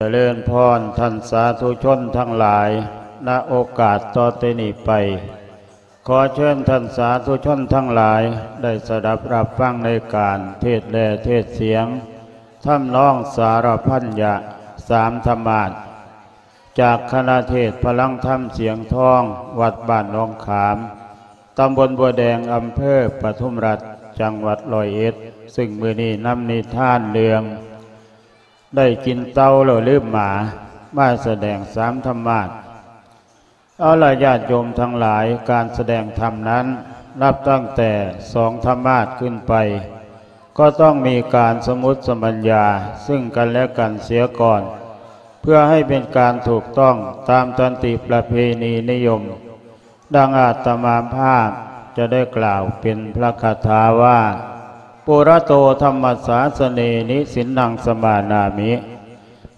ຈະເລີນພອນທ່ານສາທຸຊົນທັງຫຼາຍ, ນະໂອກາດຕໍ່ແຕ່ນີ້ໄປ ຂໍເຊີນທ່ານສາທຸຊົນທັງຫຼາຍ ໄດ້ສະດັບຮັບຟັງໃນການເທດແລະເທດສຽງ ທຳນອງສາລະພັນຍະ ສາມທຳມາດ ຈາກຄະນະເທດພະລັງທຳສຽງທອງ ວັດບ້ານໜອງຂາມ ຕຳບົນບົວແດງ ອຳເພີປະທຸມລັດ ຈັງຫວັດຮ້ອຍເອັດ ຊຶ່ງມື້ນີ້ນຳນິທານເລື່ອງ ໄດ້ກິນເຕົາແລ້ວລືມໝາ ມາສະແດງສາມທຳມາດ. ເອົາລະ ຍາດໂຍມທັງຫຼາຍ, ການສະແດງທຳນັ້ນ ນັບຕັ້ງແຕ່ສອງທຳມາດຂຶ້ນໄປ ກໍຕ້ອງມີການສະໝຸດສະບັນຍາຊຶ່ງກັນແລະກັນເສຍກ່ອນ ເພື່ອໃຫ້ເປັນການຖືກຕ້ອງຕາມສັນຕິປະເພນີນິຍົມ. ດັ່ງອາດຕະມາພາບຈະໄດ້ກ່າວເປັນພະຄາຖາວ່າ ປຸລະໂຕທຳມະສາສະເນ ນິສິນນັງສະມານາມິ.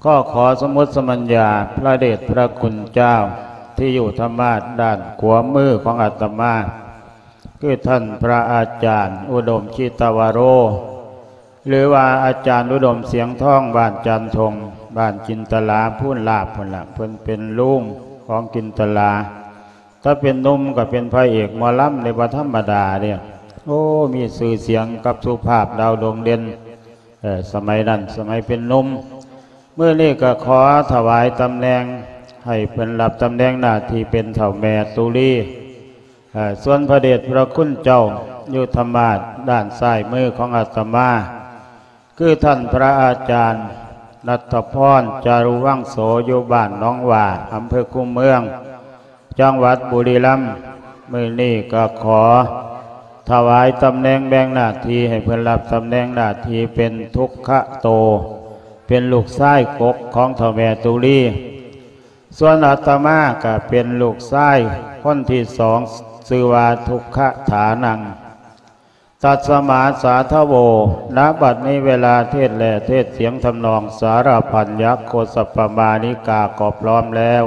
ກໍຂໍສະໝຸດສະບັນຍາພະເດດພະຄຸນເຈົ້າ ທີ່ຢູ່ທຳມາດດ້ານຂວາມືຂອງອາດຕະມາ ຄືທ່ານພະອາຈານອຸດົມ ຈິດຕະວະໂຣ ຫຼືວ່າອາຈານອຸດົມ ສຽງທອງ ບ້ານຈັນທົງ ບ້ານຈິນຕະລາ ພູນລາບພຸ້ນລະ, ເພິ່ນເປັນລຸງຂອງຈິນຕະລາ. ຖ້າເປັນໜຸ່ມກໍເປັນພະເອກໝໍລຳເດ້ ບໍ່ທຳມະດາເດ້. ໂອ້ ມີຊື່ສຽງກັບສຸພາບ ດາວດວງເດັ່ນ ເອີ ສະໄໝນັ້ນ ສະໄໝເປັນໜຸ່ມ. ມື້ນີ້ກໍຂໍຖວາຍຕຳແໜ່ງ ໃຫ້ເພິ່ນຮັບຕຳແໜ່ງໜ້າທີ່ເປັນເຖົ້າແມ່ຕຸລີ. ເອີ ສ່ວນພະເດດພະຄຸນເຈົ້າຢູ່ທຳມາດດ້ານຊ້າຍມືຂອງອາດຕະມາ ຄືທ່ານພະອາຈານ ນັດທະພອນ ຈາລຸວັງໂສ ຢູ່ບ້ານໜອງຫວ້າ ອຳເພີຄູເມືອງ ຈັງຫວັດບຸລີລຳ. ມື້ນີ້ກໍຂໍຖວາຍຕຳແໜ່ງແບ່ງໜ້າທີ່ໃຫ້ເພິ່ນຮັບຕຳແໜ່ງໜ້າທີ່ເປັນທຸກຂະໂຕ ເປັນລູກຊາຍກົກຂອງເຖົ້າແມ່ຕຸລີ. ສ່ວນອາດຕະມາກໍເປັນລູກຊາຍຄົນທີສອງ ຊື່ວ່າທຸກຂະຖານັງ. ຕັດສະມາສາທະໂວ. ນະບັດນີ້ເວລາເທດແລະເທດສຽງທຳນອງສາລະພັນຍັກໂຄສັບປະມານິກາກໍພ້ອມແລ້ວ.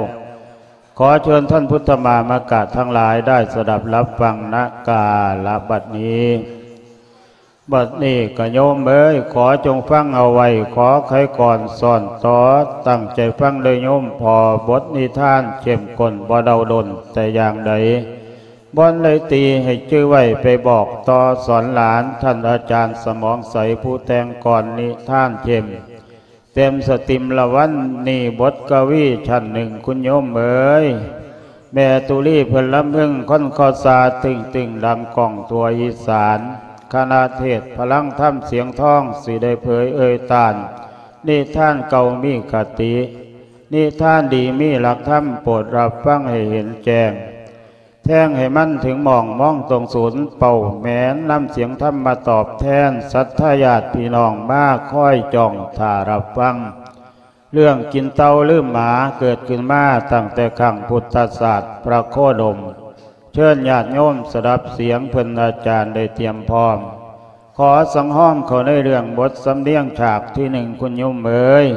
ຂໍເຊີນທ່ານພຸດທະມາມະກະທັງຫຼາຍໄດ້ສະດັບຮັບຟັງນະກາລະບັດນີ້. ບັດນີ້ກະໂຍມເອີຍ ຂໍຈົ່ງຟັງເອົາໄວ້, ຂໍໄຂກ່ອນສອນຕໍ່ ຕັ້ງໃຈຟັງເດີໂຍມພໍ່, ບົດນິທານເຂັ້ມຂຸ້ນ ບໍ່ເດົາດົນແຕ່ຢ່າງໃດ. ບ່ອນໃດຕີໃຫ້ຈື່ໄວ້ ໄປບອກຕໍ່ສອນຫຼານ ທ່ານອາຈານສະໝອງໃສ ຜູ້ແຕ່ງກ່ອນນິທານເຂັ້ມ ເຕັມສະຕິມລະວັນນີ້ ບົດກະວີຊັ້ນໜຶ່ງ ຄຸນໂຍມເອີຍ. ແມ່ຕຸລີເພິ່ນລຳເພິງ ຄົນຄໍສາຕຶ້ງໆ ດັງກ້ອງທົ່ວອີສານ. ຄະນະເທດພະລັງທຳສຽງທອງ ຊິໄດ້ເຜີຍເອີ່ຍຕ້ານ ນິທານເກົ່າມີຄະຕິ ນິທານດີມີຫຼັກທຳ ໂປດຮັບຟັງໃຫ້ເຫັນແຈ້ງ ແທງໃຫ້ມັນເຖິງໝ້ອງ ມອງຕົງສູນເປົ້າແໝນ ນຳສຽງທຳມາຕອບແທນ ສັດທາຍາດພີ່ນ້ອງມາຄອຍຈ້ອງຖ້າຮັບຟັງ. ເລື່ອງກິນເຕົາລືມໝາ ເກີດຂຶ້ນມາຕັ້ງແຕ່ຄັ້ງພຸດທະສາດ ພະໂຄດົມ. ເຊີນຍາດໂຍມສະດັບສຽງເພິ່ນອາຈານໄດ້ຕຽມພ້ອມ. ຂໍສັງຮອມເຂົ້າໃນເລື່ອງບົດສຳນຽງ ສາກທີໜຶ່ງ ຄຸນໂຍມເອີຍ.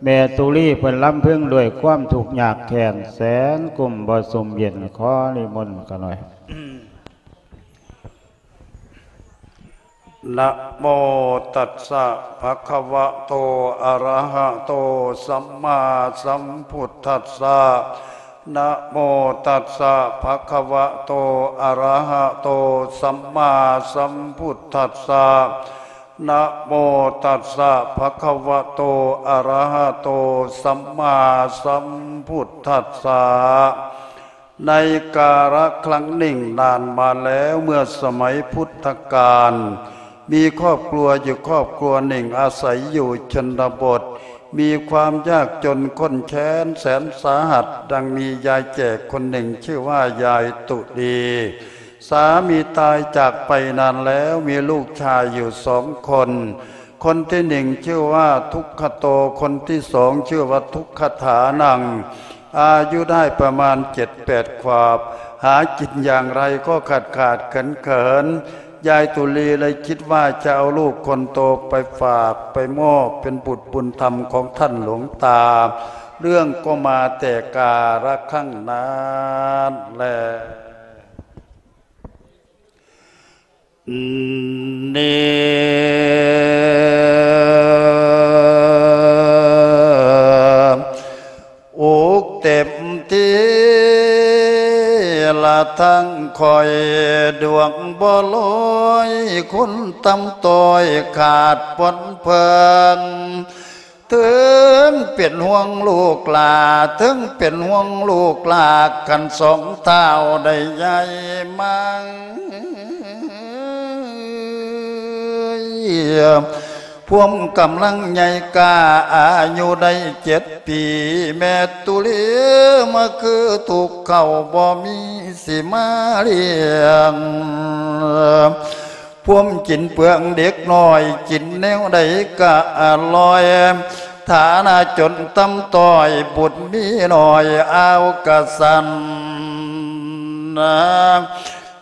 ແມ່ຕຸລີເພິ່ນລຳເພິງດ້ວຍຄວາມທຸກຍາກແຄ້ນ ແສນກຸ້ມບໍ່ຊຸ່ມເຢັນ. ຂໍນິມົນຂ້ານ້ອຍ. ນະໂມຕັດສະ ພະຄະວະໂຕ ອະລະຫະໂຕ ສຳມາສຳພຸດທັດສະ. ນະໂມຕັດສະ ພະຄະວະໂຕ ອະລະຫະໂຕ ສຳມາສຳພຸດທັດສະ. ນະໂມຕັດສະ ພະຄະວະໂຕ ອະລະຫະໂຕ ສຳມາສຳພຸດທັດສະ. ໃນກາລະຄັ້ງໜຶ່ງນານມາແລ້ວ ເມື່ອສະໄໝພຸດທະການ ມີຄອບຄົວຢູ່ຄອບຄົວໜຶ່ງອາໄສຢູ່ຊົນນະບົດ ມີຄວາມຍາກຈົນຂ້ນແຄ້ນແສນສາຫັດ ດັ່ງມີຍາຍແກ່ຄົນໜຶ່ງຊື່ວ່າຍາຍຕຸລີ. ສາມີຕາຍຈາກໄປນານແລ້ວ ມີລູກຊາຍຢູ່ສອງຄົນ. ຄົນທີໜຶ່ງຊື່ວ່າທຸກຂະໂຕ, ຄົນທີສອງຊື່ວ່າທຸກຂະຖານັງ. ອາຍຸໄດ້ປະມານເຈັດແປດຂວບ, ຫາກິນຢ່າງໃດກໍຂາດໆເຂີນໆ. ຍາຍຕຸລີເລີຍຄິດວ່າຈະເອົາລູກຄົນໂຕໄປຝາກ, ໄປມອບເປັນບຸດບຸນທຳຂອງທ່ານຫຼວງຕາ. ເລື່ອງກໍມາແຕ່ກາລະຄັ້ງນັ້ນແລະ. ນິ ທັງຂ້ອຍດວງບໍ່ລອຍ ຄົນຕ່ຳຕ້ອຍຂາດບ່ອນເພິ່ງ ເຖິງເປັນຫ່ວງລູກຫຼ້າ ເຖິງເປັນຫ່ວງລູກຫຼ້າ ຄັນສອງທ້າວໄດ້ໃຫຍ່ມາ ພວມກຳລັງໃຫຍ່ກ້າ ອາຍຸໄດ້ເຈັດປີ ແມ່ຕຸລີມາຄືທຸກເຂົ້າ ບໍ່ມີຊິມາລ້ຽງ ພວມກິນເປືອງເດັກນ້ອຍ ກິນແນວໃດກະອະລ່ອຍ ຖານະຈົນຕ່ຳຕ້ອຍ ບຸນມີໜ້ອຍ ອາວກະສັນ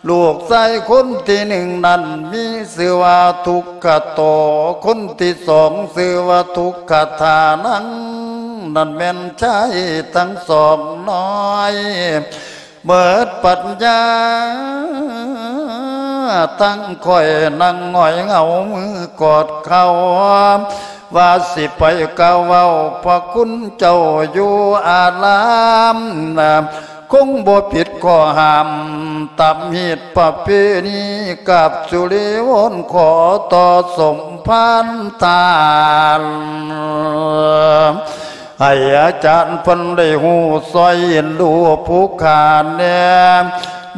ລູກຊາຍຄົນທີໜຶ່ງນັ້ນ ມີຊື່ວ່າທຸກຂະໂຕ ຄົນທີສອງຊື່ວ່າທຸກຂະທານັງ ນັ້ນແມ່ນຊາຍທັງສອງນ້ອຍ ເໝິດປັນຍາ ທັງຂ້ອຍນັ່ງຫງອຍເຫງົາ ມືກອດເຂົ່າ ວ່າຊິໄປກ່າວເວົ້າ ພະຄຸນເຈົ້າຢູ່ອາລາມ ຄົງບໍ່ຜິດຂໍ້ຫ້າມ ຕາມຮີດປະເພນີ ກາບສຸລີວອນຂໍຕໍ່ສົມພານທານ ໃຫ້ອາຈານເພິ່ນໄດ້ຮູ້ຊ່ອຍເອັນດູຜູ້ຂ້າແດ່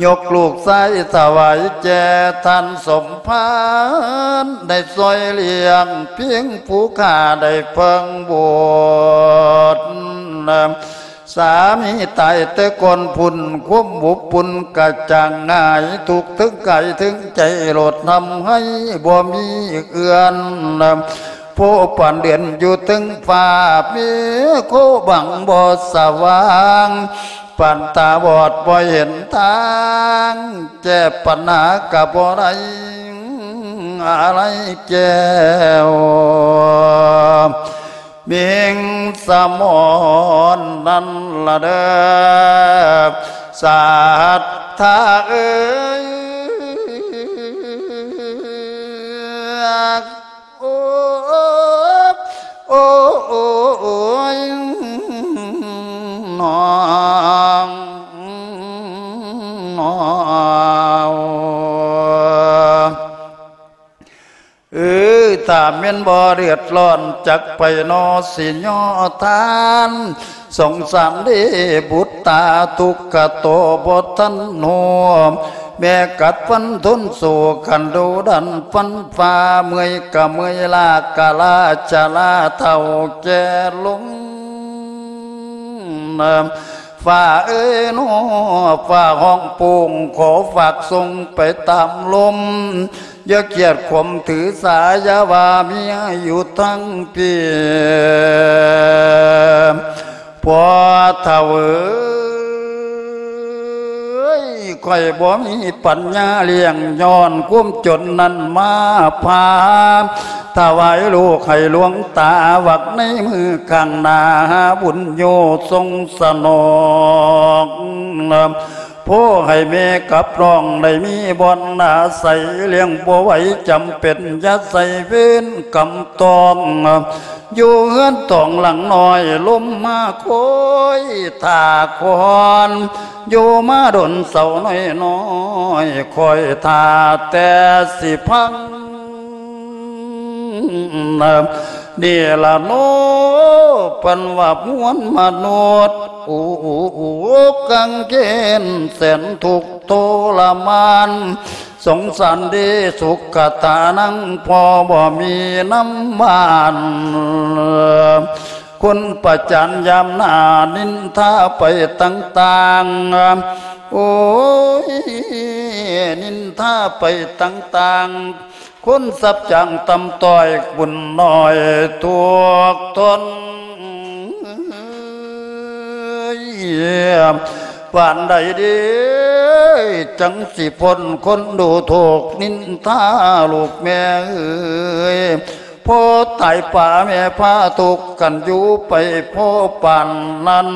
ຍົກລູກຊາຍຖວາຍແກ່ທ່ານສົມພານ ໄດ້ຊ່ອຍລ້ຽງພຽງຜູ້ຂ້າໄດ້ເພິ່ງບຸດ ສາມີຕາຍແຕ່ກ່ອນພຸ້ນ ຄວາມອົບອຸ່ນກະຈາງຫາຍ ທຸກເຖິງກາຍເຖິງໃຈໂລດທຳໃຫ້ບໍ່ມີເອື້ອນ ໂພປານເດືອນຢູ່ເທິງຟ້າ ເມໂຄບັງບໍ່ສະຫວ່າງ ປານຕາບອດບໍ່ເຫັນທາງ ແກ້ປັນຫາກະບໍ່ໄດ້ອາໄລແກ້ວ ມິງສະໝອນນັ້ນລະເດີ ສັດທາເອີຍ ໂອ້ ໂອ້ ໂອ້ຍ ນ້ອງ ນ້ອງ ເອີ ຖ້າແມ່ນບໍ່ເດືອດຮ້ອນ ຈັກໄປໜໍຊິຍໍທານ ສົງສານເດບຸດຕາ ທຸກຂະໂຕບໍ່ທັນຮູ້ ແມ່ກັດຟັນທົນສູ້ ຂັນດຸດັນຟັນຝ່າ ເມື່ອຍກະເມື່ອຍ ລາກະລາ ຊະລາເຖົ້າແກ່ລົງ ຟ້າເອີຍໜໍ ຟ້າຮ້ອງໂປ່ງ ຂໍຝາກສົ່ງໄປຕາມລົມ ຢ່າກຽດຂວາມຖືສາ ຢ່າວ່າເມຍຢູ່ທາງພີ້ ພໍ່ເຖົ້າເອີຍ ຂ້ອຍບໍ່ມີປັນຍາລ້ຽງ ຍ້ອນຄວາມຈົນນັ້ນມາພາ ຖວາຍລູກໃຫ້ຫຼວງຕາ ວັກໃນມື້ຂ້າງໜ້າ ຫາບຸນໂຍຊົງສະໜອງ ໂພໃຫ້ແມ່ກັບນ້ອງໄດ້ມີບ່ອນອາໄສ ລ້ຽງບໍ່ໄຫວຈຳເປັນ ຢ່າໃສ່ເວນກຳຕ້ອງ ຢູ່ເຮືອນຕອງຫຼັງນ້ອຍ ລົມມາຄອຍຖ້າຄອນ ຢູ່ມາດົນເສົານ້ອຍໆ ຄອຍຖ້າແຕ່ຊິພັງ ນີ້ລະເນາະ ເພິ່ນວ່າມວນມະນຸດ ອຸກາງເກນແສນທຸກທໍລະມານ ສົງສານເດສຸກຂະຕານັງ ພໍ່ບໍ່ມີນ້ຳຫວານ ຄົນປະຈານຍາມໜ້າ ນິນທາໄປຕ່າງໆ ໂອ້ຍ ນິນທາໄປຕ່າງໆ ຄົນສັບຈ້າງຕ່ຳຕ້ອຍ ບຸນໜ້ອຍທຸກທົນ ປານໃດເດ ຈັ່ງຊິພົ້ນຄົນດູຖູກນິນທາ ລູກແມ່ເອີຍ ພໍ່ຕາຍປ້າແມ່ພາທຸກກັນຢູ່ໄປ ພໍປານນັ້ນ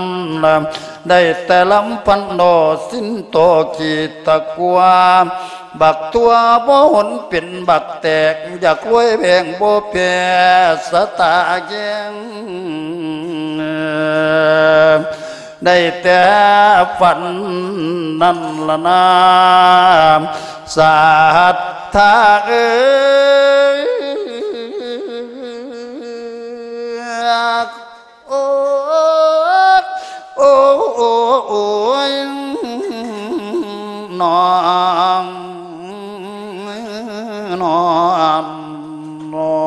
ໄດ້ແຕ່ລຳພັນໂດ ສິ້ນໂຕຂີ້ຕະກົວ ບັກຕົວບໍ່ຫົນເປັນບັກແຕກ ຢາກລວຍແບງບໍ່ແພ້ສະຕາແກງ ໄດ້ແຕ່ຝັນນັ້ນລະນາ ສັດທາເອີຍ ໂອ້ ໂອ້ ໂອ້ຍ ນ້ອງ ນ້ອງ ນ້ອ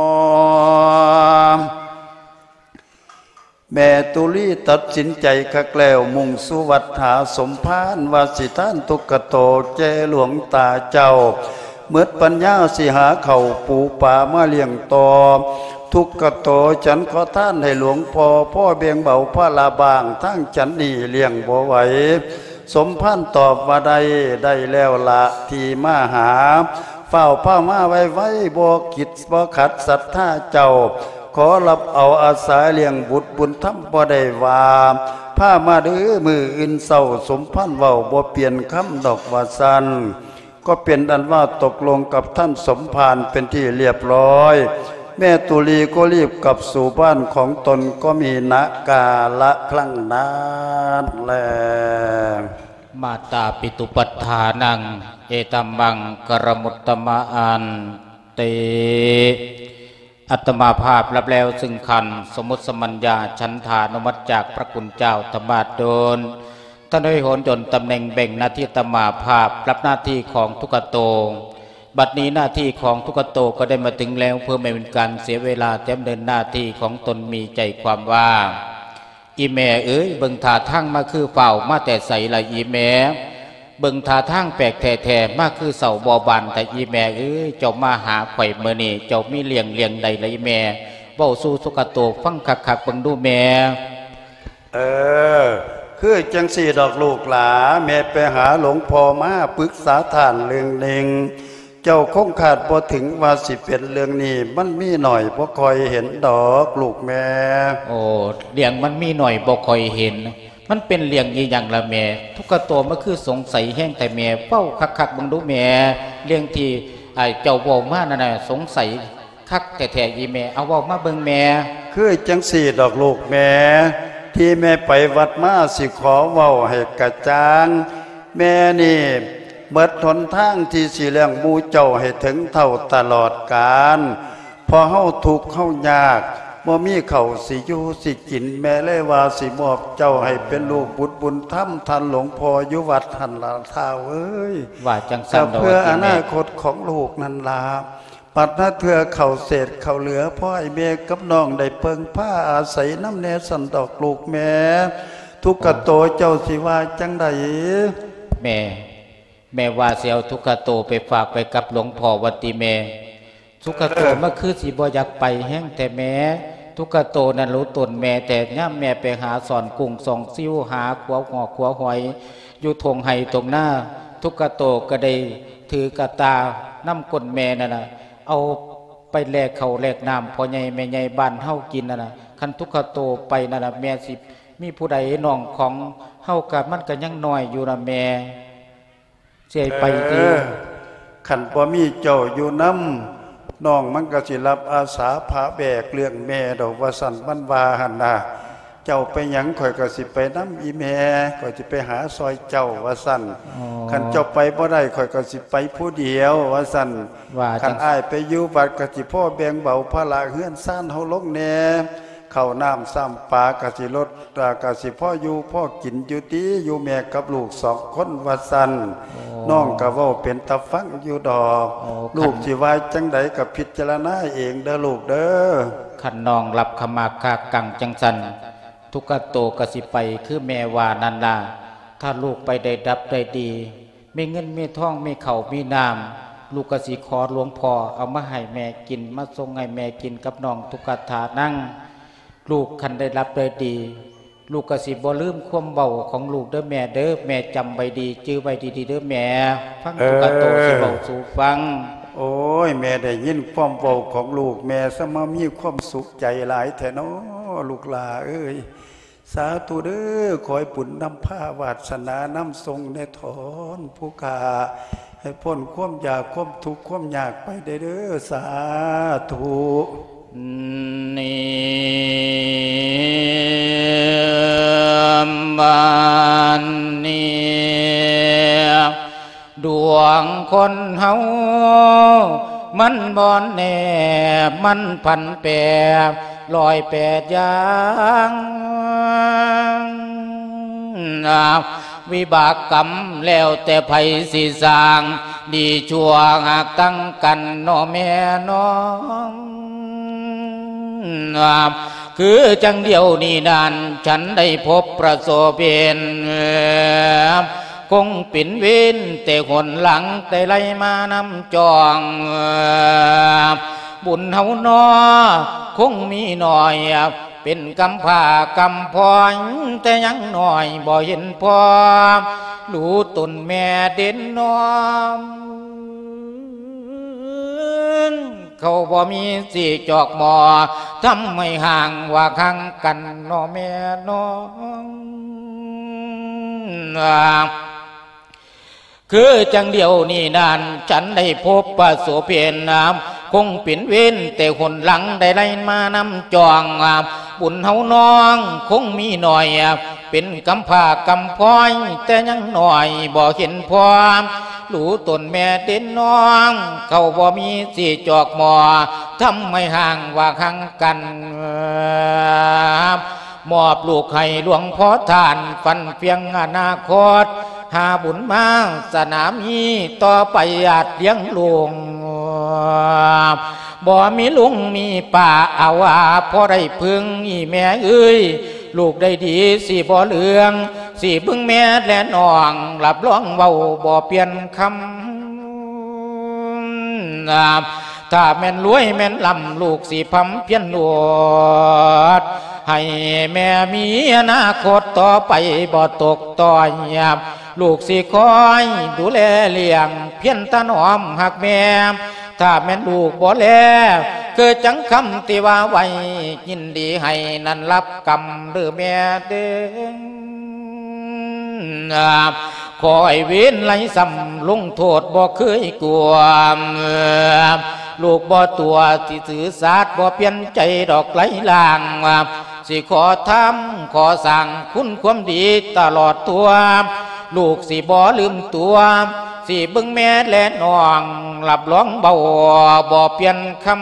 ງ. ແມ່ຕຸລີຕັດສິນໃຈຄັກແລ້ວ ມຸ່ງສູ່ວັດຫາສົມພານ ວ່າຊິທານທຸກຂະໂຕແກ່ຫຼວງຕາເຈົ້າ ໝົດປັນຍາຊິຫາເຂົ້າປູປາມາລ້ຽງຕໍ່. ທຸກຂະໂຕ ສັນຂໍທານໃຫ້ຫຼວງພໍ່ ພໍແບ່ງເບົາພາລະບ້າງ ທາງສັນນີ້ລ້ຽງບໍ່ໄຫວ. ສົມພານຕອບວ່າ ໄດ້ ໄດ້ແລ້ວລະ ທີ່ມາຫາ ຟ້າວພາມາໄວໆ ບໍ່ຄິດບໍ່ຂັດສັດທາເຈົ້າ ຂໍຮັບເອົາອາສາລ້ຽງບຸດບຸນທຳ ບໍ່ໄດ້ວ່າ ພາມາເດີມື້ອື່ນເຊົ້າ. ສົມພານເວົ້າບໍ່ປ່ຽນຄຳດອກວ່າຊັ້ນ ກໍເປັນອັນວ່າຕົກລົງກັບທ່ານສົມພານເປັນທີ່ລຽບຮ້ອຍ ແມ່ຕຸລີກໍລີບກັບສູ່ບ້ານຂອງຕົນ ກໍມີນະກາລະຄັ້ງນັ້ນແລ. ມາຕາປິຕຸປັດຖານັງ ເອຕັມມັງຄະລະມຸດຕະມະອັນຕິ. ອາດຕະມາພາບຮັບແລ້ວຊຶ່ງຂັນສະມຸດສະມັນຍາ ສັນທານຸມັດຈາກພະຄຸນເຈົ້າທຳມະດົນ ທ່ານໄດ້ໂຫນຍົນຕຳແໜ່ງແບ່ງໜ້າທີ່ອາດຕະມາພາບ ຮັບໜ້າທີ່ຂອງທຸກຂະໂຕ. ບັດນີ້ໜ້າທີ່ຂອງທຸກຂະໂຕກໍໄດ້ມາເຖິງແລ້ວ ເພື່ອບໍ່ໃຫ້ເປັນການເສຍເວລາ ແຕ່ດຳເນີນໜ້າທີ່ຂອງຕົນມີໃຈຄວາມວ່າ ອີ່ແມ່ເອີຍ ເບິ່ງທ່າທາງມາຄືຟ້າວມາແຕ່ໃສລະອີ່ແມ່? ເບິ່ງທ່າທາງແປກແທ້ໆ ມາຄືເຊົ້າບໍ່ບານແທ້ອີ່ແມ່ເອີຍ? ເຈົ້າມາຫາຂ້ອຍມື້ນີ້ ເຈົ້າມີເລື່ອງ ເລື່ອງໃດລະອີ່ແມ່? ເວົ້າສູ່ທຸກຂະໂຕຟັງຄັກໆເບິ່ງດູແມ່. ເອີ ຄືຈັ່ງຊີ້ດອກລູກຫຼາ ແມ່ໄປຫາຫຼວງພໍ່ມາປຶກສາທ່ານເລື່ອງໜຶ່ງ ເຈົ້າຄົງຄາດບໍ່ເຖິງວ່າຊິເປັນເລື່ອງນີ້ ມັນມີໜ້ອຍບໍ່ຄ່ອຍເຫັນດອກລູກແມ່. ໂອ້ ເລື່ອງມັນມີໜ້ອຍບໍ່ຄ່ອຍເຫັນ ມັນເປັນເລື່ອງອີ່ຫຍັງລະແມ່? ທຸກຂະໂຕມາຄືສົງໄສແຮງແທ້ແມ່ ເວົ້າຄັກໆເບິ່ງດູແມ່ ເລື່ອງທີ່ ອ້າຍເຈົ້າເວົ້າມານັ້ນນະ ສົງໄສຄັກແທ້ໆອີ່ແມ່ ເອົາເວົ້າມາເບິ່ງແມ່. ຄືຈັ່ງຊີ້ດອກລູກແມ່ ທີ່ແມ່ໄປວັດມາ ຊິຂໍເວົ້າໃຫ້ກະຈ່າງ ແມ່ນີ້ໝົດຫົນທາງທີ່ຊິລ້ຽງໝູ່ເຈົ້າໃຫ້ເຖິງເຖົ້າຕະຫຼອດການ ເພາະເຮົາທຸກເຮົາຍາກ ບໍ່ມີເຂົ້າຊິຢູ່ຊິກິນ ແມ່ເລີຍວ່າຊິມອບເຈົ້າໃຫ້ເປັນລູກບຸດບຸນທຳ ທ່ານຫຼວງພໍ່ຢູ່ວັດຫັ້ນລະທ້າວເອີຍ. ວ່າຈັ່ງຊັ້ນ ກໍເພື່ອອະນາຄົດຂອງລູກນັ້ນລະ ບັດນາເທື່ອເຂົ້າເສດເຂົ້າເຫຼືອ ພໍໃຫ້ແມ່ກັບນ້ອງໄດ້ເພິ່ງພາອາໄສນຳແດ່ຊັ້ນດອກລູກແມ່. ທຸກຂະໂຕເຈົ້າຊິວ່າຈັ່ງໃດ? ແມ່ ແມ່ວ່າຊິເອົາທຸກຂະໂຕໄປຝາກໄວ້ກັບຫຼວງພໍ່ວ່າຕິແມ່. ທຸກຂະໂຕ ເອີ ມັນຄືຊິບໍ່ຢາກໄປແຮງແທ້ແມ່. ທຸກຂະໂຕນັ້ນຮູ້ຕົນແມ່ແທ້ ຍາມແມ່ໄປຫາສອນກຸ້ງສອງຊິວ ຫາຂົວຫອກຂົວຫອຍຢູ່ທົ່ງໄຮ່ທົ່ງນາ ທຸກຂະໂຕກໍໄດ້ຖືກະຕ່ານຳກົ້ນແມ່ນັ້ນນະ ເອົາໄປແລກເຂົ້າແລກນ້ຳພໍ່ໃຫຍ່ແມ່ໃຫຍ່ບ້ານເຮົາກິນນັ້ນນະ. ຄັນທຸກຂະໂຕໄປນັ້ນນະ ແມ່ຊິມີຜູ້ໃດນ້ອງຂອງເຮົາກະ ມັນກະຍັງນ້ອຍຢູ່ນະແມ່. ຊິໃຫ້ໄປຕິ? ເອີ ຄັນບໍ່ມີເຈົ້າຢູ່ນຳ ນ້ອງມັນກໍຊິຮັບອາສາພາແບກເລື່ອງແມ່ດອກ ວ່າຊັ້ນ ມັນວ່າຫັ້ນນະ. ເຈົ້າໄປຫຍັງ ຂ້ອຍກໍຊິໄປນຳອີ່ແມ່ ຂ້ອຍຊິໄປຫາຊ່ອຍເຈົ້າ ວ່າຊັ້ນ. ອໍ ຄັນເຈົ້າໄປບໍ່ໄດ້ ຂ້ອຍກໍຊິໄປຜູ້ດຽວ ວ່າຊັ້ນ. ວ່າ ຄັນອ້າຍໄປຢູ່ວັດ ກໍຊິພໍແບ່ງເບົາພາລະເຮືອນຊານເຮົາລົງແດ່ ເຂົ້ານ້ຳຊ້ຳປາກໍຊິລົດ ກໍຊິພໍຢູ່ພໍກິນຢູ່ຕິ ຢູ່ແມ່ກັບລູກສອງຄົນ ວ່າຊັ້ນ. ໂອ້ ນ້ອງກໍເວົ້າເປັນຕາຟັງຢູ່ດອກ. ໂອ້ ລູກ ຄັນ ຊິວ່າຈັ່ງໃດກໍພິຈາລະນາເອງເດີລູກເດີ. ຄັນນ້ອງຮັບຂະມາຄາກັງຈັ່ງຊັ້ນ ທຸກຂະໂຕກໍຊິໄປຄືແມ່ວ່ານັ້ນລະ. ຖ້າລູກໄປໄດ້ດັບໄດ້ດີ ມີເງິນມີທອງ ມີເຂົ້າມີນ້ຳ ລູກກໍຊິຂໍຫຼວງພໍ່ເອົາມາໃຫ້ແມ່ກິນ ມາສົ່ງໃຫ້ແມ່ກິນກັບນ້ອງທຸກຂະຖານັງ. ລູກຄັນໄດ້ຮັບໄດ້ດີ ລູກກໍຊິບໍ່ລືມຄວາມເວົ້າຂອງລູກເດີແມ່ເດີ. ແມ່ຈຳໄວ້ດີ ຈື່ໄວ້ດີໆເດີແມ່. ຟັງ ເອີ ທຸກຂະໂຕຊິເວົ້າສູ່ຟັງ. ໂອ້ຍ ແມ່ໄດ້ຍິນຄວາມເວົ້າຂອງລູກ ແມ່ຊະມາມີຄວາມສຸກໃຈຫຼາຍແທ້ນໍ ລູກຫຼ້າເອີຍ. ສາທຸເດີ ຂໍໃຫ້ບຸນນຳພາ ວາດສະໜານຳສົ່ງແດ່ທ້ອນຜູ້ຂ້າ ໃຫ້ພົ້ນຄວາມຢາກຄວາມທຸກຄວາມຍາກໄປເດີ ສາທຸ. ນິມາ ດວງຄົນເຮົາມັນບໍ່ແນບ ມັນຜັນແປ ຮ້ອຍແປດຢ່າງ ວິບາກກຳແລ້ວແຕ່ໃຜຊິສ້າງ ດີຊົ່ວຫາກຕັ້ງກັນເນາະແມ່ນ້ອງ. ຄືຈັ່ງດຽວນີ້ນັ້ນ ສັນໄດ້ພົບປະສົບເຫັນ ຄົງເປັນເວນແຕ່ຫົນຫຼັງ ໄດ້ໄລ່ມານຳຈອງ ບຸນເຮົານໍ ຄົງມີໜ້ອຍ ເປັນກຳພ້າກຳພ້ອຍ ແຕ່ຍັງນ້ອຍບໍ່ເຫັນພໍ ຮູ້ຕົນແມ່ເດັ່ນນອມ ເຂົາບໍ່ມີຊິຈອກໝໍ ທຳໃຫ້ຫ່າງວ່າຫ່າງກັນເນາະແມ່ນ້ອງ. ຄືຈັ່ງດຽວນີ້ນັ້ນ ສັນໄດ້ພົບປະສົບເຫັນ ຄົງເປັນເວນແຕ່ຫົນຫຼັງ ໄດ້ໄລ່ມານຳຈອງ ບຸນເຮົານ້ອງຄົງມີໜ້ອຍ ເປັນກຳພ້າກຳພ້ອຍ ແຕ່ຍັງນ້ອຍບໍ່ເຫັນພໍ ຮູ້ຕົນແມ່ເດັ່ນນອມ ເຂົາບໍ່ມີຊິຈອກໝໍ ທຳໃຫ້ຫ່າງວ່າຫ່າງກັນ ມອບລູກໃຫ້ຫຼວງພໍ່ທ່ານ ຝັນພຽງອະນາຄົດ ຫາບຸນວາສະໜາມີ ຕໍ່ໄປອາດລ້ຽງລູກ ບໍ່ມີລຸງມີປ້າອາວາ ພໍໄດ້ເພິ່ງອີ່ແມ່ເອີຍ ລູກໄດ້ດີຊິບໍ່ເຫຼືອງ ຊິເບິ່ງແມ່ແລະນ້ອງ ຮັບຮອງເວົ້າບໍ່ປ່ຽນຄຳ ຖ້າແມ່ນລວຍແມ່ນລ່ຳ ລູກຊິພຳພຽນລວດ ໃຫ້ແມ່ມີອະນາຄົດຕໍ່ໄປບໍ່ຕົກຕ້ອຍ ລູກຊິຄອຍດູແລລ້ຽງ ພຽນຖະໜອມຮັກແມ່ ຖ້າແມ່ນລູກບໍ່ແລ ຄືຈັ່ງຄຳທີ່ວ່າໄວ້ ຍິນດີໃຫ້ນັ້ນຮັບກຳເດີແມ່ເດີ. ຂໍໃຫ້ເວນໄລ່ຊ້ຳ ລົງໂທດບໍ່ເຄີຍກວມ ລູກບໍ່ຕົວະຊິຊື່ສາດ ບໍ່ປ່ຽນໃຈດອກໄຫຼລາງ ຊິຂໍທຳຂໍສ້າງຄຸນຄວາມດີຕະຫຼອດທົ່ວ ລູກຊິບໍ່ລືມຕົວ ຊິເບິ່ງແມ່ແລະນ້ອງ ຮັບຮອງເວົ້າບໍ່ປ່ຽນຄຳ.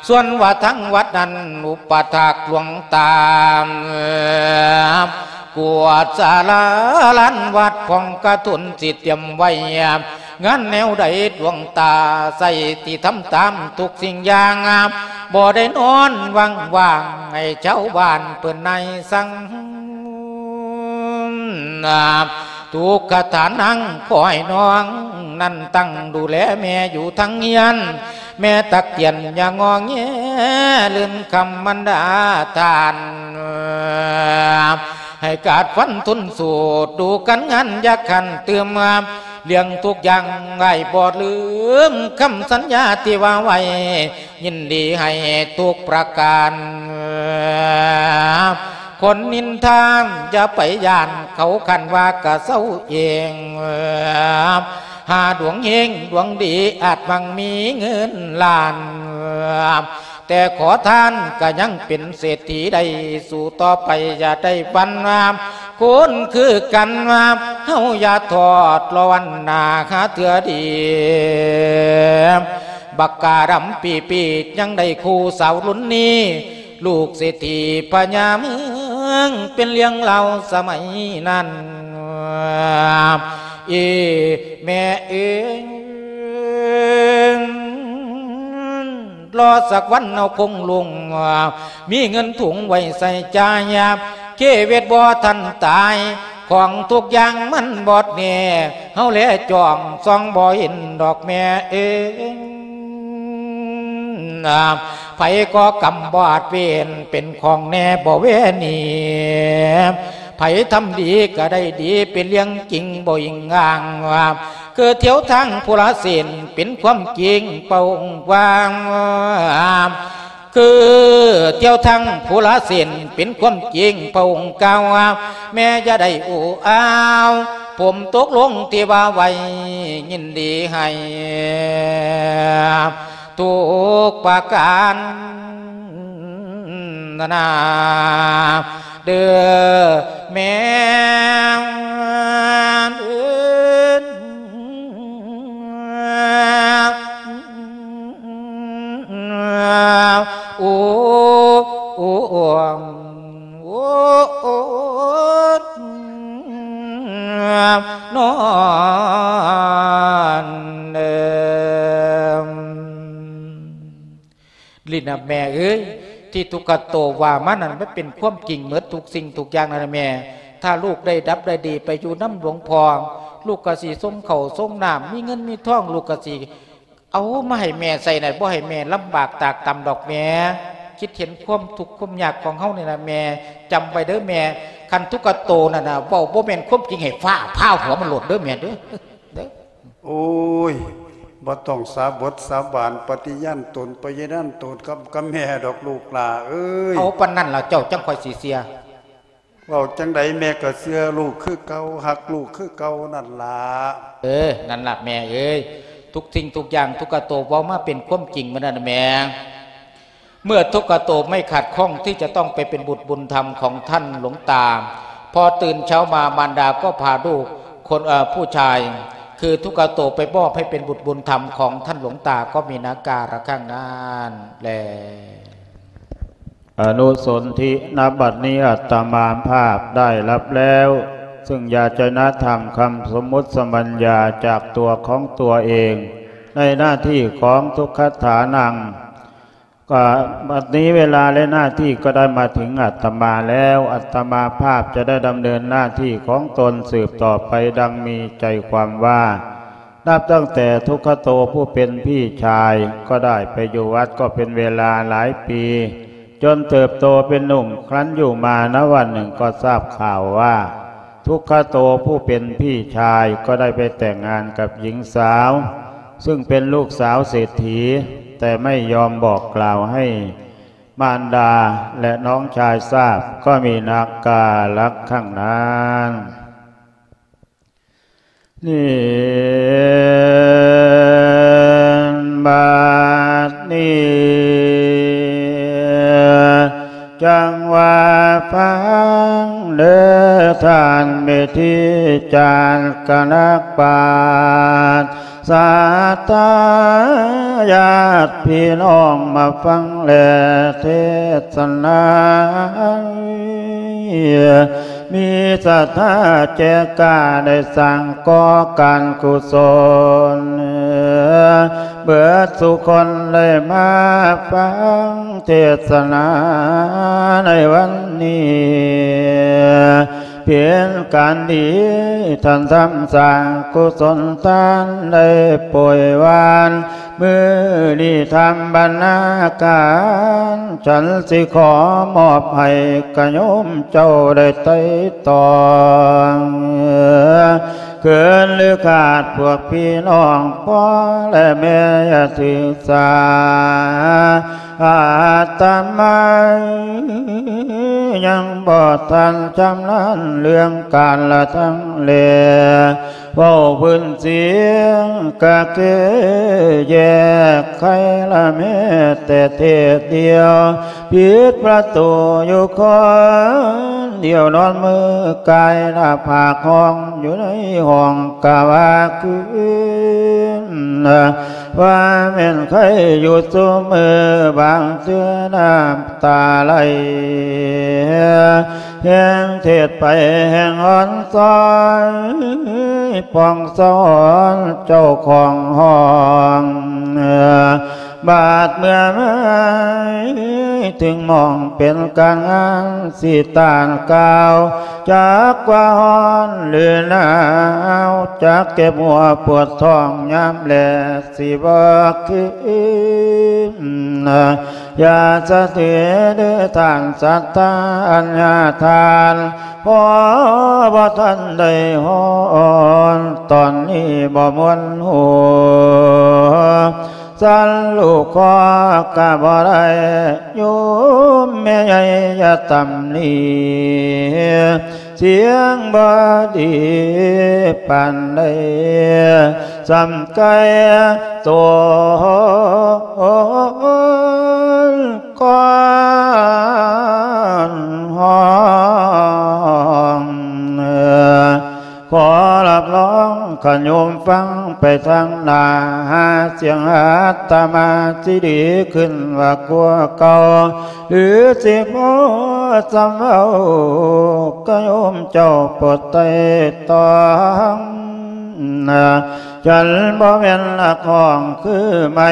ສ່ວນວ່າທາງວັດນັ້ນ ອຸປະຖາກຫຼວງຕາ ກວດສາລາລານວັດ ຂອງກະທົນຊິຕຽມໄວ້ ງານແນວໃດຫຼວງຕາໃສ່ ທີ່ທຳຕາມທຸກສິ່ງຢ່າງ ບໍ່ໄດ້ນອນຫວ່າງໆ ໃຫ້ຊາວບ້ານເພິ່ນນາຍສັ່ງ ທຸກຂະຖານນາງ ຂໍໃຫ້ນ້ອງນັ້ນຕັ້ງດູແລແມ່ຢູ່ທາງເຮືອນ ແມ່ຕັກກຽນຢ່າງໍແງ ລືມຄຳບັນດາທ່ານ ໃຫ້ກາດຟັນທົນສູ້ ດູການງານຢ່າຂັນຕື່ມ ລ້ຽງທຸກຢ່າງອ້າຍບໍ່ລືມ ຄຳສັນຍາທີ່ວ່າໄວ້ ຍິນດີໃຫ້ທຸກປະການ ຄົນນິນທາຢ່າໄປຢ້ານ ເຂົາຄັນວ່າກະເຊົາເອງ ຫາດວງເຮງດວງດີ ອາດໝັ່ງມີເງິນລ້ານ ແຕ່ຂໍທານກະຍັງເປັນເສດຖີໄດ້ ສູ້ຕໍ່ໄປຢ່າໄດ້ວັ່ນ ຄົນຄືກັນ ເຮົາຢ່າທອດລໍວັນໜ້າ ຫາເທື່ອດີ ບັກກາດຳປີປີ ຍັງໄດ້ຄູ່ສາວລຸນນີ້ ລູກເສດຖີພະຍາເມືອງ ເປັນເລື່ອງລາວສະໄໝນັ້ນ ເອ ແມ່ເອີຍ ລໍສັກວັນເຮົາຄົງລຸງ ມີເງິນຖົງໄວ້ໃຊ້ຈ່າຍ ເຄເວດບໍ່ທັນຕາຍ ຂອງທຸກຢ່າງມັນບອດແນ່ ເຮົາແລຈ້ອງສ່ອງບໍ່ເຫັນດອກແມ່ເອີຍ ໃຜກໍ່ກຳບໍ່ອາດເວນ ເປັນຂອງແນ່ບໍ່ແວໜີ ໃຜທຳດີກະໄດ້ດີ ເປັນເລື່ອງຈິງບໍ່ອີງອ້າງ ຄືທ່ຽວທາງຜູ້ລະເສັ້ນ ເປັນຄວາມຈິງເປົ່າກວ້າງ ຄືທ່ຽວທາງຜູ້ລະເສັ້ນ ເປັນຄວາມຈິງພະອົງກ່າວ ແມ່ຢ່າໄດ້ອູອ້າວ ຜົມຕົກລົງທີ່ວ່າໄວ້ ຍິນດີໃຫ້ທຸກປະການນາ ເດີແມ່. ໂອ້ ໂອ້ ໂອ້ ໂອ້ ໂອ້ ນອນເອີ ນີ້ນະແມ່ເອີຍ ທີ່ທຸກຂະໂຕວ່າມານັ້ນ ມັນເປັນຄວາມຈິງໝົດທຸກສິ່ງທຸກຢ່າງນັ້ນນະແມ່. ຖ້າລູກໄດ້ດັບໄດ້ດີໄປຢູ່ນຳຫຼວງພໍ່ ລູກກໍຊິສົ່ງເຂົ້າສົ່ງນ້ຳ ມີເງິນມີທອງ ລູກກໍຊິ ເອົາມາໃຫ້ແມ່ໃຊ້ນະ ບໍ່ໃຫ້ແມ່ລຳບາກຕາກຕຳດອກແມ່. ຄິດເຫັນຄວາມທຸກຄວາມຍາກຂອງເຮົານີ້ນະແມ່. ຈຳໄວ້ເດີແມ່ ຄັນທຸກຂະໂຕນັ້ນນະ ເວົ້າບໍ່ແມ່ນຄວາມຈິງໃຫ້ຟ້າຜ່າຫົວມັນໂລດເດີແມ່ເດີ ເດີ. ໂອ້ຍ ບໍ່ຕ້ອງສາບົດສາບານ ປະຕິຍານຕົນ ປະຍານຕົນກັບ ກັບແມ່ດອກລູກຫຼ້າເອີຍ. ເອົາປານນັ້ນລະເຈົ້າ ຈັ່ງຂ້ອຍຊິເຊື່ອ. ເວົ້າຈັ່ງໃດແມ່ກໍເຊື່ອລູກຄືເກົ່າ ຮັກລູກຄືເກົ່ານັ້ນລະ. ເອີ ນັ້ນລະແມ່ເອີຍ ທຸກສິ່ງທຸກຢ່າງ ທຸກຂະໂຕເວົ້າມາເປັນຄວາມຈິງໝົດນັ້ນນະແມ່. ເມື່ອທຸກຂະໂຕໄມ່ຂັດຂ້ອງທີ່ຈະຕ້ອງໄປເປັນບຸດບຸນທຳຂອງທ່ານຫຼວງຕາ ພໍຕື່ນເຊົ້າມາມານດາກໍພາລູກຄົນ ເອີ ຜູ້ຊາຍ ຄືທຸກຂະໂຕໄປມອບໃຫ້ເປັນບຸດບຸນທຳຂອງທ່ານຫຼວງຕາ ກໍມີນາກາລະຄັງນັ້ນແລ. ອະນຸສົນທິ ນະບັດນີ້ອາດຕະມາພາບໄດ້ຮັບແລ້ວ ຊຶ່ງຢາຈະນະທຳຄຳສົມມຸດສະບັນຍາຈາກຕົວຂອງຕົວເອງ ໃນໜ້າທີ່ຂອງທຸກຂະຖານັງ. ກໍບັດນີ້ເວລາ ແລະ ໜ້າທີ່ກໍໄດ້ມາເຖິງອາດຕະມາແລ້ວ ອາດຕະມາພາບຈະໄດ້ດຳເນີນໜ້າທີ່ຂອງຕົນສືບຕໍ່ໄປ ດັ່ງມີໃຈຄວາມວ່າ ນັບຕັ້ງແຕ່ທຸກຂະໂຕຜູ້ເປັນພີ່ຊາຍ ກໍໄດ້ໄປຢູ່ວັດກໍເປັນເວລາຫຼາຍປີ ຈົນເຕີບໂຕເປັນໜຸ່ມ ຄັ້ນຢູ່ມານະວັນໜຶ່ງກໍຊາບຂ່າວວ່າ ທຸກຂະໂຕຜູ້ເປັນພີ່ຊາຍກໍໄດ້ໄປແຕ່ງງານກັບຍິງສາວ ຊຶ່ງເປັນລູກສາວເສດຖີ ແຕ່ໄມ່ຍອມບອກກ່າວໃຫ້ມານດາ ແລະ ນ້ອງຊາຍຊາບ ກໍມີນາກາລະຄັງນັ້ນ. ນີ້ ບັດນີ້ຈັ່ງວ່າຟັງເດີທ່ານເມທີຈານກະນັກປາດ ສັດທາຍາດພີ່ນ້ອງມາຟັງແລເທສະນາ ມີສັດທາແກ່ກ້າໄດ້ສ້າງກໍ່ການກຸສົນ ເບິດສູ່ຄົນໄດ້ມາຟັງເທສະນາໃນວັນນີ້ ເປັນການດີ ທ່ານທຳສ້າງກຸສົນທານໄດ້ປ່ອຍວານ ມື້ນີ້ທຳບັນນາການ ສັນຊິຂໍມອບໃຫ້ກະໂຍມເຈົ້າໄດ້ໄຕ່ຕອງ ເກີນຫຼືຂາດພວກພີ່ນ້ອງພໍ່ ແລະ ແມ່ຢ່າຖືສາ ອາດຕະມາຍັງບໍ່ທັນຊຳນານເລື່ອງການລະທັງແລ ເວົ້າພື້ນສຽງກະຄືແຍກໄຄລະແມ້ແຕ່ເທດດຽວ ປິດປະຕູຢູ່ຄົນດຽວ ນອນມືກາຍໜ້າຜາກຫ້ອງຢູ່ໃນຫ້ອງກະວ່າຄືນ ວ່າແມ່ນໃຄຢູ່ຊຸມື້ ບາງເທື່ອນ້ຳຕາໄຫຼ ແຮງເທດໄປແຮງອ່ອນຊ້ອຍ ປ່ອງສອນເຈົ້າຂອງຫ້ອງ ບາດເມື່ອມາເຖິງໝ່ອງເປັນການງານ ຊິຕ້ານກ່າວ ຈັກວ່າຮ້ອນຫຼືໜາວ ຈັກເຈັບຫົວປວດທ້ອງຍາມແລ ຊິບໍ່ຄືນ ຢ່າສະເທເດີທ່ານສັດທາອັນຍາທານ ພໍບໍ່ທັນໄດ້ຮ້ອນ ຕອນນີ້ບໍ່ມ່ວນຫົວ ສັນລູກຂໍກະບໍ່ໄດ້ ໂຍມແມ່ໃຫຍ່ຢ່າຕຳໜິ ສຽງບໍ່ດີປານໃດ ສ່ຳໄກ່ໂຕນກ່ອນຮ້ອງ ຂໍຮັບຮອງຂະໂຍມຟັງ ໄປທາງໜ້າ ຫາສຽງອາດຕະມາຊິດີຂຶ້ນວ່າກວ່າເກົ່າ ຫຼືຊິພໍສຳເອົາ ກະໂຍມເຈົ້າໂປດໄຕ່ຕອງ ນະ ສັນບໍ່ແມ່ນນັກຮ້ອງຄືໄມ້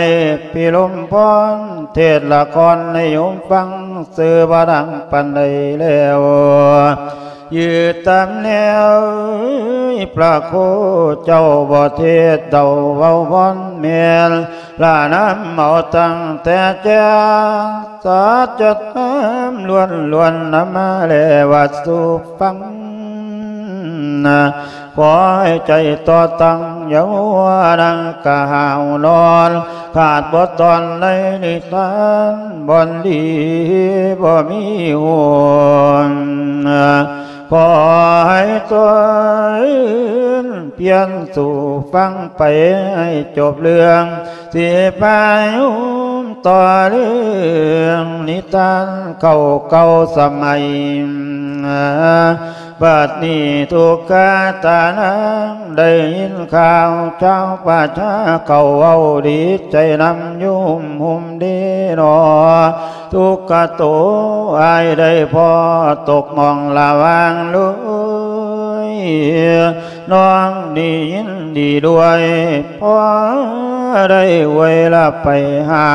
ພິລົມພອນ ເທດລະຄອນໃຫ້ໂຍມຟັງ ຊື່ບໍ່ດັງປານໃດແລ້ວ ຢືດຕາມແນວ ພະໂຄເຈົ້າບໍ່ເທດເດົາເວົ້າວອນແມ່ນ ລະນຳເອົາຕັ້ງແຕ່ແຈ້ງ ສັດຈະທຳລ້ວນໆ ນຳມາແລວ່າສູ່ຟັງ ຂໍໃຫ້ໃຈຕໍ່ຕັ້ງ ຢ່າມົວນັ່ງກະຫາວນອນ ຂາດບໍ່ຕອນໃນນິທານ ບ່ອນດີບໍ່ມີຫວນ ຂໍໃຫ້ຕົນພຽນສູ່ຟັງໄປໃຫ້ຈົບເລື່ອງ ຊິພາໂຍມຕໍ່ເລື່ອງນິທານເກົ່າເກົ່າສະໄໝ ບັດນີ້ທຸກຂະຕານາງ ໄດ້ຍິນຂ່າວຊາວປະຊາເຂົາເວົ້າດີໃຈນຳໂຍມໂຮມເດເນາະ ທຸກຂະໂຕອ້າຍໄດ້ພໍຕົກໝ່ອງລະຫວ່າງເລີຍ ນ້ອງນີ້ຍິນດີດ້ວຍ ພໍໄດ້ອວຍລະໄປຫາ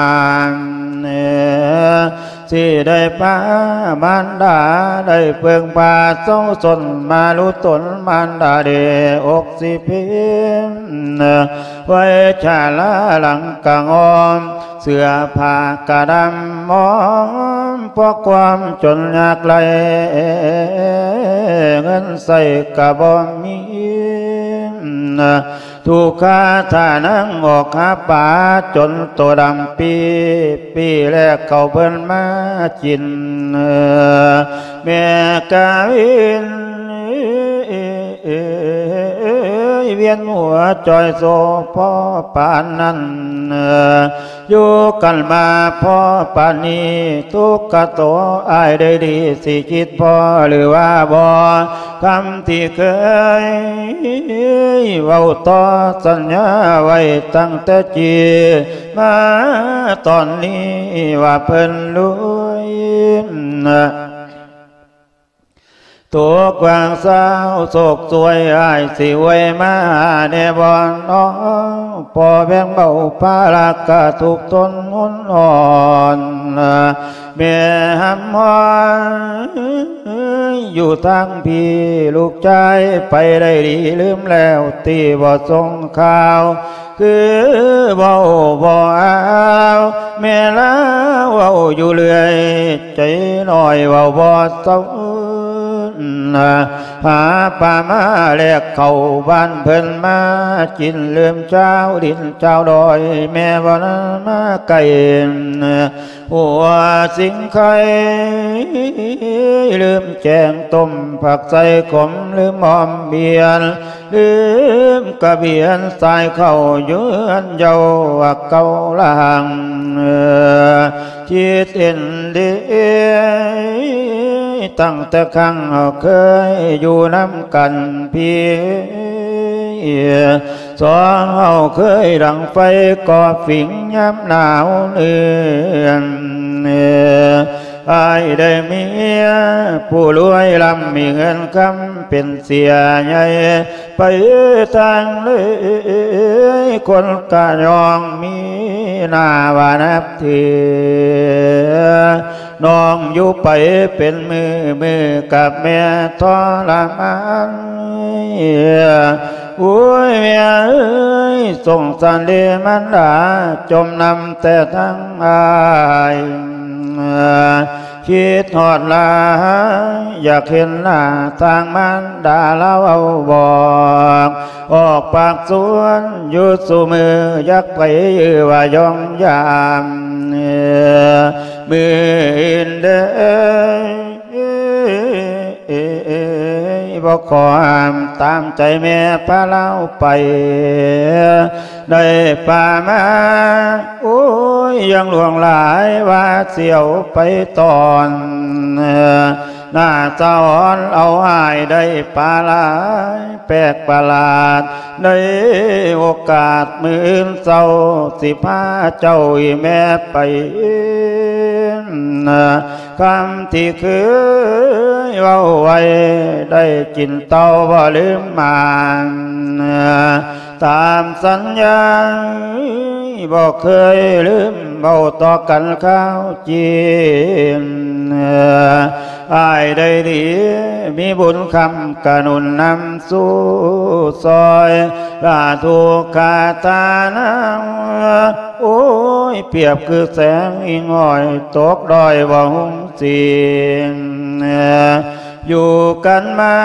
ຊິໄດ້ພາມານດາໄດ້ເພິ່ງພາເຊົາຊົນມາລຸຕົນ ມານດາເດອົກຊິພິມ ໄວ້ຊາລາຫຼັງກະງອມ ເສື້ອຜ້າກະດຳໝອມ ເພາະຄວາມຈົນຍາກໄຮ້ ເງິນໃຊ້ກະບໍ່ມີ ທຸກຂະທ່ານາງອອກຫາປາ ຈົນໂຕດຳປີ ປີແລກເຂົາເພິ່ນມາກິນ ແມ່ກະວິນ ວຽນຫົວຈ່ອຍໂສພໍປານນັ້ນ ຢູ່ກັນມາພໍປານນີ້ ທຸກຂະໂຕອ້າຍໄດ້ດີ ຊິຄິດພໍຫຼືວ່າບໍ່ ຄຳທີ່ເຄີຍເວົ້າຕໍ່ສັນຍາໄວ້ຕັ້ງແຕ່ກີ້ ມາຕອນນີ້ວ່າເພິ່ນລວຍ ຕົກຫວ່າງຊາວໂສກສວຍ ອ້າຍຊິອວຍມາແດ່ບໍ່ນໍ ພໍແບ່ງເບົາພາລະກະທຸກທົນຮຸນອ່ອນ ແມ່ຫຳຮ້ອນຢູ່ທາງພີ້ ລູກຊາຍໄປໄດ້ດີ ລືມແລ້ວຕິບໍ່ສົ່ງຂ່າວ ຄືເວົ້າບໍ່ອາວ ແມ່ລາວເວົ້າຢູ່ເລື້ອຍ ໃຈນ້ອຍເວົ້າບໍ່ເຊົາ ຫາປາມາແລກເຂົ້າບ້ານເພິ່ນມາກິນ ລືມຊາວດິນຊາວດອຍ ແມ່ບໍ່ນຳມາໄກ ຫົວສິງໄຄ ລືມແກງຕົ້ມຜັກໃສ່ຂົມ ລືມອ້ອມບຽນ ລືມກະບຽນສາຍເຂົ້າຢູ່ເຮືອນເຍົາວ່າເກົ່າລະຫັງ ຄິດເຫັນດີ ຕັ້ງແຕ່ຄັ້ງເຄີຍຢູ່ນຳກັນພີ້ ສອງເຮົາເຄີຍດັງໄຟກໍ່ຝິງຍາມໜາວເດືອນ ອ້າຍໄດ້ເມຍຜູ້ລວຍລ້ຳ ມີເງິນຄຳເປັນເສຍໃຫຍ່ ໄປທາງເລີຍ ຄົນກະຍອງມີໜ້າວ່ານັບຖື ນ້ອງຢູ່ໄປເປັນມື້ ມື້ກັບແມ່ທໍລະມານ ໂອ້ຍ ແມ່ເອີຍ ສົງສານເດມານດາ ຈົ່ມນຳແຕ່ທາງອ້າຍ ຄິດຮອດຫຼາຍ ຢາກເຫັນໜ້າທາງມານດາລາວເວົ້າບອກ ອອກປາກຊວນຢູ່ສູ່ມື້ ຢາກໄປເອີວ່າຍ່ອງຢາມ ມື້ອື່ນເດີ ບໍ່ຂໍຫ້າມຕາມໃຈແມ່ພາລາວໄປ ໄດ້ປາມາ ໂອ້ຍ ຍັງຫຼວງຫຼາຍວ່າຊິເອົາໄປຕອນ ໜ້າສະອອນເອົາອ້າຍໄດ້ປາຫຼາຍແປກປະຫຼາດ ໃນໂອກາດມື້ອື່ນເຊົ້າ ຊິພາເຈົ້າອີ່ແມ່ໄປ ຄຳທີ່ເຄີຍເວົ້າໄວ້ ໄດ້ກິນເຕົ້າບໍ່ລືມໝານ ຕາມສັນຍາ ບໍ່ເຄີຍລືມເວົ້າຕໍ່ກັນຄາວຈີນ ອ້າຍໄດ້ດີ ມີບຸນຄຳກະໜູນນຳສູ່ຊ່ອຍ ລາທຸກຂາທານາ ໂອ້ຍ ປຽບຄືແສງອີງຫ້ອຍ ຕົກດ້ອຍບໍ່ຮຸ່ງສີ ຢູ່ກັນມາ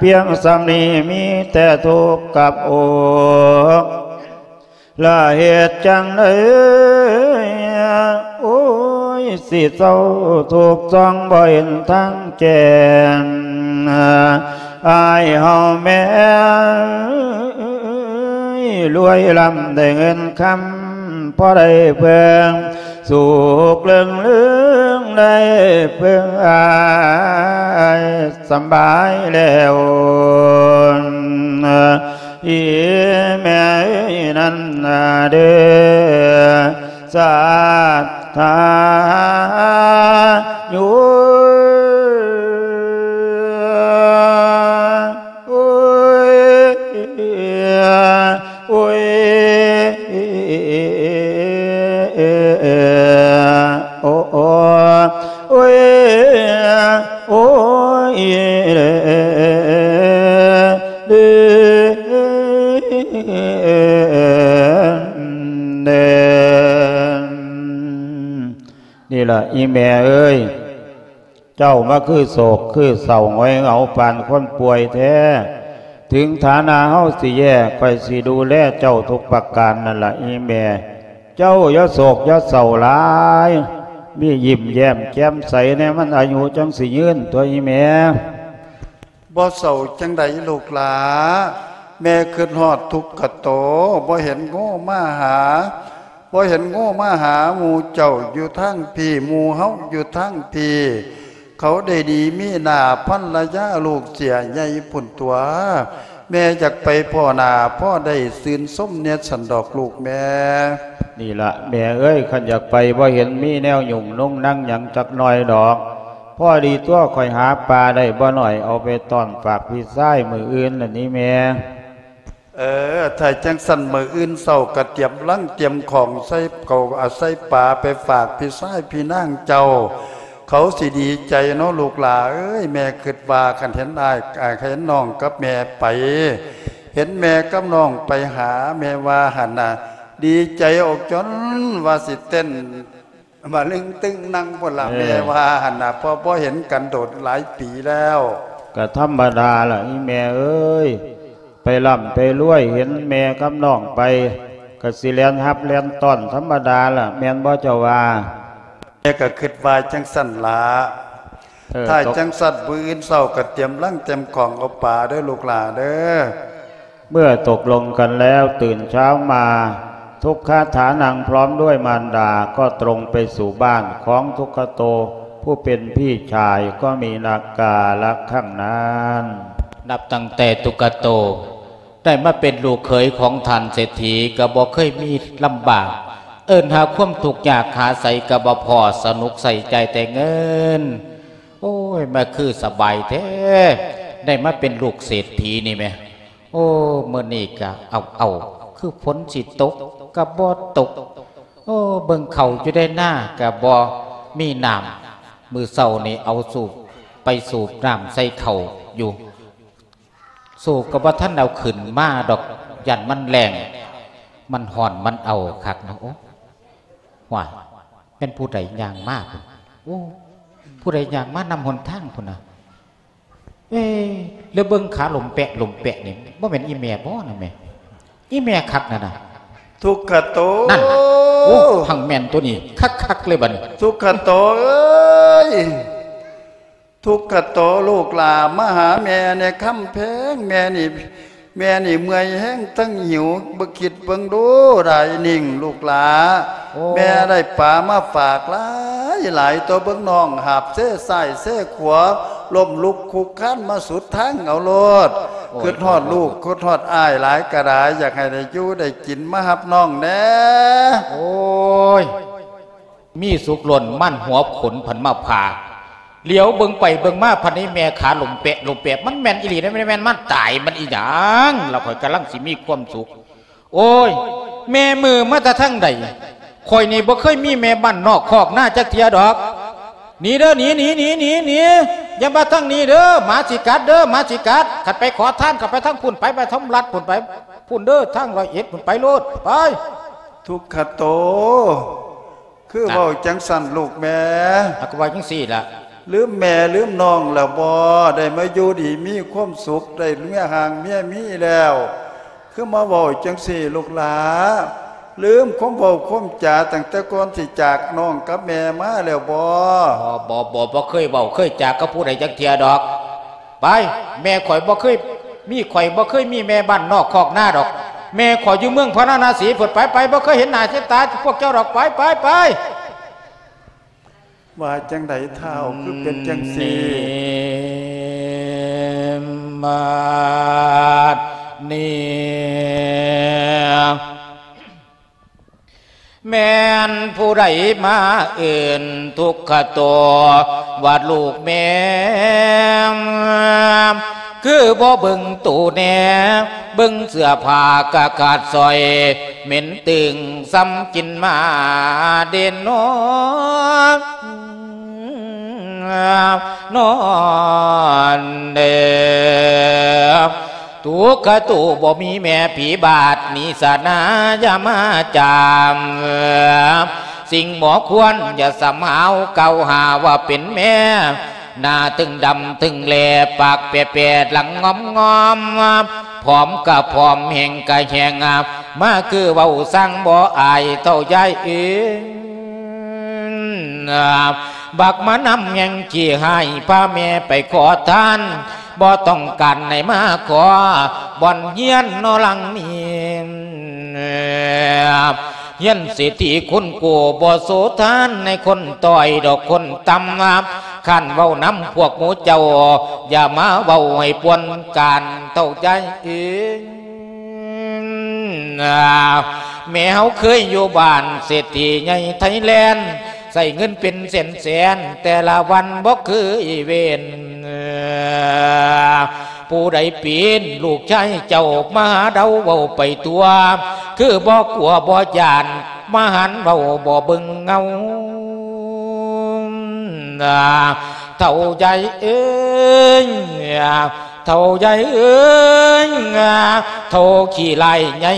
ພຽງສ່ຳນີ້ ມີແຕ່ທຸກກັບອົກ ລະເຮັດຈັ່ງໃດ ໂອ້ຍ ຊິເຊົາທຸກຊ່ອງບໍ່ເຫັນທາງແຈ້ງ ອ້າຍເຮົາແມ່ເອີຍ ລວຍລ້ຳໄດ້ເງິນຄຳ ພໍໄດ້ເພິ່ງ ສຸກເລື່ອງເລື່ອງ ໄດ້ເພິ່ງອ້າຍສຳບາຍແລ້ວ ອີ່ແມ່ເອີຍນັ້ນນາເດີ ສາທາຍຸ ໂອ້ຍ ໂອ້ຍ ໂອ້ ໂອ້ຍ ໂອ້ຍ ເດີ ເດີ ເດີ ນີ້ລະອີ່ແມ່ເອີຍ ເຈົ້າມາຄືໂສກຄືເສົ້າຫງອຍເຫງົາປານຄົນປ່ວຍແທ້. ເຖິງຖານະເຮົາຊິແຍ່ ຂ້ອຍຊິດູແລເຈົ້າທຸກປະການນັ້ນລະອີ່ແມ່. ເຈົ້າຢ່າໂສກຢ່າເສົ້າຫຼາຍ, ມີຍິ້ມແຍ້ມແຈ່ມໃສແດ່ ມັນອາຍຸຈັ່ງຊິຍືນຕົວະອີ່ແມ່. ບໍ່ເສົ້າຈັ່ງໃດລູກຫຼ້າ, ແມ່ຄຶດຮອດທຸກກະໂຕ, ບໍ່ເຫັນໂງ່ມາຫາ, ບໍ່ເຫັນໂງ່ມາຫາໝູ່ເຈົ້າຢູ່ທາງພີ້, ໝູ່ເຮົາຢູ່ທາງພີ້, ເຂົາໄດ້ໜີມີໜ້າພັນລະຍາລູກເສຍໃຫຍ່ພຸ້ນຕົວະ. ແມ່ຢາກໄປພໍ້ໜ້າພໍ້ໄດ້ຊື່ນຊົມແດ່ຊັ້ນດອກລູກແມ່. ນີ້ລະແມ່ເອີຍ, ຄັນຢາກໄປບໍ່ເຫັນມີແນວຫຍຸ້ງນຸງນັງຫຍັງຈັກໜ້ອຍດອກ. ພໍດີຕົວະ ຂ້ອຍຫາປາໄດ້ບໍ່ໜ້ອຍ ເອົາໄປຕ້ອນຝາກພີ່ຊາຍມື້ອື່ນນັ້ນນີ້ແມ່. ເອີ ຖ້າຈັ່ງຊັ້ນມື້ອື່ນເຊົ້າກະຕຽມລັງຕຽມຂອງໃສ່ເຂົ້າ ອາ ໃສ່ປາໄປຝາກພີ່ຊາຍພີ່ນາງເຈົ້າ. ເຂົາຊິດີໃຈເນາະລູກຫຼ້າເອີຍ. ແມ່ຄຶດວ່າຄັນເຫັນອ້າຍ ອາ ເຫັນນ້ອງກັບແມ່ໄປ ເຫັນແມ່ກັບນ້ອງໄປຫາ ແມ່ວ່າຫັ້ນນະ ດີໃຈອອກຈົນວ່າຊິເຕັ້ນ ມາລຶ້ງຕຶງນັ່ງພຸ້ນລະ ເອີ ແມ່ວ່າຫັ້ນນະ ເພາະບໍ່ເຫັນກັນໂດນຫຼາຍປີແລ້ວ. ກະທຳມະດາລະອີ່ແມ່ເອີຍ, ໄປລ່ຳໄປລວຍ ເຫັນແມ່ກັບນ້ອງໄປ ກະຊິແລ່ນຮັບແລ່ນຕ້ອນທຳມະດາລະ ແມ່ນບໍ່ເຈົ້າວ່າ? ແມ່ກະຄຶດວ່າຈັ່ງຊັ້ນລະ. ເອີ ຖ້າຈັ່ງຊັ້ນມື້ອື່ນເຊົ້າກະຕຽມລັງຕຽມຂອງເອົາປາເດີລູກຫຼ້າເດີ. ເມື່ອຕົກລົງກັນແລ້ວ ຕື່ນເຊົ້າມາ ທຸກຄາຖານັ່ງພ້ອມດ້ວຍມານດາ ກໍຕົງໄປສູ່ບ້ານຂອງທຸກຂະໂຕ ຜູ້ເປັນພີ່ຊາຍ ກໍມີນາກາລະຄັ້ງນັ້ນ. ນັບຕັ້ງແຕ່ທຸກຂະໂຕໄດ້ມາເປັນລູກເຂີຍຂອງທ່ານເສດຖີ ກໍບໍ່ເຄີຍມີລຳບາກ ເອີ້ນຫາຄວາມທຸກຍາກຫາໃສກໍບໍ່ພໍ້ ສະໜຸກໃສ່ຈ່າຍແຕ່ເງິນ. ໂອ້ຍ ມາຄືສະບາຍແທ້ ໄດ້ມາເປັນລູກເສດຖີນີ້ແມ. ໂອ້ ມື້ນີ້ກະເອົາໆ ຄືຝົນຊິຕົກກະບໍ່ຕົກ. ໂອ້ ເບິ່ງເຂົ້າຢູ່ໃນນາກະບໍ່ມີນ້ຳ. ມື້ເຊົ້ານີ້ເອົາສູບ ໄປສູບນ້ຳໃສ່ເຂົ້າຢູ່ ສູບກະບໍ່ທັນເອົາຂຶ້ນມາດອກ ຢ້ານມັນແລ້ງ ມັນຮ້ອນ ມັນເອົາຄັກເນາະ. ໂອ້ ຫ້ວຍ ແມ່ນຜູ້ໃດຍ່າງມາພຸ້ນ? ໂອ້ ຜູ້ໃດຍ່າງມານຳຫົນທາງພຸ້ນນະ? ເອີ ແລ້ວເບິ່ງຂາຫຼົມແປະຫຼົມແປະນີ້ ບໍ່ແມ່ນອີ່ແມ່ບໍ່ນະແມ່? ອີ່ແມ່ຄັກນັ້ນນະ ທຸກຂະໂຕ. ນັ້ນນະ ໂອ້ ຮັ່ງແມ່ນຕົວນີ້ ຄັກໆ ເລີຍບັດນີ້ ທຸກຂະໂຕເອີຍ. ທຸກຂະໂຕລູກຫຼ້າ ມາຫາແມ່ແດ່ຄຳແພງ. ແມ່ນີ້ ແມ່ນີ້ເມື່ອຍແຮງທັງຫິວ ເບິ່ງຄິດເບິ່ງດູ ດາຍນິ່ງລູກຫຼ້າ. ໂອ້ ແມ່ໄດ້ປາມາຝາກຫຼາຍໆ ຕົວະເບິ່ງນ້ອງຫາບເຊຊ້າຍເຊຂວາ ລົ້ມລຸກຄຸກຄານມາສຸດທາງເອົາໂລດ. ໂອ້ຍ ຄິດຮອດລູກ ໂອ້ຍ ຄິດຮອດອ້າຍຫຼາຍກະດາຍ ຢາກໃຫ້ໄດ້ຢູ່ໄດ້ກິນ ມາຮັບນ້ອງແດ່. ໂອ້ຍ ມີສຸກລົ້ນມັນຫົວຂົນພັນມາຜ່າ ຫຼຽວເບິ່ງໄປເບິ່ງມາພັນນີ້ແມ່ຂາຫຼົມແປະຫຼົມແປະ ມັນແມ່ນອີ່ຫຼີເດ້ ແມ່ນ ແມ່ນມັນຕາຍມັນອີຫຍັງລະ ຂ້ອຍກຳລັງຊິມີຄວາມສຸກ. ໂອ້ຍ ແມ່ມືມາແຕ່ທາງໃດ? ຂ້ອຍນີ້ບໍ່ເຄີຍມີແມ່ບ້ານນອກຄອກນາຈັກເທື່ອດອກ. ໜີເດີ ໜີ ໜີ ໜີ ໜີ ໜີ ຢ່າມາທາງນີ້ເດີ ໝາຊິກັດເດີ ໝາຊິກັດ. ຄັນໄປຂໍທານກໍໄປທາງພຸ້ນ ໄປ ໄປທາງລັດພຸ້ນ ໄປພຸ້ນເດີ ທາງຮ້ອຍເອັດພຸ້ນ ໄປໂລດ ໄປ. ທຸກຂະໂຕ ຄືເວົ້າຈັ່ງຊັ້ນລູກແມ່? ອາ ກໍເວົ້າຈັ່ງຊີ້ລະ. ລືມແມ່ລືມນ້ອງແລ້ວບໍ? ໄດ້ມາຢູ່ດີມີຄວາມສຸກ ໄດ້ເມຍຮ່າງເມຍມີແລ້ວ ຄືມາເວົ້າຈັ່ງຊີ້ລູກຫຼ້າ? ລືມຄວາມເວົ້າຄວາມຈາຕັ້ງແຕ່ກ່ອນຊິຈາກນ້ອງກັບແມ່ມາແລ້ວບໍ? ບໍ່ ບໍ່ ບໍ່ ບໍ່ເຄີຍເວົ້າເຄີຍຈາກັບຜູ້ໃດຈັກເທື່ອດອກ. ໄປ ແມ່ຂ້ອຍບໍ່ເຄີຍມີ ຂ້ອຍບໍ່ເຄີຍມີແມ່ບ້ານນອກຄອກນາດອກ. ແມ່ຂ້ອຍຢູ່ເມືອງພາລານະສີພຸ້ນ ໄປ ໄປ ບໍ່ເຄີຍເຫັນໜ້າເຫັນຕາພວກເຈົ້າດອກ ໄປ ໄປ ໄປ. ວ່າຈັ່ງໃດທ້າວ ຄືເປັນຈັ່ງຊີ້? ນີ້ ບາດນີ້ ແມ່ນຜູ້ໃດມາເອີ້ນທຸກຂະໂຕ ວ່າລູກແມ່ ຄືບໍ່ເບິ່ງໂຕແດ່ ເບິ່ງເສື້ອຜ້າກະຂາດສ້ອຍ ເໝັນຕຶງສ່ຳກິນໝາເດນອ ນອນເດ. ທຸກຂະໂຕບໍ່ມີແມ່ຜີບາດນີ້ສະນາ ຢ່າມາຈາມ ສິ່ງບໍ່ຄວນ ຢ່າສຳຫາວກ່າວຫາວ່າເປັນແມ່ ໜ້າຕຶງດຳຕຶງແຫຼ ປາກແປໆ ຫຼັງງອມໆ ຜອມກະຜອມ ແຫ້ງກະແຫ້ງ ມາຄືເວົ້າຊ່າງບໍ່ອາຍເຖົ້າຍາຍເອີຍ. ບັກມານຳແຫ່ງຂີ້ຮ້າຍ ພາແມ່ໄປຂໍທານ ບໍ່ຕ້ອງການໃຫ້ມາຂໍ ບ່ອນຮຽນເນາະຫຼັງນີ້ ຮຽນເສດຖີຄຸນກູ ບໍ່ໂສທານໃນຄົນຕ້ອຍດອກຄົນຕ່ຳ ຄ້ານເວົ້ານຳພວກໝູ່ເຈົ້າ ຢ່າມາເວົ້າໃຫ້ປ່ວນການເຖົ້າຍາຍເອີຍ. ແມ່ເຮົາເຄີຍຢູ່ບ້ານເສດຖີໃຫຍ່ໄທແລນ ໃຊ້ເງິນເປັນແສນໆ ແຕ່ລະວັນບໍ່ເຄີຍເວັ້ນ. ຜູ້ໃດປີນລູກຊາຍເຈົ້າມາຫາເດົາເວົ້າໄປທົ່ວ ຄືບໍ່ກົວບໍ່ຢ້ານ ມາຫັນເວົ້າບໍ່ເບິ່ງເງົາ. ເຖົ້າຍາຍເອີຍ ເຖົ້າຍາຍເອີຍ ເຖົ້າຂີ້ຮ້າຍໃຫຍ່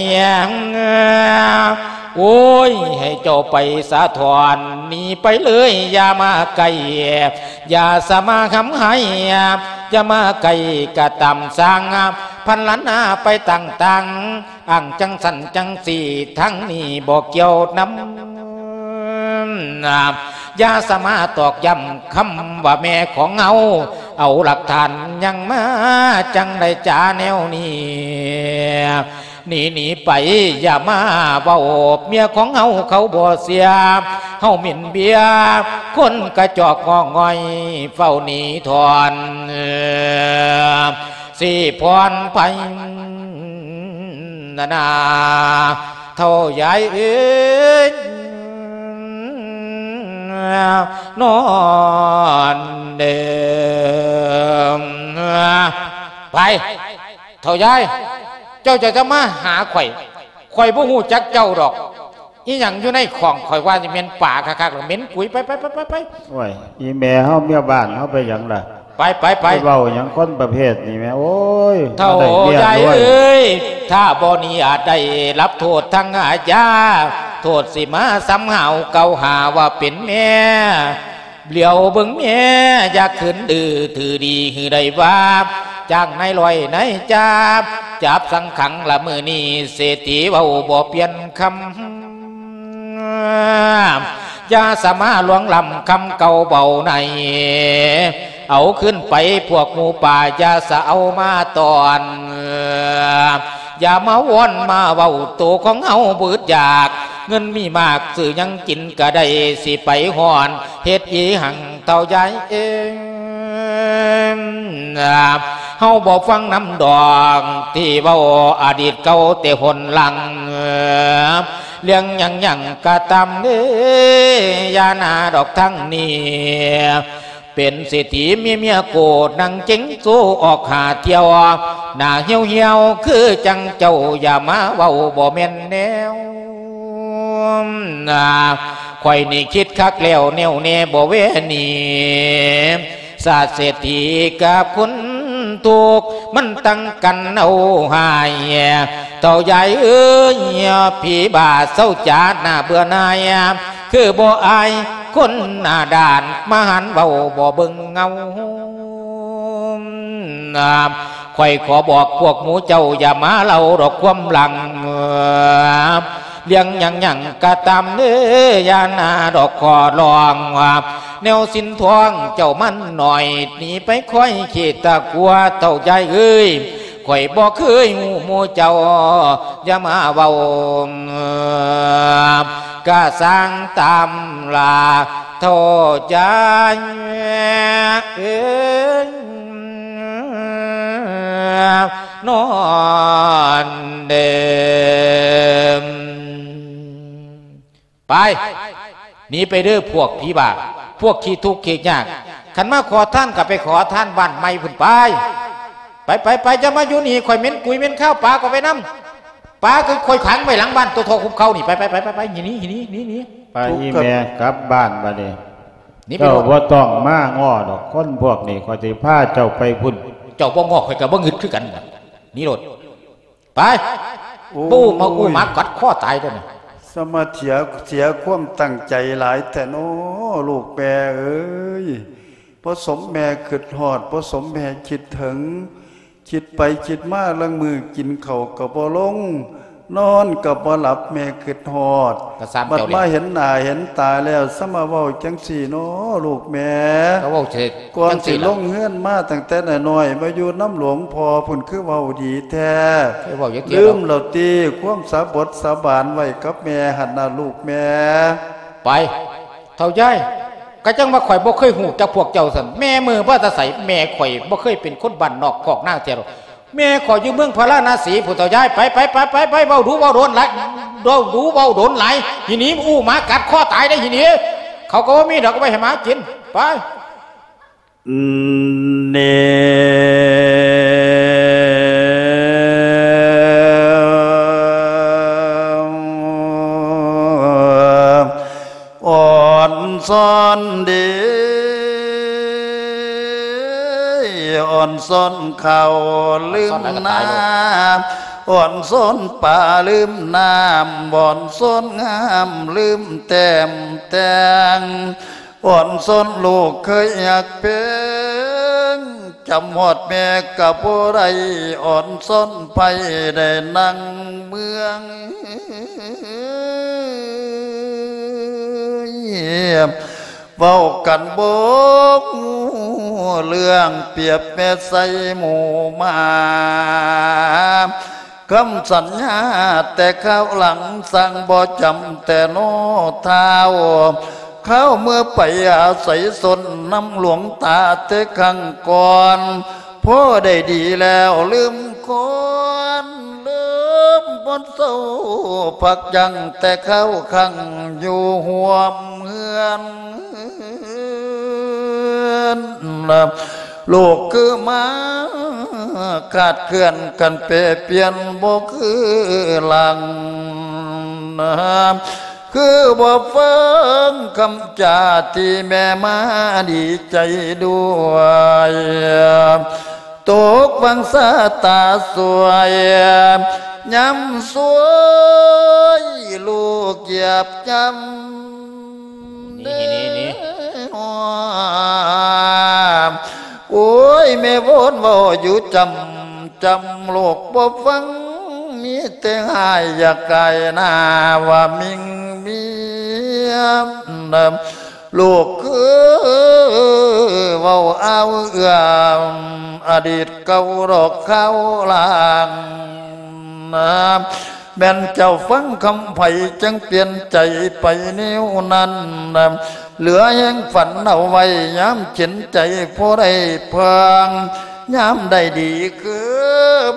ໂອ້ຍ ໃຫ້ເຈົ້າໄປສາຖອນ ໜີໄປເລີຍ ຢ່າມາໃກ້ ຢ່າສະມາຄຳໄຫ້ ຢ່າມາໃກ້ກະຕາມຊ່າງ ພັນລະນາໄປຕ່າງໆ ອ້າງຈັ່ງຊັ້ນຈັ່ງຊີ້ ທາງນີ້ບໍ່ກ່ຽວນຳ. ຢ່າສາມາດຕອກຢ້ຳຄຳວ່າແມ່ຂອງເຮົາ ເອົາຫຼັກຖານຫຍັງມາ ຈັ່ງໄດ້ຈາແນວນີ້. ໜີ ໜີໄປ ຢ່າມາເວົ້າ ເມຍຂອງເຮົາເຂົາບໍ່ເຊື່ອ ເຮົາໝິ່ນເບຍ ຄົນກະຈອກງອກງ່ອຍ ເຝົ້າໜີຖອນ ຊິພອນໄພ ນານາ ເຖົ້າຍາຍເອີຍ ນອນເດີ. ໄປ ເຖົ້າຍາຍ ເຈົ້າຈະ ຈະມາຫາຂ້ອຍ ຂ້ອຍບໍ່ຮູ້ຈັກເຈົ້າດອກ. ອີຫຍັງຢູ່ໃນຂ້ອງ ຂ້ອຍວ່າຊິແມ່ນປາຄັກໆ ແລ້ວ ເໝັນກຸຍ ໄປ ໄປ ໄປ ໄປ ໄປ. ໂອ້ຍ ອີແມ່ເຮົາ ເມຍບ້ານເຮົາໄປຫຍັງລະ? ໄປ ໄປ ໄປ ໄປເວົ້າຫຍັງຄົນປະເພດນີ້ແມ່ ໂອ້ຍ ເຖົ້າຍາຍເອີຍ ຖ້າບໍ່ໜີອາດໄດ້ຮັບໂທດທາງອາຍາ ໂທດຊິມາສຳຫາວກ່າວຫາວ່າເປັນແມ່ ຫຼຽວເບິ່ງແມ່ ຢ່າຂຶ້ນດື້ຖືດີ ຄືໄດ້ວ່າຈ້າງນາຍຮ້ອຍນາຍຈ່າ ຈັບສັງຂັງລະມື້ນີ້ ເສດຖີເວົ້າບໍ່ປ່ຽນຄຳ. ຢ່າສາມາດລ່ວງລ້ຳຄຳເກົ່າເວົ້າໃນ ເອົາຄືນໄປພວກໝູ່ປ່າ ຢ່າສະເອົາມາຕ້ອນ ຢ່າມາວອນມາເວົ້າ ໂຕຂອງເຮົາບຶດຢາກ ເງິນມີມາກຊື້ຫຍັງກິນກະໄດ້ ຊິໄປຮ້ອນເຮັດອີຫຍັງເຖົ້າຍາຍເອີຍ. ເຮົາບໍ່ຟັງນຳດອກ ທີ່ເວົ້າອະດີດເກົ່າແຕ່ຫົນຫຼັງ ເລື່ອງຫຍັງຫຍັງກໍຕາມເດີ ຢ່າໜ້າດອກທາງນີ້ ເປັນເສດຖີມີເມຍໂກດ ນັ່ງເຈັງໂຊອອກຫາທ່ຽວ ໜ້າຫ່ຽວໆ ຄືຈັ່ງເຈົ້າ ຢ່າມາເວົ້າບໍ່ແມ່ນແນວ ຂ້ອຍນີ້ຄິດຄັກແລ້ວ ແນວແນ່ບໍ່ແວໜີ ຊາດເສດຖີກັບຄົນທຸກ ມັນຕັ້ງກັນເອົາຫາຍ ເຖົ້າຍາຍເອີຍ ຜີບ້າເຊົາຈາດໜ້າເບື່ອໜ່າຍ ຄືບໍ່ອາຍຄົນໜ້າດ້ານ ມາຫັນເວົ້າບໍ່ເບິ່ງເງົາ ຂ້ອຍຂໍບອກພວກໝູ່ເຈົ້າ ຢ່າມາເລົ່າດອກຄວາມຫຼັງ ເລື່ອງຫຍັງຫຍັງກໍຕາມເດີ ຢ່າໜ້າດອກຂໍຮ້ອງ ແນວສິນທອງເຈົ້າມັນໜ້ອຍ ໜີໄປຄອຍເຂດຕະກົວ ເຖົ້າຍາຍເອີຍ ຂ້ອຍບໍ່ເຄີຍຮູ້ໝູ່ເຈົ້າ ຢ່າມາເວົ້າ ກະສ້າງຕາມລາ ເຖົ້າຍາຍເອີຍ ນອນເດີ ໄປ ໜີໄປເດີພວກຜີບ້າ ພວກຂີ້ທຸກຂີ້ຍາກ ຄັນມາຂໍທານກໍໄປຂໍທານບ້ານໃໝ່ພຸ້ນໄປ ໄປ ໄປ ໄປ ຢ່າມາຢູ່ນີ້ ຂ້ອຍເໝັນກຸຍເໝັນຄາວ ປາກໍໄປນຳ ປາກໍຂ້ອຍຂັງໄວ້ຫຼັງບ້ານຕົວທໍ່ຄຸບເຂົານີ້ ໄປ ໄປ ໄປ ໄປ ໜີ ໜີ ໜີ ໜີ ໄປ ອີ່ແມ່ ກັບບ້ານບາດນີ້ ໜີໄປ ເຈົ້າບໍ່ຕ້ອງມາງໍ້ດອກ ຄົນພວກນີ້ ຂ້ອຍຊິພາເຈົ້າໄປພຸ້ນ ເຈົ້າບໍ່ງໍ້ ຂ້ອຍກໍບໍ່ງຶດຄືກັນ ໜີໂລດ ໄປ ໂອ້ຍ ປູ້ມາອູ້ໝາກັດຄໍຕາຍເດ້ນີ້ ສະມາເສຍ ເສຍຄວາມຕັ້ງໃຈຫຼາຍແທ້ນໍລູກແມ່ເອີຍ ບໍ່ສົມແມ່ຄິດຮອດ ບໍ່ສົມແມ່ຄິດເຖິງ ຄິດໄປຄິດມາລາງມື້ກິນເຂົ້າກໍບໍ່ລົງ ນອນກໍບໍ່ຫຼັບ ແມ່ຄິດຮອດ ກໍຊ່າງເຈົ້າແຫຼະ ບັດມາເຫັນໜ້າເຫັນຕາແລ້ວ ສະມາເວົ້າຈັ່ງຊີ້ນໍລູກແມ່ ກໍເວົ້າເສຍ ກ່ອນຊິລົງເຮືອນມາຕັ້ງແຕ່ນ້ອຍໆ ມາຢູ່ນຳຫຼວງພໍ່ພຸ້ນ ຄືເວົ້າດີແທ້ ຄືເວົ້າຈັກເທື່ອ ລືມແລ້ວຕິ ຄວາມສາບົດສາບານໄວ້ກັບແມ່ຫັ້ນນະລູກແມ່ ໄປ ເຖົ້າຍາຍ ກະຈັ່ງວ່າຂ້ອຍບໍ່ເຄີຍຮູ້ຈັກພວກເຈົ້າຊັ້ນ ແມ່ເມີມາແຕ່ໃສ ແມ່ຂ້ອຍບໍ່ເຄີຍເປັນຄົນບ້ານນອກຄອກນາເທື່ອດອກ ແມ່ຂ້ອຍຢູ່ເມືອງພາລານະສີພຸ້ນ ເຖົ້າຍາຍ ໄປ ໄປ ໄປ ໄປ ເວົ້າດູເວົ້າດົນຫຼາຍ ເວົ້າດູເວົ້າດົນຫຼາຍ ອີ່ໜີ ອູ້ໝາກັດຄໍຕາຍເດ້ ອີ່ໜີ ເຂົາກໍບໍ່ມີດອກ ເອົາໄວ້ໃຫ້ໝາກິນ ໄປ ເນ ອ່ອນຊອນເດ ອ່ອນຊອນເຂົ້າລືມນ້ຳ ອ່ອນຊອນປາລືມນ້ຳ ອ່ອນຊອນງາມລືມແຕ້ມແຕ່ງ ອ່ອນຊອນລູກເຄີຍຮັກແພງ ຈຳຮອດແມ່ກໍບໍ່ໄດ້ ອ່ອນຊອນໄພໄດ້ນັ່ງເມືອງ ເວົ້າກັນບໍ່ຮູ້ເລື່ອງ ປຽບແມ່ໃສ່ໝູ່ໝາ ຄຳສັນຍາແຕ່ຄາວຫຼັງ ຊ່າງບໍ່ຈຳແຕ່ນໍທ້າວ ຄາວເມື່ອໄປອາໄສສົນນຳຫຼວງຕາແຕ່ຄັ້ງກ່ອນ ພໍໄດ້ດີແລ້ວລືມກ່ອນ ລືມບໍ່ເຊົາພັກຢັ້ງ ແຕ່ຄາວຄັ້ງຢູ່ຮ່ວມເຮືອນ ລູກຄືໝາຂາດເຄື່ອນ ຄັນແປປ່ຽນບໍ່ຄືຫຼັງ ຄືບໍ່ຟັງຄຳຈາທີ່ແມ່ມາດີໃຈດ້ວຍ ຕົກວັງຊາຕາສວຍ ຍາມສວຍລູກຢາບຢຳ ນີ້ ນີ້ ນີ້ ໂອ້ຍ ແມ່ວອນເວົ້າຢູ່ຈຳ ຈຳລູກບໍ່ຟັງ ມີແຕ່ຮ້າຍຢາກກາຍໜ້າວ່າມິ່ງເມຍ ລູກເອີຍ ເວົ້າອ້າວເອື້ອມ ອະດີດເກົ່າດອກຄາວຫຼັງ ແມ່ນເຈົ້າຟັງຄຳໃຜ ຈັ່ງປ່ຽນໃຈໄປແນວນັ້ນ ເຫຼືອແຮງຝັນເອົາໄວ້ ຍາມເຈັນໃຈພໍໄດ້ເພິ່ງ ຍາມໃດດີຄື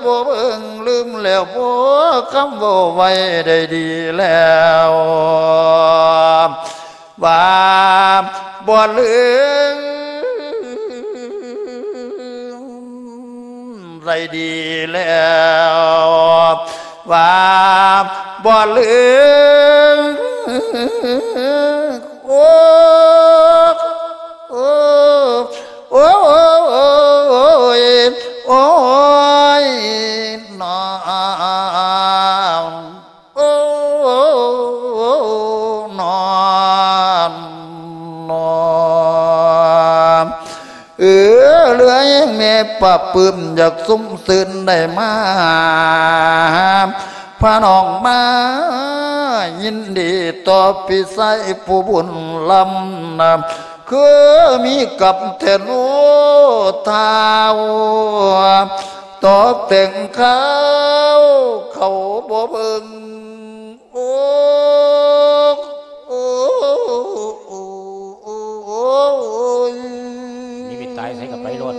ບໍ່ເບິ່ງ ລືມແລ້ວບໍ່ຄຳເວົ້າໄວ້ ໄດ້ດີແລ້ວວ່າບໍ່ລືມ ໄດ້ດີແລ້ວວ່າບໍ່ລືມ ໂອ້ ໂອ້ ໂອ້ຍ ໂອ້ຍ ນອນ ໂອ້ ນອນ ນອນ ເອີ ເຫຼືອແຮງແມ່ປາບປື້ມ ຢາກຊຸມຊື່ນໄດ້ມາ ພານ້ອງມາ ຍິນດີຕໍ່ພີ່ຊາຍຜູ້ບຸນລ້ຳນະ ຄືມີກັບແທ້ໂນທ້າວ ຕອບແຕ່ງຂ່າວເຂົາບໍ່ເບິ່ງ ໂອ້ ໂອ້ ໂອ້ຍ ມີວິດຕາຍໃສກໍໄປໂລດ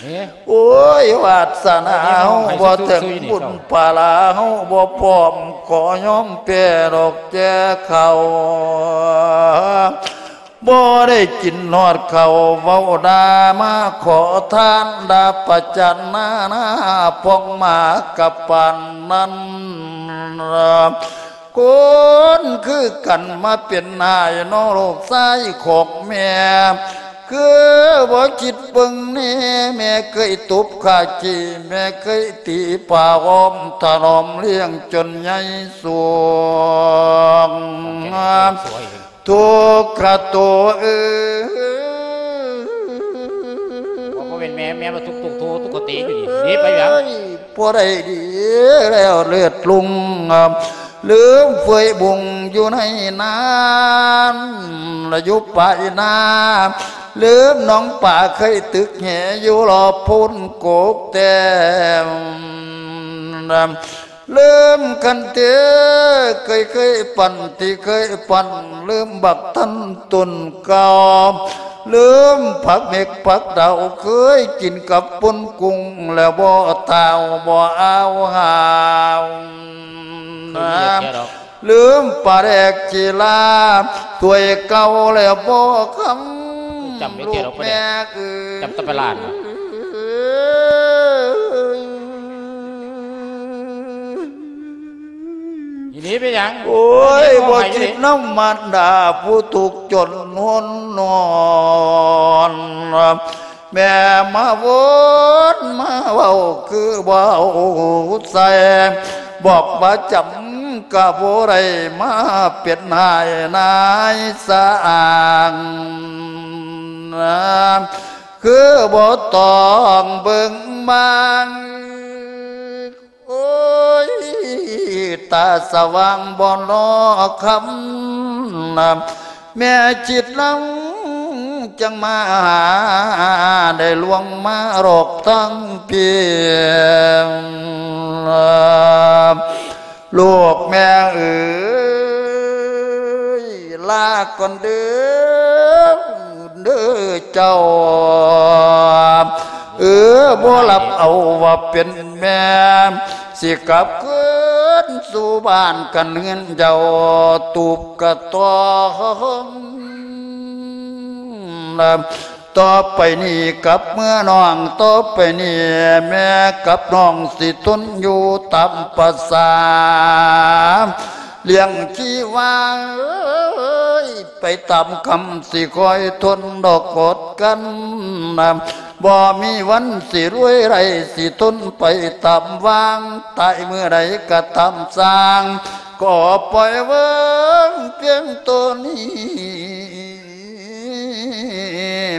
ເອີ ໂອ້ຍ ວາດສະໜາເຮົາບໍ່ເຖິງ ບຸນພາລາເຮົາບໍ່ພ້ອມ ຂໍຍອມແພ້ດອກແຈເຂົາ ບໍ່ໄດ້ກິນຮອດເຂົ້າເວົ້າດ່າ ມາຂໍທານດ່າປະຈານໜ້າໜ້າ ພອງມາກັບປານນັ້ນ ຄົນຄືກັນມາເປັນຫາຍເນາະ ລູກຊາຍຂອງແມ່ ຄືບໍ່ຄິດເບິ່ງແນ່ ແມ່ເຄີຍຕົບຂ້າຂີ້ ແມ່ເຄີຍຕີຜ້າອ້ອມຖະໜອມລ້ຽງຈົນໃຫຍ່ສູງ ທຸກຂະໂຕເອີຍ ບໍ່ແມ່ນແມ່ ແມ່ມາທຸກ ທຸກ ທຸກ ທຸກກະຕິຢູ່ນີ້ ໜີໄປຫຍັງ ບໍ່ໄດ້ດີແລ້ວເລືອດລຸງ ລືມເຟຍບຸງຢູ່ໃນນານ ລະຢູ່ປາຍນາ ລືມໜອງປາເຄີຍຕຶກແຫ ຢູ່ລອບໂພນກົກແຕ້ມ ລືມຄັນເຕ ເຄີຍ ເຄີຍປັ່ນ ທີ່ເຄີຍປັ່ນ ລືມບັກທັນຕົ້ນເກົ່າ ລືມຜັກເໝັກຜັກດາວ ເຄີຍກິນກັບປົ່ນກຸ້ງ ແລ້ວບໍ່ທ້າວບໍ່ອາວຫາວ ລືມປາແດກຈີລາ ຖ້ວຍເກົ່າແລ້ວບໍ່ຄຳ ລູກແມ່ເອີຍ ຈຳຕະປະຫຼາດ ອີນີ້ເປັນຫຍັງ? ໂອ້ຍ ບໍ່ຄິດນຳມານດາຜູ້ທຸກຈົນຫົນນອນ ແມ່ມາວົນມາເວົ້າຄືເວົ້າໃສ່ ບອກວ່າຈຳກະບໍ່ໄດ້ ມາເປັນຫາຍນາຍສາງ ຄືບໍ່ຕ້ອງເບິ່ງບາງ ໂອ້ຍ ຕາສະຫວ່າງບໍ່ລໍຄຳ ແມ່ຈິດເຮົາຈັ່ງມາຫາ ໄດ້ລວງມາຫຼອກທັງພີ້ ລູກແມ່ເອີຍ ລາກ່ອນເດີ ເດີເຈົ້າ ເອີ ບໍ່ຮັບເອົາວ່າເປັນແມ່ ຊິກັບຄືນສູ່ບ້ານກັນເຮືອນເຈົ້າ ຕູບກະຕ້ອງ ຕໍ່ໄປນີ້ກັບເມືອນ້ອງ ຕໍ່ໄປນີ້ແມ່ກັບນ້ອງ ຊິທົນຢູ່ຕາມປະສາ ລ້ຽງຊີວາເອີຍ ໄປຕາມກຳ ຊິຄອຍທົນດອກກົດກັນ ບໍ່ມີວັນຊິລວຍໄດ້ ຊິທົນໄປຕາມວາງ ຕາຍເມື່ອໃດກະຕາມຊ່າງ ກໍປ່ອຍເບິ່ງພຽງໂຕນີ້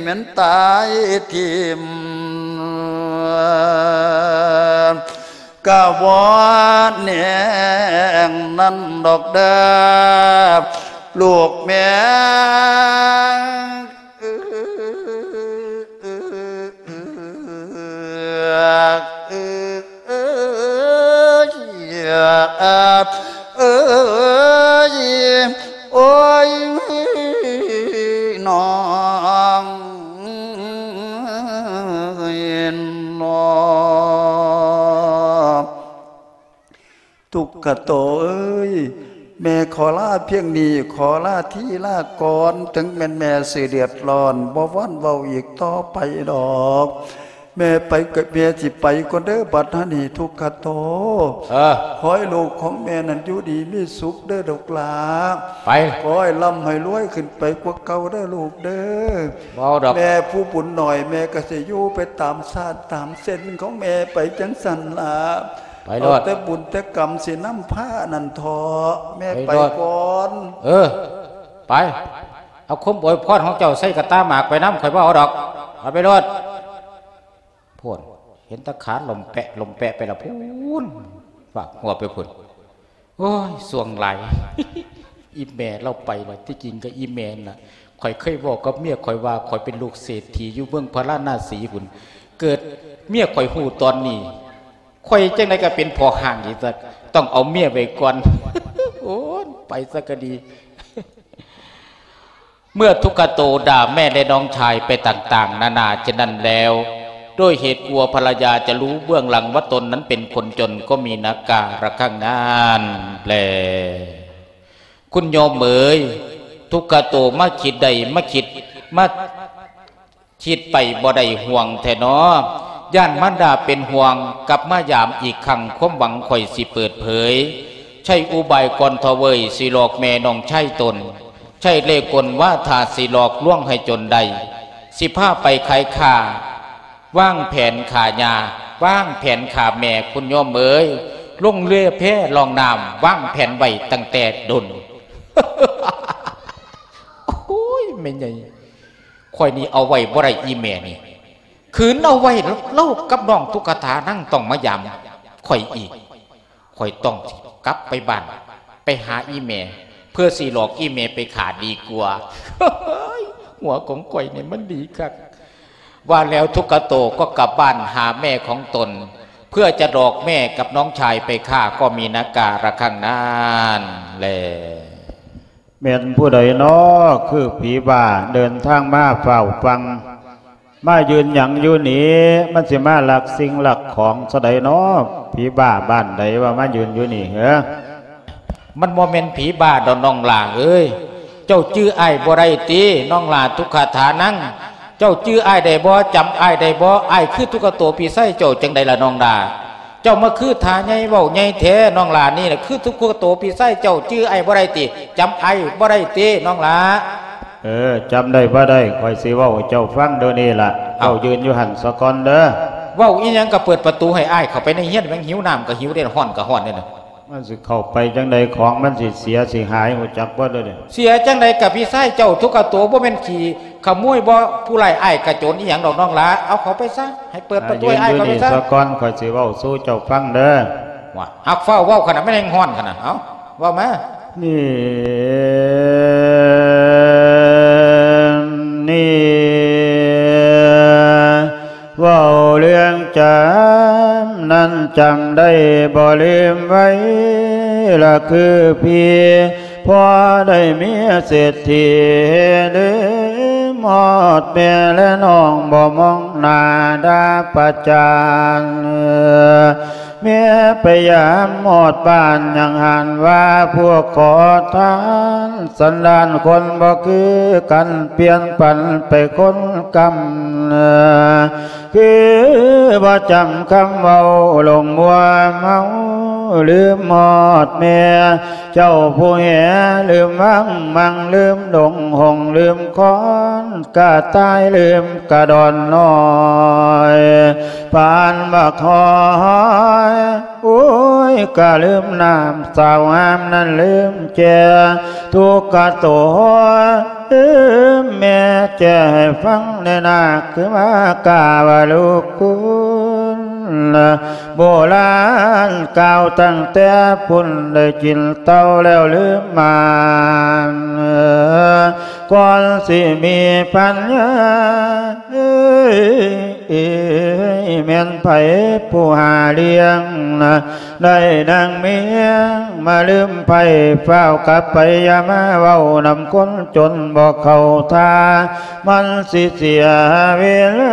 ແມ່ນຕາຍຖິ້ມ ກະບໍ່ແນງນັ້ນດອກເດີ ລູກແມ່ເອີຍ ເອີຍ ໂອ້ຍ ນ້ອງ ທຸກຂະໂຕເອີຍ ແມ່ຂໍລາພຽງນີ້ ຂໍລາທີລາກ່ອນ ເຖິງແມ່ນແມ່ຊິເດືອດຮ້ອນ ບໍ່ວອນເວົ້າອີກຕໍ່ໄປດອກ. ແມ່ໄປກໍ ແມ່ຊິໄປກ່ອນເດີ ບັດນີ້ທຸກຂະໂຕ. ເອີ ຂໍໃຫ້ລູກຂອງແມ່ນັ້ນຢູ່ດີມີສຸກເດີລູກຫຼ້າ. ໄປ ຂໍໃຫ້ລ່ຳໃຫ້ລວຍຂຶ້ນໄປກວ່າເກົ່າເດີລູກເດີ. ບໍ່ດອກ ແມ່ຜູ້ບຸນໜ້ອຍ ແມ່ກໍຊິຢູ່ໄປຕາມຊາດຕາມເຊັ່ນຂອງແມ່ໄປຈັ່ງຊັ້ນລະ. ໄປໂລດ ເອົາແຕ່ບຸນແຕ່ກຳຊິນຳພານັ້ນເຖາະ ແມ່ໄປ ໄປໂລດ ກ່ອນ. ເອີ ໄປ ເອົາຄວາມອວຍພອນຂອງເຈົ້າໃສ່ກະຕ່າໝາກໄປນຳ ຂ້ອຍບໍ່ເອົາດອກ ເອົາໄປໂລດ. ພຸ້ນ ເຫັນແຕ່ຂາລົມແປະລົມແປະໄປລະພຸ້ນ ຟາກຫົວໄປພຸ້ນ. ໂອ້ຍ ສ່ວງຫຼາຍ ອີແມ່ລາວໄປລະ. ທີ່ຈິງກໍອີແມ່ນລະ ຂ້ອຍເຄີຍເວົ້າກັບເມຍຂ້ອຍວ່າ ຂ້ອຍເປັນລູກເສດຖີຢູ່ເມືອງພາລານາສີພຸ້ນ. ເກີດເມຍຂ້ອຍຮູ້ຕອນນີ້ ຂ້ອຍຈັ່ງໃດກໍເປັນພໍ່ຮ້າງອີກ ຕ້ອງເອົາເມຍໄວ້ກ່ອນ. ໂອ້ຍ ໄປຊະກໍດີ. ເມື່ອທຸກຂະໂຕດ່າແມ່ແລະນ້ອງຊາຍໄປຕ່າງໆນານາເຊັ່ນນັ້ນແລ້ວ ດ້ວຍເຫດກົວພັນລະຍາຈະຮູ້ເບື້ອງຫຼັງວ່າຕົນນັ້ນເປັນຄົນຈົນ ກໍມີໜ້າກາລະຄັງນັ້ນແລ. ຄຸນໂຍມເອີຍ ທຸກຂະໂຕມາຄິດໄດ້ ມາຄິດ ມາ ຄິດໄປບໍ່ໄດ້ຫ່ວງແທ້ນໍ ຢ້ານມານດາເປັນຫ່ວງ ກັບມາຢາມອີກຄັ້ງ ຄວາມຫວັງຂ້ອຍຊິເປີດເຜີຍ ໃຊ້ອຸບາຍກ່ອນເຖາະເວີຍ ຊິຫຼອກແມ່ນ້ອງຊາຍຕົນ ໃຊ້ເລ່ກົນວາທາຊິຫຼອກລວງໃຫ້ຈົນໄດ້ ຊິພາໄປຂາຍຂ້າ ວາງແຜນຂ້າຍ່າ ວາງແຜນຂ້າແມ່ ຄຸນໂຍມເອີຍ ລົງເຮືອແພລ່ອງນ້ຳ ວາງແຜນໄວ້ຕັ້ງແຕ່ດົນ. ໂອ້ຍ ແມ່ໃຫຍ່ ຂ້ອຍນີ້ເອົາໄວ້ບໍ່ໄດ້ ອີແມ່ນີ້ ຄືນເອົາໄວ້ ລາວກັບນ້ອງຕຸກກະຖານາງຕ້ອງມາຢາມຂ້ອຍອີກ ຂ້ອຍຕ້ອງຊິກັບໄປບ້ານ ໄປຫາອີແມ່ ເພື່ອຊິຫຼອກອີແມ່ໄປຂ້າດີກວ່າ. ຫົວຂອງຂ້ອຍນີ້ມັນດີຄັກ. ວ່າແລ້ວທຸກຂະໂຕກໍກັບບ້ານຫາແມ່ຂອງຕົນ ເພື່ອຈະຫຼອກແມ່ກັບນ້ອງຊາຍໄປຂ້າ ກໍມີໜ້າກາລະຄັງນັ້ນແລ. ແມ່ນຜູ້ໃດນໍ ຄືຜີບ້າເດີນທາງມາຟ້າວຟັ່ງ ມາຢືນຫຍັງຢູ່ນີ້ ມັນຊິມາລັກສິ່ງລັກຂອງຊະໃດນໍ ຜີບ້າບ້ານໃດວ່າມາຢືນຢູ່ນີ້ເຫີ? ມັນບໍ່ແມ່ນຜີບ້າດອກນ້ອງຫຼ້າເອີຍ ເຈົ້າຈື່ອ້າຍບໍ່ໄດ້ຕິ ນ້ອງຫຼ້າຕຸກຂະຖານັງ ເຈົ້າຈື່ອ້າຍໄດ້ບໍ່ ຈຳອ້າຍໄດ້ບໍ່ ອ້າຍຄືຕຸກຂະໂຕພີ່ຊາຍເຈົ້າຈັ່ງໃດລະນ້ອງຫຼ້າ? ເຈົ້າມາຄືທ່າໃຫຍ່ເວົ້າໃຫຍ່ແທ້ ນ້ອງຫຼ້ານີ້ລະຄືຕຸກຂະໂຕພີ່ຊາຍເຈົ້າ ຈື່ອ້າຍບໍ່ໄດ້ຕິ ຈຳອ້າຍບໍ່ໄດ້ຕິ ນ້ອງຫຼ້າ? ເອີ ຈຳໄດ້ບໍ່ໄດ້ ຂ້ອຍຊິເວົ້າໃຫ້ເຈົ້າຟັງດຽວນີ້ລະ ເອົ້າ ເຈົ້າຢືນຢູ່ຫັ້ນສາກ່ອນເດີ. ເວົ້າອີ່ຫຍັງກໍເປີດປະຕູໃຫ້ອ້າຍເຂົ້າໄປໃນເຮືອນ ແມ່ງຫິວນ້ຳກໍຫິວເດ້ ຮ້ອນກໍຮ້ອນເດ້ນະ. ມັນຊິເຂົ້າໄປຈັ່ງໃດ ຂອງມັນຊິເສຍຊິຫາຍ ຮູ້ຈັກບໍ່ເດີ? ເສຍຈັ່ງໃດ ກະພີ່ຊາຍເຈົ້າທຸກຂະໂຕ ບໍ່ແມ່ນຂີ້ຂະໂມຍບໍ່ ຜູ້ຮ້າຍອ້າຍກະໂຈນອີ່ຫຍັງດອກນ້ອງຫຼ້າ ເອົາເຂົ້າໄປຊະ ໃຫ້ເປີດປະຕູໃຫ້ອ້າຍເຂົ້າໄປຊະ. ສາກ່ອນ ຂ້ອຍຊິເວົ້າສູ່ເຈົ້າຟັງເດີ. ວ່າ ຫາກຟ້າວເວົ້າຂະໜາດ ມັນແຮ່ງຮ້ອນຂະໜາດ ເອົ້າ ເວົ້າມາ. ນີ້ ນີ້ ເວົ້າເລື່ອງຈຳນັ້ນ ຈຳໄດ້ບໍ່ລືມໄວ້ລະຄືພີ່ ພໍໄດ້ເມຍເສດຖີ ລືມຮອດແມ່ແລະນ້ອງ ບໍ່ມອງໜ້າດ່າປະຈານ. ແມ່ໄປຢາມຮອດບ້ານ ຍັງຫັນວ່າພວກຂໍທານ ສັນດານຄົນບໍ່ຄືກັນ ປ່ຽນປັນໄປຄົນກຳ ຄືບໍ່ຈຳຄຳເວົ້າ ຫຼົງມົວເມົາ ລືມຮອດແມ່ ເຈົ້າຜູ້ແຫ ລືມວັງມັງ ລືມດົງຫົງ ລືມຄອນກະຕ່າຍ ລືມກະດອນນ້ອຍ ປານບັກຫອຍ ໂອ້ຍ ກະລືມນ້ຳສາວງາມນັ້ນ ລືມແຈ ທຸກຂະໂຕ ລືມແມ່ແຈໃຫ້ຟັງແດ່ນາ ຄືວ່າກາວ່າລູກຄຸນ ໂບລານກ່າວຕັ້ງແຕ່ພຸ້ນ ໄດ້ກິນເຕົ້າແລ້ວລືມໝານ ກ່ອນຊິມີປັນຍາ ເອີຍ ແມ່ນໃຜຜູ້ຫາລ້ຽງນະ ໄດ້ນາງເມຍມາລືມໃຜ ຟ້າວກັບໄປ ຢ່າມາເວົ້ານຳຄົນຈົນບໍ່ເຂົ້າທ່າ ມັນຊິເສຍເວລາ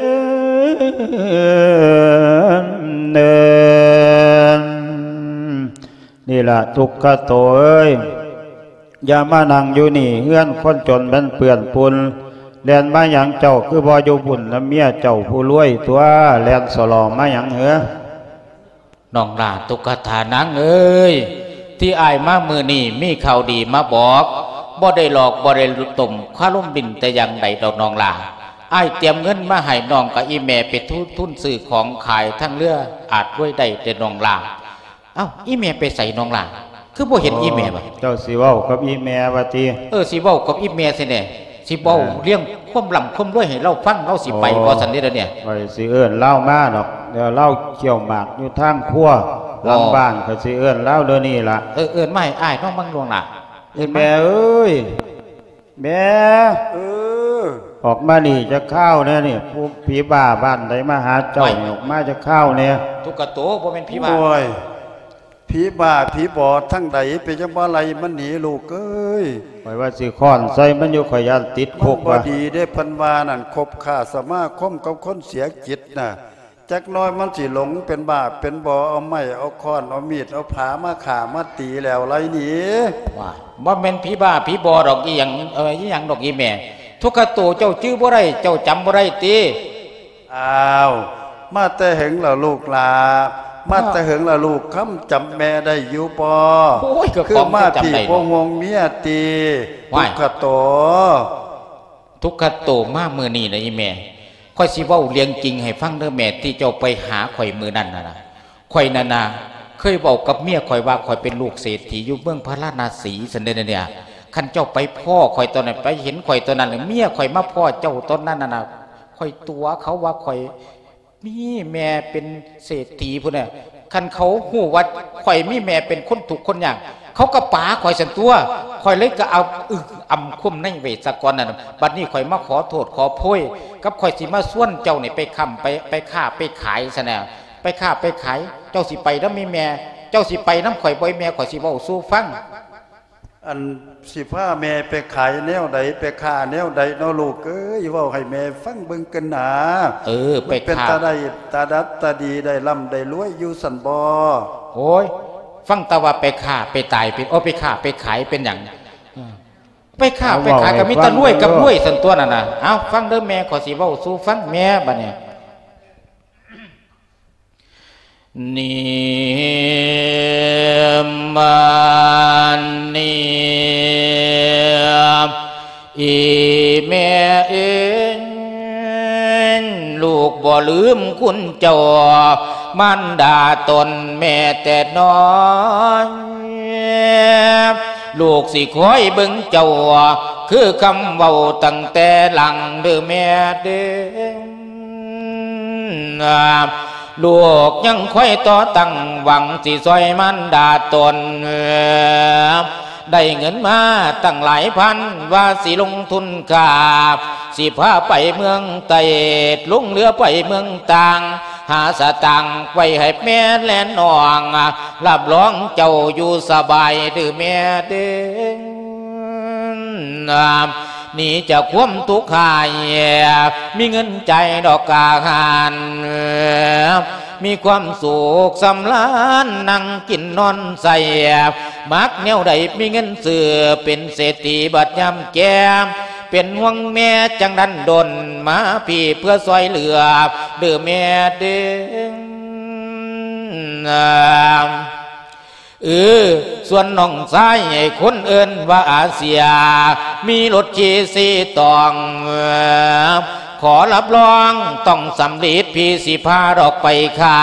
ນີ້ล่ະ ທຸກຂະໂຕເອີຍ ຢ່າມານັ່ງຢູ່ນີ້ ເຮືອນຄົນຈົນມັນເປື້ອນຝຸ່ນ ແລ່ນມາຫຍັງເຈົ້າ ຄືບໍ່ຢູ່ບຸ້ນນຳເມຍເຈົ້າຜູ້ລວຍຕົວະ ແລ່ນສະຫຼໍມາຫຍັງເຫີ? ນ້ອງຫຼ້າ ຕຸກກະຖານາງເອີຍ ທີ່ອ້າຍມາມື້ນີ້ມີຂ່າວດີມາບອກ ບໍ່ໄດ້ຫຼອກບໍ່ໄດ້ຕົ້ມຄາລົມດິນແຕ່ຢ່າງໃດດອກນ້ອງຫຼ້າ. ອ້າຍຕຽມເງິນມາໃຫ້ນ້ອງກັບອີ່ແມ່ໄປທຸນ ທຶນຊື້ຂອງຂາຍທາງເຮືອ ອາດລວຍໄດ້ເດ້ນ້ອງຫຼ້າ. ເອົ້າ ອີ່ແມ່ໄປໃສນ້ອງຫຼ້າ? ຄືບໍ່ເຫັນອີ່ແມ່ວະ? ເຈົ້າຊິເວົ້າກັບອີ່ແມ່ວ່າຕິ? ເອີ ຊິເວົ້າກັບອີ່ແມ່ຊີ້ແນ່ ຊິເວົ້າ ເອີ ລຽງຄວາມລ່ຳຄວາມລວຍໃຫ້ລາວຟັງ ລາວຊິໄປບໍ່ຊັ້ນເດ້ດຽວນີ້? ຂ້ອຍຊິເອີ້ນລາວມາດອກ ດຽວລາວຂ້ຽວໝາກຢູ່ທາງຄົວ ອໍ ຫຼັງບ້ານ ຂ້ອຍຊິເອີ້ນລາວດຽວນີ້ລະ. ເອີ ເອີ້ນມາໃຫ້ອ້າຍນ້ອງເບິ່ງລວງໜ້າ ເອີ້ນມາ. ແມ່ເອີຍ ແມ່ ເອີ ອອກມານີ້ຈັກຄາວແດ່ນີ້ ຜູ້ຜີບ້າບ້ານໃດມາຫາເຈົ້ານີ້ ອອກມາຈັກຄາວແດ່. ທຸກກະໂຕ ບໍ່ແມ່ນຜີບ້າ. ໂອ້ຍ ຜີບ້າຜີບອດທາງໃດ ເປັນຫຍັງບໍ່ໄລ່ມັນໜີລູກເອີຍ? ຂ້ອຍວ່າຊິຄ້ອນໃສ່ມັນຢູ່ ຂ້ອຍຢ້ານຕິດຄຸກ. ມັນບໍ່ດີເດ້ ເພິ່ນວ່ານັ້ນ ຄົບຄ້າສະມາຄົມກັບຄົນເສຍຈິດນະ ຈັກໜ້ອຍມັນຊິຫຼົງເປັນບ້າເປັນບໍ່ ເອົາໄມ້ເອົາຄ້ອນເອົາມີດເອົາຜາມາຂ້າມາຕີແລ້ວໄລ່ໜີ. ວ້າຍ ບໍ່ແມ່ນຜີບ້າຜີບອດດອກ ອີ່ຫຍັງ ເອີ ອີ່ຫຍັງດອກອີ່ແມ່. ທຸກກະໂຕ ເຈົ້າຈື່ບໍ່ໄດ້ ເຈົ້າຈຳບໍ່ໄດ້ຕິ? ອ້າວ ມາແຕ່ເຫິງລະລູກຫຼ້າ? ມາແຕ່ເຫິງລະລູກ ຄຳຈຳແມ່ໄດ້ຢູ່ບໍ່? ໂອ້ຍ ກໍ ຄືມາ ຂອງຈຳ ພີ່ ໄດ້ ບໍ່ ເນາະ ຫ່ວງເມຍຕິ? ວ້າຍ ທຸກຂະໂຕ ທຸກຂະໂຕ ມາມື້ນີ້ນະອີ່ແມ່ ຂ້ອຍຊິເວົ້າເລື່ອງຈິງໃຫ້ຟັງເດີແມ່ ທີ່ເຈົ້າໄປຫາຂ້ອຍມື້ນັ້ນນະ ຂ້ອຍນັ້ນນະ ເຄີຍເວົ້າກັບເມຍຂ້ອຍວ່າ ຂ້ອຍເປັນລູກເສດຖີຢູ່ເມືອງພາລານະສີຊັ້ນເດ ອັນນີ້ ຄັນເຈົ້າໄປພໍ້ຂ້ອຍຕອນນັ້ນ ໄປເຫັນຂ້ອຍຕອນນັ້ນ ເມຍຂ້ອຍມາພໍ້ເຈົ້າຕອນນັ້ນນະ ຂ້ອຍຕົວະເຂົາວ່າຂ້ອຍມີແມ່ເປັນເສດຖີພຸ້ນນະ ຄັນເຂົາຮູ້ວ່າຂ້ອຍມີແມ່ເປັນຄົນທຸກຄົນຍາກ ເຂົາກໍປາຂ້ອຍຊັ້ນຕົວະ ຂ້ອຍເລີຍກໍເອົາອຶກອຳຄົມໃນໄວ້ຊະກ່ອນນັ້ນ ບັດນີ້ຂ້ອຍມາຂໍໂທດຂໍໂພຍ ກັບຂ້ອຍຊິມາຊວນເຈົ້ານີ້ໄປຄ້ຳ ໄປ ໄປຄ້າໄປຂາຍຊັ້ນນະ ໄປຄ້າໄປຂາຍ ເຈົ້າຊິໄປນຳແມ່ ເຈົ້າຊິໄປນຳຂ້ອຍບໍ່ ແມ່ ຂ້ອຍຊິເວົ້າສູ່ຟັງ. ອັນ ຊິພາແມ່ໄປຂາຍແນວໃດ ໄປຄ້າແນວໃດເນາະລູກເອີຍ ເວົ້າໃຫ້ແມ່ຟັງເບິ່ງກັນນາ. ເອີ ໄປຄ້າ ມັນເປັນຕາໄດ້ຕາດັດຕາດີ ໄດ້ລ່ຳໄດ້ລວຍຢູ່ຊັ້ນບໍ່? ໂອ້ຍ ຟັງແຕ່ວ່າໄປຄ້າໄປຕາຍເປັນ ໂອ້ ໄປຄ້າໄປຂາຍເປັນຫຍັງ? ເອີ ໄປຄ້າໄປຂາຍກໍມີແຕ່ລວຍກັບລວຍຊັ້ນຕົວະນັ້ນນະ. ເອົາ ຟັງເດີແມ່ ຂ້ອຍຊິເວົ້າສູ່ຟັງແມ່ ບັດນີ້ ນິມານີ່ ອີແມ່ເອີຍ ລູກບໍ່ລືມຄຸນເຈົ້າ ມານດາຕົນແມ່ແຕ່ນ້ອຍ ລູກຊິຄອຍເບິ່ງເຈົ້າ ຄືຄຳເວົ້າຕັ້ງແຕ່ຫຼັງເດີແມ່ເດີ. ລູກຍັງຄອຍຕໍ່ຕັ້ງຫວັງ ຊິຊ່ອຍມານດາຕົນ ໄດ້ເງິນມາຕັ້ງຫຼາຍພັນ ວ່າຊິລົງທຶນຄ້າ ຊິພາໄປເມືອງໃຕ້ ລົງເຮືອໄປເມືອງຕ່າງ ຫາສະຕາງໄວ້ໃຫ້ແມ່ແລະນ້ອງ ຮັບຮອງເຈົ້າຢູ່ສະບາຍເດີແມ່ເດີ. ໜີຈາກຄວາມທຸກຮ້າຍ ມີເງິນຈ່າຍດອກຄ່າອາຫານ ມີຄວາມສຸກສຳລານ ນັ່ງກິນນອນໃຊ້ ມັກແນວໃດມີເງິນຊື້ ເປັນເສດຖີບັດຍາມແກ່ ເປັນຫ່ວງແມ່ຈັ່ງດັນດົນ ມາພີ້ເພື່ອຊ່ອຍເຫຼືອເດີແມ່ເດີ. ເອີ ສ່ວນນ້ອງຊາຍ ໃຫ້ຄົນເອີ້ນວ່າອາເຊຍ ມີລົດຂີ່ສີຕອງ ຂໍຮັບຮອງຕ້ອງສຳລິດ ພີ່ຊິພາດອກໄປຄ້າ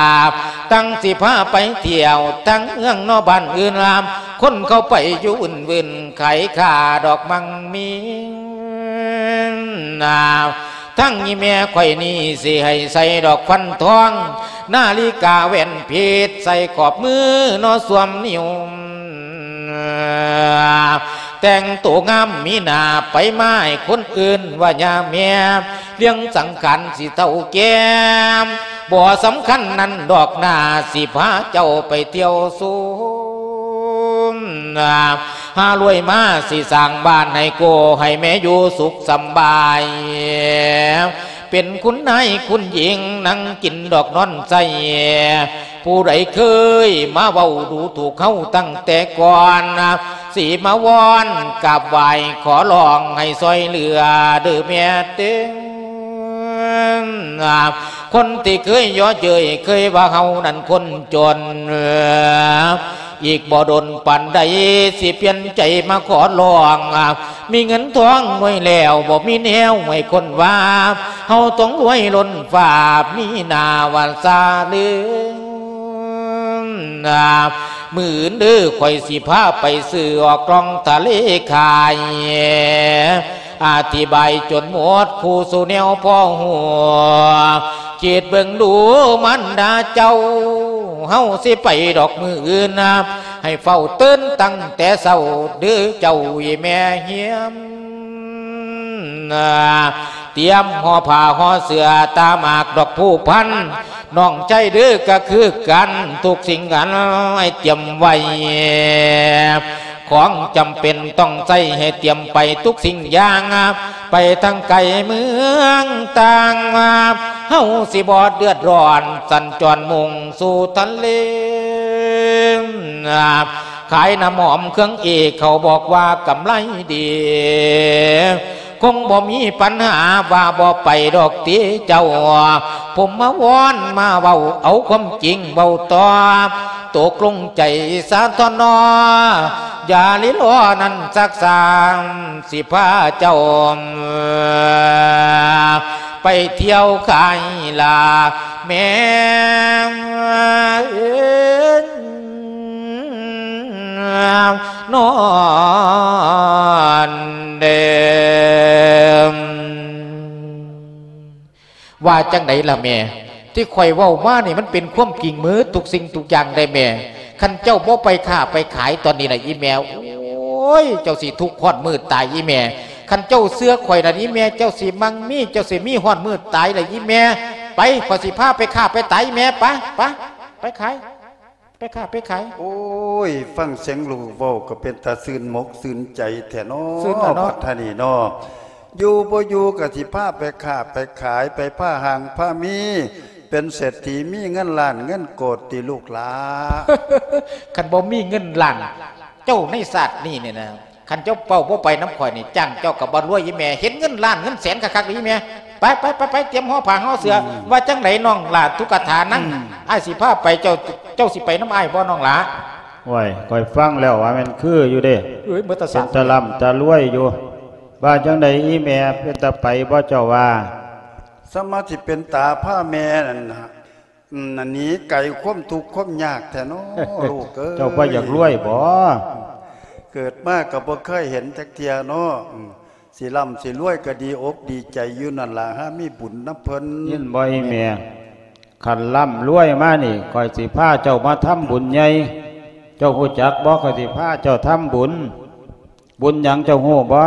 ທັງຊິພາໄປທ່ຽວ ທັງເມືອງນອກບ້ານອື່ນລາ ຄົນເຂົາໄປຢູ່ອື່ນໆ ຂາຍຄ້າດອກມັ່ງມີ ນາ ທັງອີ່ແມ່ຂ້ອຍນີ້ ຊິໃຫ້ໃສ່ດອກຟັນທອງ ນາລິກາແຫວນເພັດ ໃສ່ຂອບມືເນາະ ສ່ວມນິ້ວ ແຕ່ງໂຕງາມມີໜ້າ ໄປມາໃຫ້ຄົນອື່ນວ່າຍ່າແມ່ ເລື່ອງສັງຂານຊິເຖົ້າແກ່ ບໍ່ສຳຄັນນັ້ນດອກໜ້າ ຊິພາເຈົ້າໄປທ່ຽວຊົມ ຫາລວຍມາ ຊິສ້າງບ້ານໃຫ້ໂກ ໃຫ້ແມ່ຢູ່ສຸກສຳບາຍ ເປັນຄຸນນາຍຄຸນຍິງ ນັ່ງກິນດອກນອນໃຊ້ ຜູ້ໃດເຄີຍມາເວົ້າດູຖູກເຮົາຕັ້ງແຕ່ກ່ອນ ຊິມາວອນກາບໄຫວ້ ຂໍຮ້ອງໃຫ້ຊ່ອຍເຫຼືອເດີແມ່ເດີ. ຄົນທີ່ເຄີຍເຍາະເຍີ້ຍ ເຄີຍວ່າເຮົານັ້ນຄົນຈົນ ອີກບໍ່ດົນປານໃດ ຊິປ່ຽນໃຈມາຂໍຮ້ອງ ມີເງິນທອງໜ່ວຍແລ້ວ ບໍ່ມີແນວໃຫ້ຄົນວ່າ ເຮົາຕ້ອງລວຍລົ້ນຟ້າ ມີໜ້າວ່າຊາເຫຼືອ ມື້ອື່ນເດີ ຂ້ອຍຊິພາໄປຊື້ອອກລ່ອງທະເລຂາຍ ອະທິບາຍຈົນໝົດຄູ່ສູ່ແນວພໍຮູ້ ຄິດເບິ່ງດູມານດາເຈົ້າ ເຮົາຊິໄປດອກມື້ອື່ນນະ ໃຫ້ເຝົ້າຕື່ນຕັ້ງແຕ່ເຊົ້າເດີເຈົ້າອີ່ແມ່ຮຽມ ຕຽມຫໍ່ຜ້າຫໍ່ເສື້ອ ຕາໝາກດອກພູພັນ ນ້ອງໃຈເດີກະຄືກັນ ທຸກສິ່ງອັນໃຫ້ຕຽມໄວ້ ຂອງຈຳເປັນຕ້ອງໃຊ້ໃຫ້ຕຽມໄປທຸກສິ່ງຢ່າງ ໄປທາງໄກເມືອງຕ່າງ ເຮົາຊິບໍ່ເດືອດຮ້ອນ ສັນຈອນມຸ່ງສູ່ທະເລ ຂາຍນ້ຳຫອມເຄື່ອງເອກ ເຂົາບອກວ່າກຳໄລດີ ຄົງບໍ່ມີປັນຫາ ວ່າບໍ່ໄປດອກຕິເຈົ້າ ຜົມມາວອນມາເວົ້າ ເອົາຄວາມຈິງເວົ້າຕໍ່ ຕົກລົງໃຈສາທອນນອ ຢ່າລີລໍນັ້ນຊັກຊ້າ ຊິພາເຈົ້າ ໄປທ່ຽວຂາຍລາແມ່ນອນເດີ. ວ່າຈັ່ງໃດລະແມ່? ທີ່ຂ້ອຍເວົ້າມານີ້ມັນເປັນຄວາມຈິງໝົດທຸກສິ່ງທຸກຢ່າງເດ້ແມ່. ຄັນເຈົ້າບໍ່ໄປຄ້າໄປຂາຍຕອນນີ້ນະອີ່ແມ່ ໂອ້ຍ ເຈົ້າຊິທຸກຮອດມື້ຕາຍອີ່ແມ່. ຄັນເຈົ້າເຊື່ອຂ້ອຍນະອີ່ແມ່ ເຈົ້າຊິມັ່ງມີ ເຈົ້າຊິມີຮອດມື້ຕາຍລະອີ່ແມ່. ໄປ ຂ້ອຍຊິພາໄປຄ້າໄປຂາຍອີ່ແມ່. ໄປ ໄປ ໄປຂາຍ ໄປຄ້າໄປຂາຍ. ໂອ້ຍ ຟັງສຽງລູກເວົ້າກໍເປັນຕາຊື່ນອົກຊື່ນໃຈແທ້ເນາະ ຊື່ນລະເນາະ ບັດທານີ້ເນາະ. ຢູ່ບໍ່ຢູ່ກໍຊິພາໄປຄ້າໄປຂາຍ ໄປພາຮ່າງພາມີ ເປັນເສດຖີມີເງິນລ້ານເງິນໂກດຕິລູກຫຼ້າ. ຄັນບໍ່ມີເງິນລ້ານ ເຈົ້າໃນຊາດນີ້ນີ້ນະ ຄັນເຈົ້າເວົ້າບໍ່ໄປນຳຂ້ອຍນີ້ ຈ້າງເຈົ້າກໍບໍ່ລວຍອີ່ແມ່. ເຫັນເງິນລ້ານເງິນແສນຄັກໆນີ້ອີ່ແມ່. ໄປ ໄປ ໄປ ໄປ ຕຽມຫໍ່ຜ້າຫໍ່ເສືອ. ອືມ ວ່າຈັ່ງໃດນ້ອງຫຼ້າ ທຸກກະຖານັ່ງ ອືມ ອ້າຍຊິພາໄປ ເຈົ້າ ເຈົ້າຊິໄປນຳອ້າຍບໍ່ນ້ອງຫຼ້າ? ໂອ້ຍ ຂ້ອຍຟັງແລ້ວວ່າແມ່ນຄືຢູ່ເດ້. ເອີຍ ເປັນຕາລ່ຳຕາລວຍຢູ່. ວ່າຈັ່ງໃດອີ່ແມ່ ເປັນຕາໄປບໍ່ເຈົ້າວ່າ? ສາມາດຊິເປັນຕາພາແມ່ນັ້ນ ອືມ ໜີໄກຄວາມທຸກຄວາມຍາກແທ້ເນາະ ລູກເອີຍ. ເຈົ້າບໍ່ຢາກລວຍບໍ? ເກີດມາກໍບໍ່ເຄີຍເຫັນຈັກເທື່ອເນາະ. ອືມ ຊິລ່ຳຊິລວຍກໍດີອົກດີໃຈຢູ່ນັ້ນລະ ຫາມີບຸນນຳເພິ່ນ. ຍິນບໍ່ອີ່ແມ່? ຄັນລ່ຳລວຍມານີ້ ຂ້ອຍຊິພາເຈົ້າມາທຳບຸນໃຫຍ່. ເຈົ້າຮູ້ຈັກບໍ່? ຂ້ອຍຊິພາເຈົ້າທຳບຸນ. ບຸນຫຍັງເຈົ້າຮູ້ບໍ່?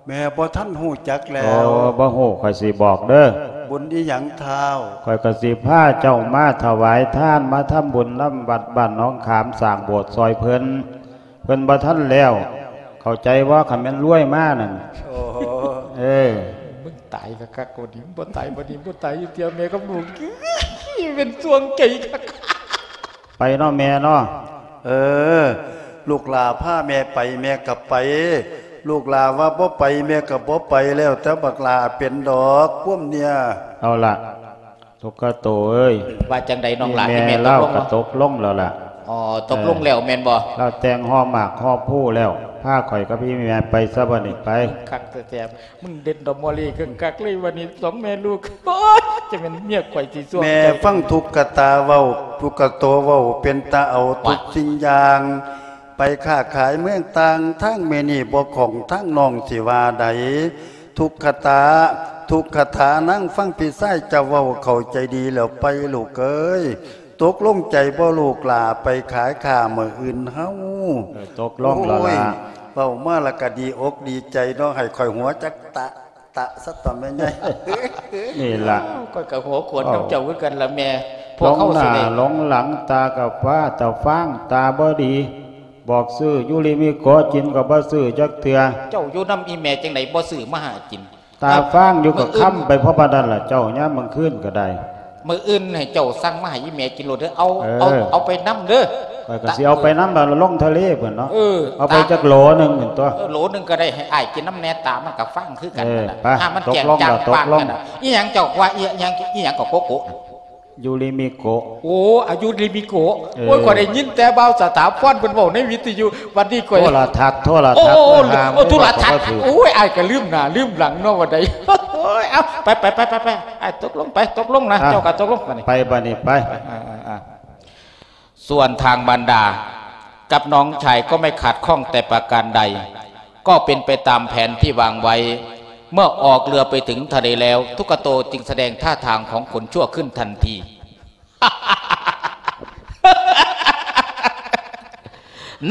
ແມ່ບໍ່ທັນຮູ້ຈັກແລ້ວ. ໂອ້ ບໍ່ຮູ້ ຂ້ອຍຊິບອກເດີ. ບຸນອີ່ຫຍັງທ້າວ? ຂ້ອຍກໍຊິພາເຈົ້າມາຖວາຍທານ ມາທຳບຸນນຳວັດບ້ານໜອງຂາມ ສ້າງໂບດຊ່ອຍເພິ່ນ. ເພິ່ນບໍ່ທັນແລ້ວ ເຂົ້າໃຈບໍ່? ຄັນແມ່ນລວຍມານັ້ນ. ໂອ້ ເອີ ມຶງຕາຍຄັກໆ ບໍ່ດີ ບໍ່ຕາຍ ບໍ່ດີ ບໍ່ຕາຍຢູ່ເທື່ອ ແມ່ກັບລູກ ເປັນຊ່ວງໃຈຄັກ. ໄປເນາະແມ່ເນາະ. ເອີ ລູກຫຼ້າພາແມ່ໄປ ແມ່ກໍໄປ. ລູກຫຼ້າວ່າບໍ່ໄປ ແມ່ກໍບໍ່ໄປ. ແລ້ວແຕ່ບັກຫຼ້າເປັນດອກ ພວມເນຍ. ເອົາລະ ຕົກກະໂຕເອີຍ. ວ່າຈັ່ງໃດນ້ອງຫຼ້າ? ແມ່ລາວກໍຕົກລົງແລ້ວລະ. ອໍ ຕົກລົງແລ້ວແມ່ນບໍ່? ລາວແຕ່ງຫໍ່ໝາກຫໍ່ພູແລ້ວ. ພາຂ້ອຍກັບອີ່ແມ່ໄປຊະບັດນີ້ໄປ. ຄັກແທ້ໆ. ມຶງເດັດດອກມໍລີຄັກໆເລີຍ ວັນນີ້ສອງແມ່ລູກ. ໂອ້ຍ ຈະແມ່ນເມຍຂ້ອຍຊິຊ່ວງ. ແມ່ຟັງທຸກກະຕາເວົ້າ ທຸກກະໂຕເວົ້າ ເປັນຕາເອົາທຸກສິ່ງຢ່າງ. ໄປຄ້າຂາຍເມືອງຕ່າງ ທາງແມ່ນີ້ບໍ່ຄ່ອງ ທາງນ້ອງຊິວ່າໃດ. ທຸກກະຕາ ທຸກກະຕາ ນາງຟັງພີ່ຊາຍເຈົ້າເວົ້າ ເຂົ້າໃຈດີແລ້ວໄປລູກເອີຍ. ຕົກລົງໃຈບໍ່ລູກຫຼ້າ ໄປຂາຍຄ້າມື້ອື່ນເຮົາ? ເອີ ຕົກລົງແລ້ວລະ. ໂອ້ຍ ເວົ້າມາລະກະດີອົກດີໃຈເນາະ ໃຫ້ຂ້ອຍຫົວຈັກຕະ ຕະສະຕອມແມ່ໃຫຍ່. ນີ້ລະ ຂ້ອຍກໍຫົວຂວນນຳເຈົ້າຄືກັນລະແມ່. ພວກເຮົາຊິໄດ້ ຫຼົງໜ້າຫຼົງຫຼັງ ຕາກໍຟ້າຕາຟາງ ຕາບໍ່ດີ ບອກຊື້ຢູລິມິໂກະກິນກໍບໍ່ຊື້ຈັກເທື່ອ. ເຈົ້າຢູ່ນຳອີ່ແມ່ຈັ່ງໃດບໍ່ຊື້ມາໃຫ້ກິນ? ຕາຟາງຢູ່ກໍຄ້ຳໄປພໍປານນັ້ນລະເຈົ້າ ຍາມກາງຄືນກໍໄດ້. ມື້ອື່ນໃຫ້ເຈົ້າສັ່ງມາໃຫ້ອີ່ແມ່ກິນໂລດເດີ. ເອົາ ເອີ ເອົາ ເອົາໄປນຳເດີ. ຂ້ອຍກໍຊິເອົາໄປນຳລະ ລົງທະເລພຸ້ນເນາະ. ເອີ ເອົາໄປຈັກໂຫຼໜຶ່ງພຸ້ນຕົວະ. ເອີ ໂລໜຶ່ງກໍໄດ້ ໃຫ້ອ້າຍກິນນຳແດ່. ຕາມັນກໍຟາງຄືກັນ. ເອີ ນັ້ນນະ ໄປ ຫາມັນແຈງຈາງປາກກັນນະ. ອີ່ຫຍັງເຈົ້າວ່າ ອີ່ຫຍັງ ອີ່ຫຍັງກໍໂກໂກະ? ຢູລິມິໂກະ. ໂອ້ ອາຍຸລິມິໂກະ. ເອີ ໂອ້ຍ ຂ້ອຍໄດ້ຍິນແຕ່ບ່າວສະຖາພອນເພິ່ນເວົ້າໃນວິທະຍຸ ບັດນີ້ຂ້ອຍ ໂທລະທັດ ໂທລະທັດ. ໂອ້ ໂອ້ ໂທລະທັດ. ໂອ້ຍ ອ້າຍກໍລືມໜ້າລືມຫຼັງເນາະ ວ່າໃດ. ໂອ້ຍ ເອົາ ໄປ ໄປ ໄປ ໄປ ໄປ ອ້າຍ ຕົກລົງໄປ ຕົກລົງນະ. ອ່ະ ເຈົ້າກໍຕົກລົງບັດນີ້ ໄປບັດນີ້ໄປ. ອ່າ ອ່າ ອ່າ ສ່ວນທາງມານດາກັບນ້ອງຊາຍກໍໄມ່ຂັດຂ້ອງແຕ່ປະການໃດ. ກໍເປັນໄປຕາມແຜນທີ່ວາງໄວ້. ເມື່ອອອກເຮືອໄປເຖິງທະເລແລ້ວ ທຸກກະໂຕຈຶ່ງສະແດງທ່າທາງຂອງຄົນຊົ່ວຂຶ້ນທັນທີ.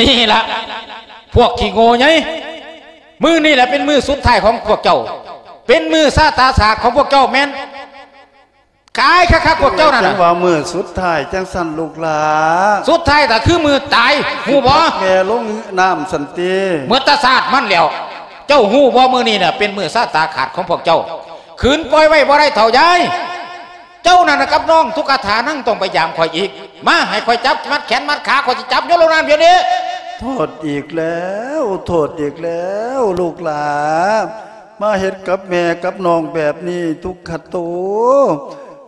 ນີ້ລະ ພວກຂີ້ໂງ່ໃຫຍ່ ມື້ນີ້ລະເປັນມື້ສຸດທ້າຍຂອງພວກເຈົ້າ ເປັນມື້ຊະຕາສາດຂອງພວກເຈົ້າ ແມ່ນ ກາຍຄັກໆ ພວກເຈົ້ານັ້ນນະ. ຈັ່ງວ່າມື້ສຸດທ້າຍຈັ່ງຊັ້ນລູກຫຼ້າ. ສຸດທ້າຍກໍຄືມື້ຕາຍ ຮູ້ບໍ່? ແມ່ລົງນ້ຳຊັ້ນຕິ ໝົດຕາຊາດມັນແລ້ວ. ເຈົ້າຮູ້ບໍ່ ມື້ນີ້ນະເປັນມື້ຊະຕາຂາດຂອງພວກເຈົ້າ. ຂືນປ່ອຍໄວ້ບໍ່ໄດ້ເຖົ້າຍາຍ. ເຈົ້ານັ້ນນະກັບນ້ອງທຸກກະຖານັ່ງຕ້ອງໄປຢາມຂ້ອຍອີກ. ມາ ໃຫ້ຂ້ອຍຈັບມັດແຂນມັດຂາ ຂ້ອอยຊິຈັບໂຍນລົງນ້ຳດຽວນີ້. ໂທດອີກແລ້ວ ໂທດອີກແລ້ວ ລູກຫຼ້າ. ມາເຮັດກັບແມ່ກັບນ້ອງແບບນີ້ ທຸກຂະໂຕ.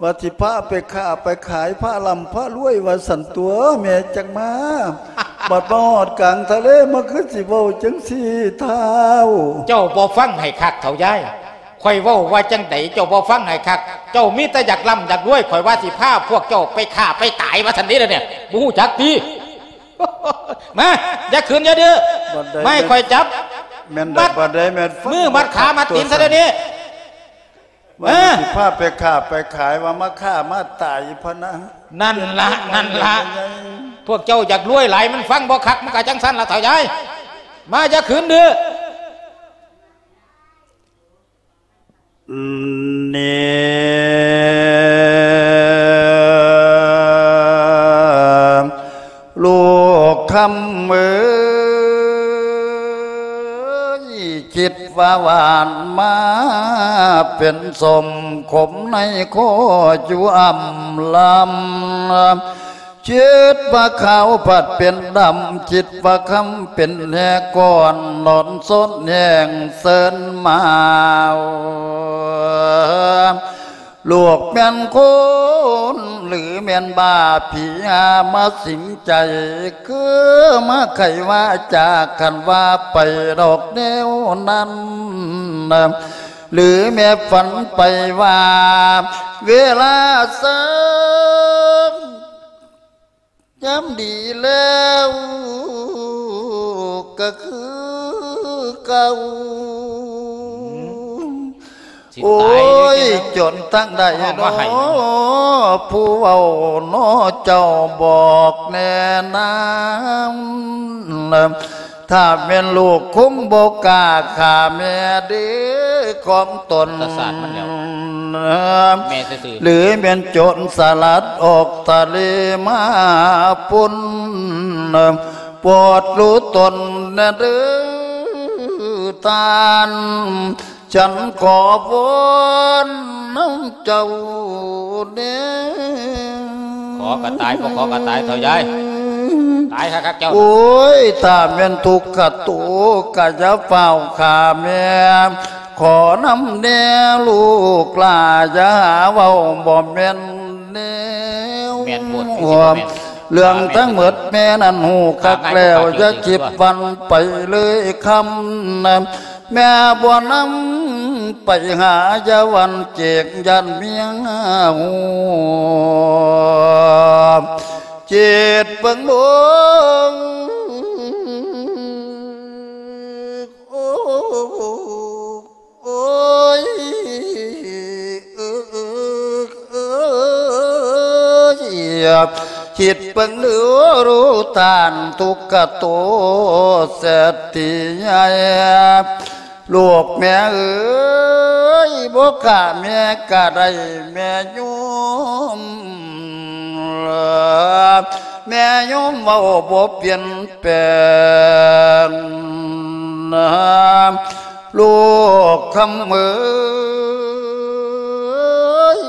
ວ່າຊິພາໄປຄ້າໄປຂາຍ ພາລ່ຳພາລວຍວ່າຊັ້ນຕົວະ ແມ່ຈັກມາ ບັດມາຮອດກາງທະເລ ມາຄືຊິເວົ້າຈັ່ງຊີ້ທ້າວ. ເຈົ້າບໍ່ຟັງໃຫ້ຄັກເຖົ້າຍາຍ ຂ້ອຍເວົ້າວ່າຈັ່ງໃດ ເຈົ້າບໍ່ຟັງໃຫ້ຄັກ ເຈົ້າມີແຕ່ຢາກລ່ຳຢາກລວຍ ຂ້ອຍວ່າຊິພາພວກເຈົ້າໄປຂ້າໄປຕາຍວ່າຊັ້ນເດ ດຽວນີ້ບໍ່ຮູ້ຈັກຕິ. ມາ ຢ່າຂຶ້ນ ຢ່າດື້ ບໍ່ໃຫ້ຂ້ອຍຈັບ ແມ່ນໃດ ມັດ ບໍ່ໄດ້ແມ່ນ ມືມັດຂາມັດຕີນຊະດຽວນີ້. ວ່າ ເອີ ຊິພາໄປຄ້າໄປຂາຍ ວ່າມາຂ້າມາຕາຍພະນະ. ນັ້ນລະ ນັ້ນລະ ພວກເຈົ້າຢາກລວຍຫຼາຍ ມັນຟັງບໍ່ຄັກ ມັນກະຈັ່ງຊັ້ນລະເຖົ້າຍາຍ. ມາ ຢ່າຂຶ້ນດື້. ນີ້ ລູກຄຳເອີຍ ຄິດວ່າຫວານມາເປັນສົ້ມ ຂົມໃນຄໍຢູ່ອຳລຳ ຄິດວ່າຂາວພັດເປັນດຳ ຄິດວ່າຄຳເປັນແຮກອນ ນອນສົດແຮງເຊີນມາ. ລູກແມ່ນຄົນ ຫຼືແມ່ນບ້າ ຜີຫາມາສິງໃຈ ຄືມາໄຂວ່າຈາກ ຄັນວ່າໄປດອກແນວນັ້ນ ຫຼືແມ່ຝັນໄປວ່າ ເວລາເຊົ້າ ຍາມດີແລ້ວກະຄືເກົ່າ. ໂອ້ຍ ຈົນທາງໃດເນາະ ຜູ້ເວົ້າເນາະ ເຈົ້າບອກແນະນາ. ຖ້າແມ່ນລູກຄົງບໍ່ກ້າຂ້າແມ່ເດ້ຂອງຕົນ ຫຼືແມ່ນໂຈນສະຫຼັດອອກທະເລມາພຸ້ນ ໂປດຮູ້ຕົນແດ່ເດີທ່ານ ສັນຂໍວອນນຳເຈົ້າແດ່. ຂໍກະຕາຍ ບໍ່ຂໍກະຕາຍເຖົ້າຍາຍ ຕາຍຄັກໆເຈົ້າ. ໂອ້ຍ ຖ້າແມ່ນທຸກຂະໂຕກະຢ່າຟ້າວຂ້າແມ່ ຂໍນຳແດ່ລູກຫຼ້າ ຢ່າຫາເວົ້າບໍ່ແມ່ນແນວ ແມ່ນໂພດ ຄືຊິບໍ່ແມ່ນ ເລື່ອງທັງໝົດແມ່ນັ້ນຮູ້ຄັກແລ້ວ ຢ່າຄິດວັ່ນໄປເລີຍຄຳ ແມ່ບໍ່ນຳໄປຫາ ຢ່າວັ່ນເກງຢ້ານເມຍຮູ້ ຄິດເບິ່ງດູ ໂອ້ ໂອ້ຍ ເອີ ເອີ ເອີ ຄິດເບິ່ງດູ ຮູ້ທ່ານທຸກຂະໂຕເສດຖີໃຫຍ່ ລູກແມ່ເອີຍ ບໍ່ຂ້າແມ່ກະໄດ້ແມ່ໂຍມ ແມ່ໂຍມເວົ້າບໍ່ປ່ຽນແປງ ລູກຄຳເອີຍ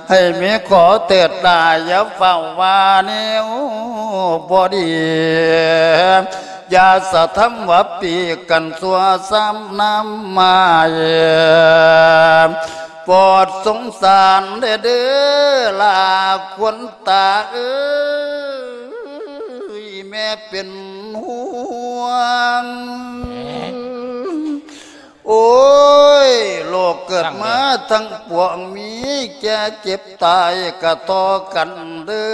ໃຫ້ແມ່ຂໍເທີດຫຼ້າ ຢ່າຟ້າວວ່າແນວບໍ່ດີ ຢ່າສະທຳວ່າປີກັນຊົ່ວຊ້ຳນ້ຳໝາຍ ໂປດສົງສານແດ່ເດີຫຼ້າ ຄວນຕາເອີຍ ແມ່ເປັນຫ່ວງ ໂອ້ຍ ໂລກເກີດມາທັງປວງ ມີແກ່ເຈັບຕາຍກະຕໍ່ກັນເດີ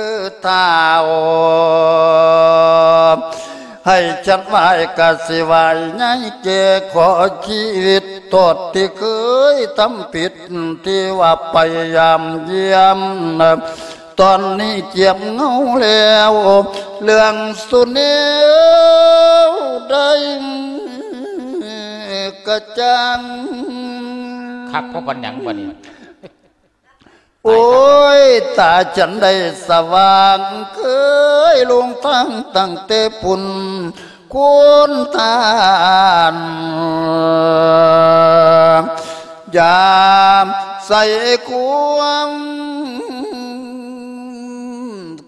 ທ້າວ ໃຫ້ສັນໄຫວ້ກະຊິໄຫວ້ໃຫຍ່ແກ່ ຂໍຊີວິດໂທດທີ່ເຄີຍທຳຜິດ ທີ່ວ່າໄປຢາມຢ້ຽມ ຕອນນີ້ຈຽມເຫງົາແລ້ວ ເລື່ອງສຸແນວໃດກະຈັ່ງ ຄັກພໍປານຫຍັງບາດນີ້ ໂອ້ຍ ຕາຈັ່ງໃດສະຫວ່າງ ເຄີຍຫຼົງທາງຕັ້ງແຕ່ພຸ້ນ ຄຸນທ່ານ ຢ່າໃສ່ຄວາມ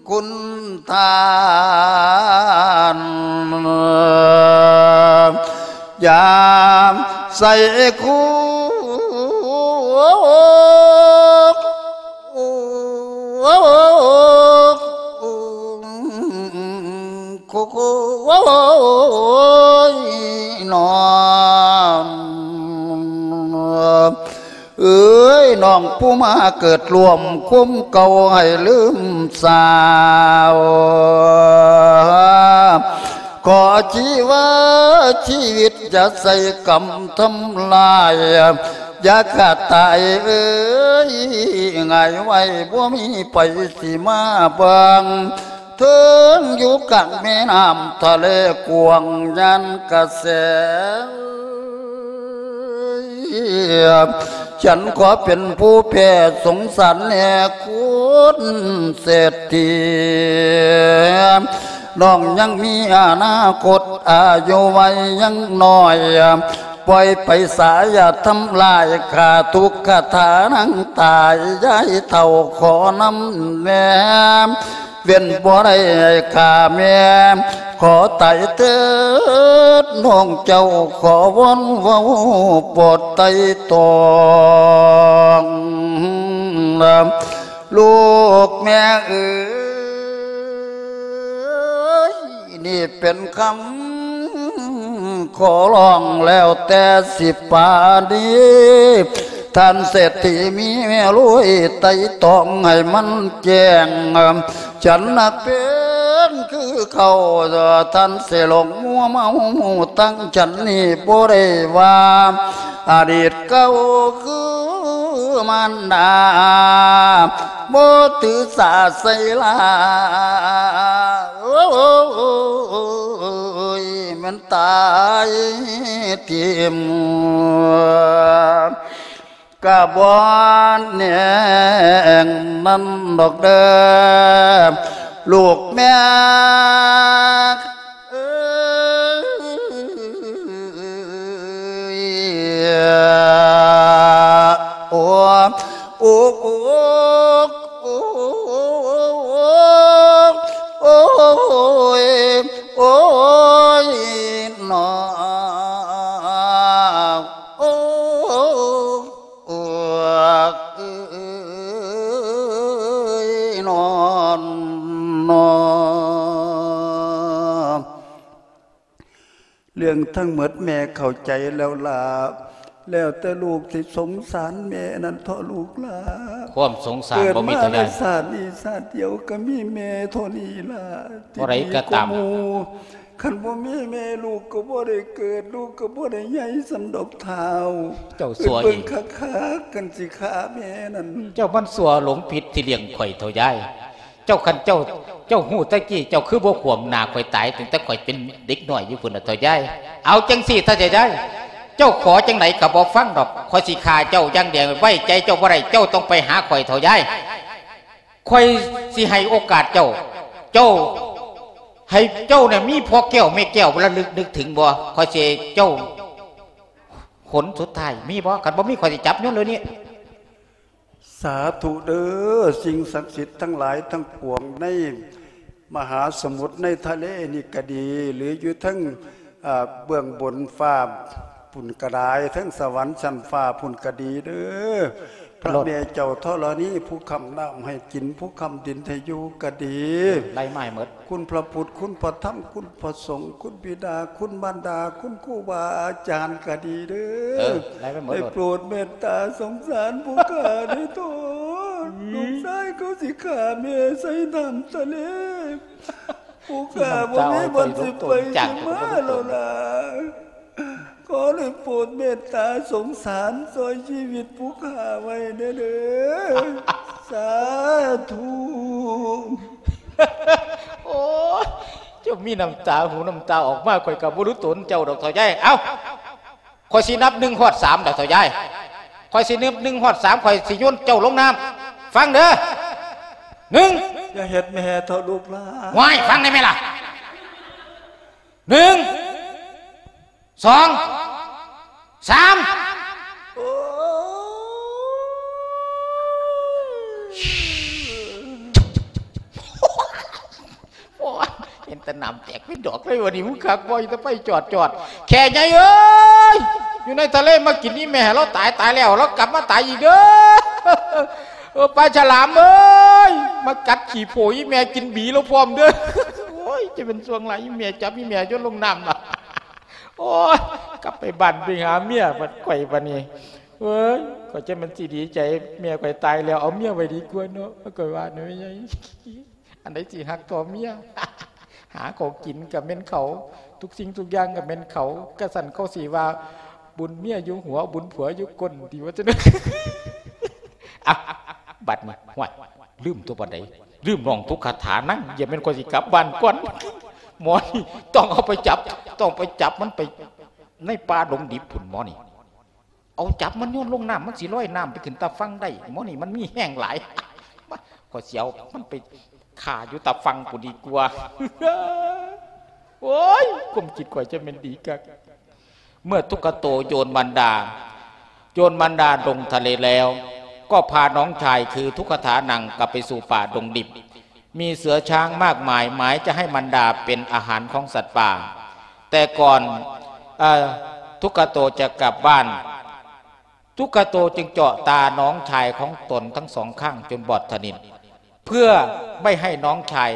ຄຸນທ່ານ ຢ່າໃສ່ຄວາມ ໂອ້ ໂອ້ ໂອ້ຍ ນ້ອງເອີຍ ນ້ອງຜູ້ມາເກີດຮ່ວມຄຸມເກົ່າໃຫ້ລືມສາວ ຂໍຊີວາຊີວິດຢ່າໃສ່ກຳທຳລາຍ ຢ່າຂ້າຕາຍເອີຍ ງ່າຍໄວບໍ່ມີໃຜຊິມາເບິ່ງ ເທິງຢູ່ກາງແມ່ນ້ຳທະເລກວ້າງຍານກະແສ ສັນຂໍເປັນຜູ້ແຜ່ສົງສານແດ່ຄຸນເສດຖີ ນ້ອງຍັງມີອະນາຄົດ ອາຍຸໄວຍັງນ້ອຍ ປ່ອຍໄປສາ ຢ່າທຳລາຍຂ້າ ທຸກຄາຖານາງຕາຍ ຍາຍເຖົ້າຂໍນຳແດ່ ເວັ້ນບໍ່ໄດ້ຂ້າແມ່ ຂໍຕາຍເທີດນ້ອງເຈົ້າ ຂໍວອນເວົ້າໂປດໄຕ່ຕອງ ລູກແມ່ເອີຍ ນີ້ເປັນຄຳຂໍຮ້ອງ ແລ້ວແຕ່ຊິປານີ ທ່ານເສດຖີມີແມ່ລຸຍໄຕ່ຕອງໃຫ້ມັນແຈ້ງ ສັນນັກເປັນຄືເກົ່າ ທ່ານຊິຫຼົງມົວເມົາ ຕັ້ງສັນນີ້ບໍ່ໄດ້ວ່າ ອະດີດເກົ່າຄືມານດາ ບໍ່ຖືສາໃສ່ລາ ໂອ້ຍ ແມ່ນຕາຍຖິ້ມ ກະບໍ່ແນງນັ້ນດອກເດີ ລູກແມ່ເອີຍ ໂອ້ ໂອ້ ໂອ້ ໂອ້ຍ ໂອ້ຍ ນ້ອງ ໂອ້ ໂອ້ ເອີຍ ນ້ອງ ນ້ອງ ເລື່ອງທັງໝົດແມ່ເຂົ້າໃຈແລ້ວລະ ແລ້ວແຕ່ລູກຊິສົງສານແມ່ນັ້ນເຖາະລູກຫຼ້າ ຄວາມສົງສານບໍ່ມີເທົ່າໃດ ເກີດມາໃນຊາດນີ້ຊາດດຽວກໍມີແມ່ເທົ່ານີ້ລະ ບໍ່ໄດ້ກໍຕາມ ທີ່ດີກວ່າໝູ່ ຄັນບໍ່ມີແມ່ລູກກໍບໍ່ໄດ້ເກີດ ລູກກໍບໍ່ໄດ້ໃຫຍ່ສ່ຳດອກທ້າວ ເຈົ້າຊົ່ວອີກ ເບິ່ງຄັກໆ ຄັນຊິຂ້າແມ່ນັ້ນ ເຈົ້າມັນຊົ່ວຫຼົງຜິດທີ່ລ້ຽງຂ້ອຍເຖົ້າຍາຍ ເຈົ້າ ຄັນເຈົ້າ ເຈົ້າຮູ້ແຕ່ກີ້ ເຈົ້າຄືບໍ່ຂວາມໜ້າຂ້ອຍຕາຍ ຕັ້ງແຕ່ຂ້ອຍເປັນເດັກນ້ອຍຢູ່ພຸ້ນນະເຖົ້າຍາຍ ເອົາຈັ່ງຊີ້ເຖົ້າຍາຍ ເຈົ້າຂໍຈັ່ງໃດກໍບໍ່ຟັງດອກ ຂ້ອຍຊິຂ້າເຈົ້າຢ່າງດຽວ ໄວ້ໃຈເຈົ້າບໍ່ໄດ້ ເຈົ້າຕ້ອງໄປຫາຂ້ອຍເຖົ້າຍາຍ ຂ້ອຍຊິໃຫ້ໂອກາດເຈົ້າ ເຈົ້າ ໃຫ້ເຈົ້ານະມີພໍ່ແກ້ວແມ່ແກ້ວລະລຶກນຶກເຖິງບໍ່ ຂ້ອຍຊິໃຫ້ເຈົ້າ ຫົນສຸດທ້າຍມີບໍ່ ຄັນບໍ່ມີຂ້ອຍຊິຈັບໂຍນເລີຍນີ້ ສາທຸເດີ ສິ່ງສັກສິດທັງຫຼາຍທັງປວງໃນມະຫາສະໝຸດໃນທະເລນີ້ກະດີ ຫຼືຢູ່ເທິງ ອາ ເບື້ອງບົນຟ້າພຸ້ນກະໄດ້ ເທິງສະຫວັນຊັ້ນຟ້າພຸ້ນກະດີເດີ ພະແມ່ເຈົ້າທໍລະນີ ຜູ້ຄ້ຳນ້ຳໃຫ້ກິນ ຜູ້ຄ້ຳດິນໃຫ້ຢູ່ກະດີ ໄລ່ມາໃຫ້ໝົດ ຄຸນພະພຸດ ຄຸນພະທຳ ຄຸນພະສົງ ຄຸນບິດາ ຄຸນມານດາ ຄຸນຄູບາອາຈານກະດີເດີ ເອີ ໄລ່ໄປໝົດໂລດ ໄດ້ໂປດເມດຕາສົງສານຜູ້ຂ້າເດີໂທດ ອືມ ລູກຊາຍເຂົາຊິຂ້າແມ່ໃສ່ນ້ຳທະເລ ຜູ້ຂ້າບໍ່ມີບ່ອນຊິໄປຊິມາແລ້ວລະ ຂໍໄດ້ໂປດເມດຕາສົງສານຊ່ອຍຊີວິດຜູ້ຂ້າໄວ້ແດ່ເດີ ສາທຸ ໂອ້ຍ ເຈົ້າມີນ້ຳຕາຫູນ້ຳຕາອອກມາ ຂ້ອຍກໍບໍ່ຮູ້ຕົນເຈົ້າດອກເຖົ້າຍາຍ ເອົ້າ ຂ້ອຍຊິນັບໜຶ່ງຮອດສາມດອກເຖົ້າຍາຍ ຂ້ອຍຊິນັບໜຶ່ງຮອດສາມ ຂ້ອຍຊິໂຍນເຈົ້າລົງນ້ຳ ຟັງເດີ ໜຶ່ງ ຢ່າເຮັດແມ່ເຖົ້າລູກຫຼ້າ ວ້າຍ ຟັງໄດ້ແມ່ລະ ໜຶ່ງ ສອງ ສາມ ໂອ້ຍ ໂອ້ຍ ເຫັນແຕ່ນ້ຳແຕກເປັນດອກເລີຍ ວັນນີ້ມຶງຄັກບໍ່ ອີຕາໄຟຈອດໆ ແຂ້ໃຫຍ່ເອີຍ ຢູ່ໃນທະເລມາກິນອີ່ແມ່ ລາວຕາຍ ຕາຍແລ້ວ ລາວກັບມາຕາຍອີກເດີ ເອີ ປາສະຫຼາມເອີຍ ມາກັດຂີ້ໂພອີແມ່ກິນບີລາວພ້ອມເດີ້. ໂອ້ຍ ຈະເປັນຊ່ວງຫຼາຍ ອີແມ່ຈັບອີແມ່ໂຍນລົງນ້ຳລະ. ໂອ້ຍ ກັບໄປບ້ານໄປຫາເມຍບັດຂ້ອຍບັດນີ້. ເອີຍ ຂ້ອຍຈະແມ່ນຊິດີໃຈ ແມ່ຂ້ອຍຕາຍແລ້ວ ເອົາເມຍໄວ້ດີກວ່າເນາະ ຂ້ອຍວ່ານະແມ່ໃຫຍ່. ອັນໃດຊິຮັກທໍ່ເມຍ ຫາເຂົາກິນກໍແມ່ນເຂົາ ທຸກສິ່ງທຸກຢ່າງກໍແມ່ນເຂົາ. ກະຊັ້ນເຂົາຊິວ່າ ບຸນເມຍຢູ່ຫົວ ບຸນຜົວຢູ່ກົ້ນ ຕິວ່າຊັ້ນ. ອ່ະ ບັດນີ້ ຫ້ວຍ ລືມຕົວປານໃດ ລືມຮ້ອງທຸກຄາຖານຳ. ຢ່າແມ່ນຂ້ອຍຊິກັບບ້ານກ່ອນ. ໝໍນີ້ຕ້ອງເອົາໄປຈັບ ຕ້ອງໄປຈັບມັນໄປໃນປ່າດົງດິບພຸ້ນ ໝໍນີ້. ເອົາຈັບມັນໂຍນລົງນ້ຳ ມັນຊິລອຍນ້ຳໄປຂຶ້ນຕາຝັ່ງໄດ້. ໝໍນີ້ມັນມີແຮງຫຼາຍ ມາ ຂ້ອຍຊິເອົາມັນໄປຂ້າຢູ່ຕາຝັ່ງພຸ້ນດີກວ່າ. ໂອ້ຍ ຄວາມຄິດຂ້ອຍຈະແມ່ນດີຄັກ. ເມື່ອທຸກຂະໂຕໂຍນມັນດາ ໂຍນມັນດາລົງທະເລແລ້ວ ກໍພານ້ອງຊາຍຄືທຸກຂະຖານັງກັບໄປສູ່ປ່າດົງດິບ. ມີເສືອຊ້າງມາກມາຍ ໝາຍຈະໃຫ້ມັນດາເປັນອາຫານຂອງສັດປ່າ. ແຕ່ກ່ອນ ເອີ ທຸກຂະໂຕຈະກັບບ້ານ ທຸກຂະໂຕຈຶ່ງເຈາະຕານ້ອງຊາຍຂອງຕົນທັງສອງຂ້າງຈົນບອດສະໜິດ. ເພື່ອໄມ່ໃຫ້ນ້ອງຊາຍ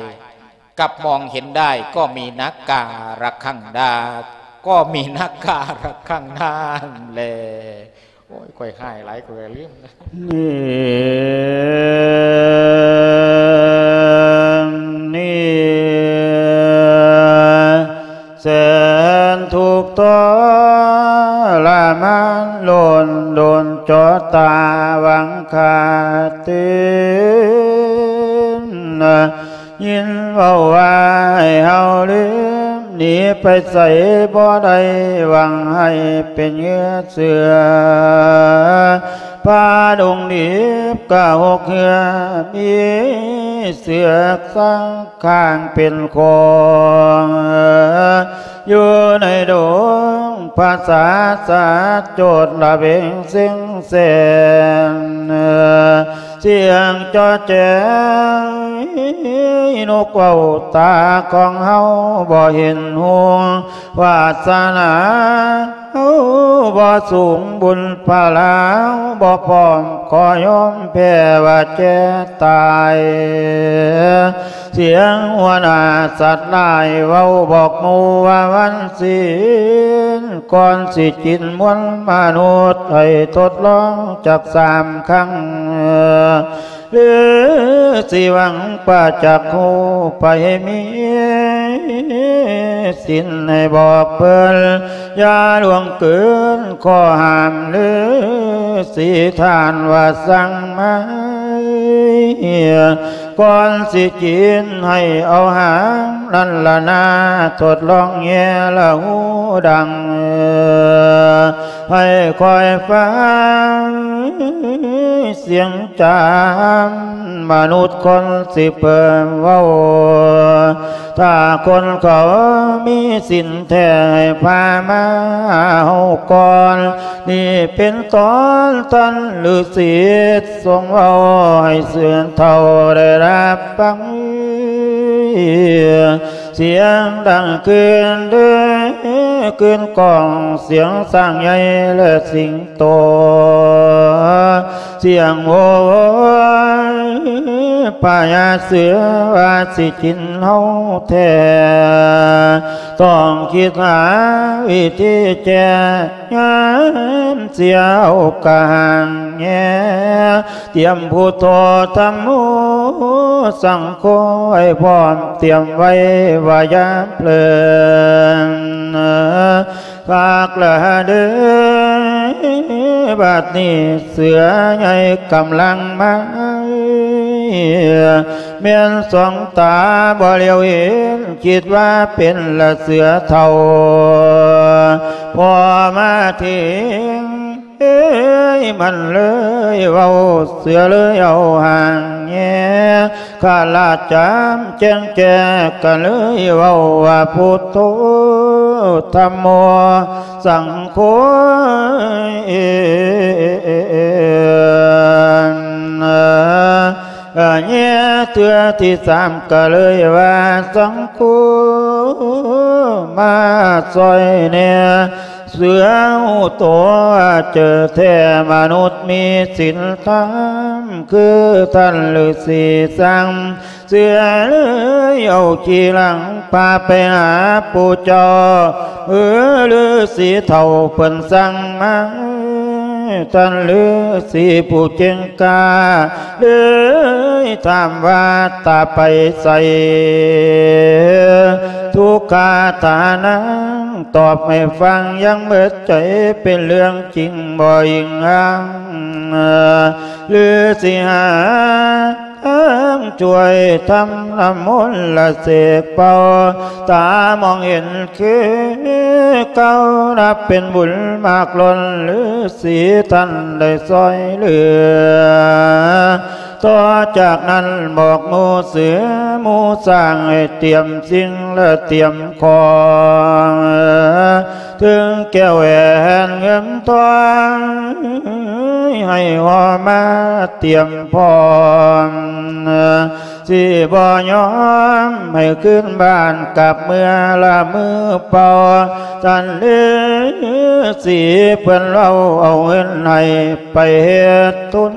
ກັບມອງເຫັນໄດ້ ກໍມີນາກາລັກຂັງນາ ກໍມີນາກາລັກຂັງນານັ້ນແລ. ໂອ້ຍ ຂ້ອຍຮ້າຍຫຼາຍ ຂ້ອຍກໍລືມ. ນີ້ ນີ້ ແສນທຸກທໍລະມານ ລົ້ນດົນເຈາະຕາຫວັງຂ້າຕື່ມ ຍິນເວົ້າວ່າໃຫ້ເຮົາລືມ ໜີໄປໃສບໍ່ໄດ້ ຫວັງໃຫ້ເປັນເຫຍື່ອເສືອ. ປ່າດົງດິບກະຫົກເຫື່ອ ມີເສືອສາງຂ້າງເປັນຂອງ ຢູ່ໃນດົງພະສາສາດ ໂຈດລະເວງເສັງແສນ ສຽງເຈາະແຈ ນົກເວົ້າຕາຂອງເຮົາບໍ່ເຫັນຮຸ່ງ ວາສະໜາ ເຮົາບໍ່ສູງບຸນພາລາ ເຮົາບໍ່ພ້ອມຂໍຍອມແພ້ວ່າແກ່ຕາຍ. ສຽງຫົວໜ້າສັດຫຼາຍເວົ້າບອກໝູ່ວ່າວັນສິນ ກ່ອນຊິກິນມວນມະນຸດ ໃຫ້ທົດລອງຈັກສາມຄັ້ງ ຫຼືຊິຫວັງປະຈັກຮູ້ ໃຜມີສິນໃຫ້ບອກເພິ່ນ ຢ່າລ່ວງເກີນຂໍ້ຫ້າມ ຫຼືສີທ່ານວ່າສັ່ງມາ ກ່ອນຊິກິນໃຫ້ເອົາຫາງ ນັ້ນລະນາ ທົດລອງແຍ່ລະຫູດັງ ໃຫ້ຄອຍຟັງສຽງຈາມ ມະນຸດຄົນຊິເປີເວົ້າ ຖ້າຄົນເຂົາມີສິນແທ້ໃຫ້ພາມາເຮົາກ່ອນ ນີ້ເປັນຕອນທ່ານລືສີຊົງເວົ້າ ໃຫ້ເສືອເຖົ້າໄດ້ຮັບຟັງ ສຽງດັງຄືນເດີ ຄືນກ້ອງ ສຽງຊ້າງໃຫຍ່ ແລະ ສິງໂຕ ສຽງໂຫຍພະຍາເສືອວ່າຊິກິນເຮົາແທ້ ຕ້ອງຄິດຫາວິທີແກ້ ຍາມເສຍເອົາກະຫາງແຍ ຕຽມພຸດໂທທຳໂມສັງໂຄໄວ້ພ້ອມ ຕຽມໄວ້ວ່າຍາມເພີງ ພາກລະເດີ ບັດນີ້ເສືອໃຫຍ່ກຳລັງມາ ແມ່ນສອງຕາບໍ່ຫຼຽວເຫັນ ຄິດວ່າເປັນລະເສືອເຖົ້າ ພໍມາເຖິງ ເອີຍ ມັນເລີຍເວົ້າ ເສືອເລີຍເອົາຫາງແຍ ຂະລາດຈາມແຈ້ງແຈ້ ກະເລີຍເວົ້າວ່າ ພຸດໂທ ທຳໂມ ສັງໂຄ ແຍ ເທື່ອທີສາມ ກະເລີຍວ່າ ສັງໂຄ ມາຊ່ອຍແດ່ ເຊື່ອຮູ້ຕົວເຈີແທ້ມະນຸດມີສິນທຳ ຄືທ່ານລືສີສັງ ເຊື່ອເລີຍເອົາຂີ່ຫຼັງພາໄປຫາປູ່ເຈົ້າ ເອີ ລືສີເຖົ້າເພິ່ນສັ່ງມາ ທ່ານລືສີຜູ້ເກັ່ງກ້າ ເລີຍຖາມວ່າ ຕາໄປໃສ? ທຸກຂະຖານັງ ຕອບໃຫ້ຟັງ ຍັງເໝິດໃຈ ເປັນເລື່ອງຈິງບໍ່ອີງອ້າງ ຫຼືຊິຫາທາງຊ່ວຍທຳນ້ຳມົນລະເສກເປົ່າ ຕາມອງເຫັນຄືເກົ່າ ນັບເປັນບຸນມາກລົ້ນ ລືສີທ່ານໄດ້ຊ່ອຍເຫຼືອ. ຕໍ່ຈາກນັ້ນບອກໝູ່ເສືອໝູ່ຊ້າງ ໃຫ້ຕຽມສິ່ງລະຕຽມຂອງ ເຖິງແກ້ວແຫວນເງິນທອງ ໃຫ້ຫໍ່ມາຕຽມພ້ອມ ຊິບໍ່ຍອມໃຫ້ຄືນບ້ານກັບເມືອລະມືເປົ່າ ທ່ານລືສີເພິ່ນເວົ້າເອົາເງິນໃຫ້ໄປເຮັດທຶນ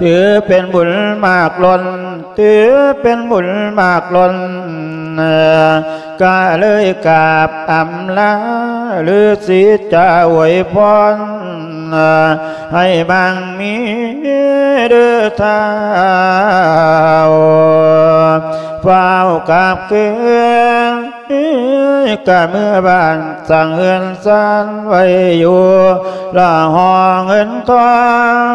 ຖືເປັນບຸນມາກລົ້ນ ຖືເປັນບຸນມາກລົ້ນ ກະເລີຍກາບອຳລາ ລືສີຈະອວຍພອນ ໃຫ້ໝັ່ງມີເດີທ້າວ ຟ້າວກັບຄືນ ກະເມືອບ້ານສ້າງເຮືອນຊານໄວ້ຢູ່ ລະຫໍ່ເງິນທອງ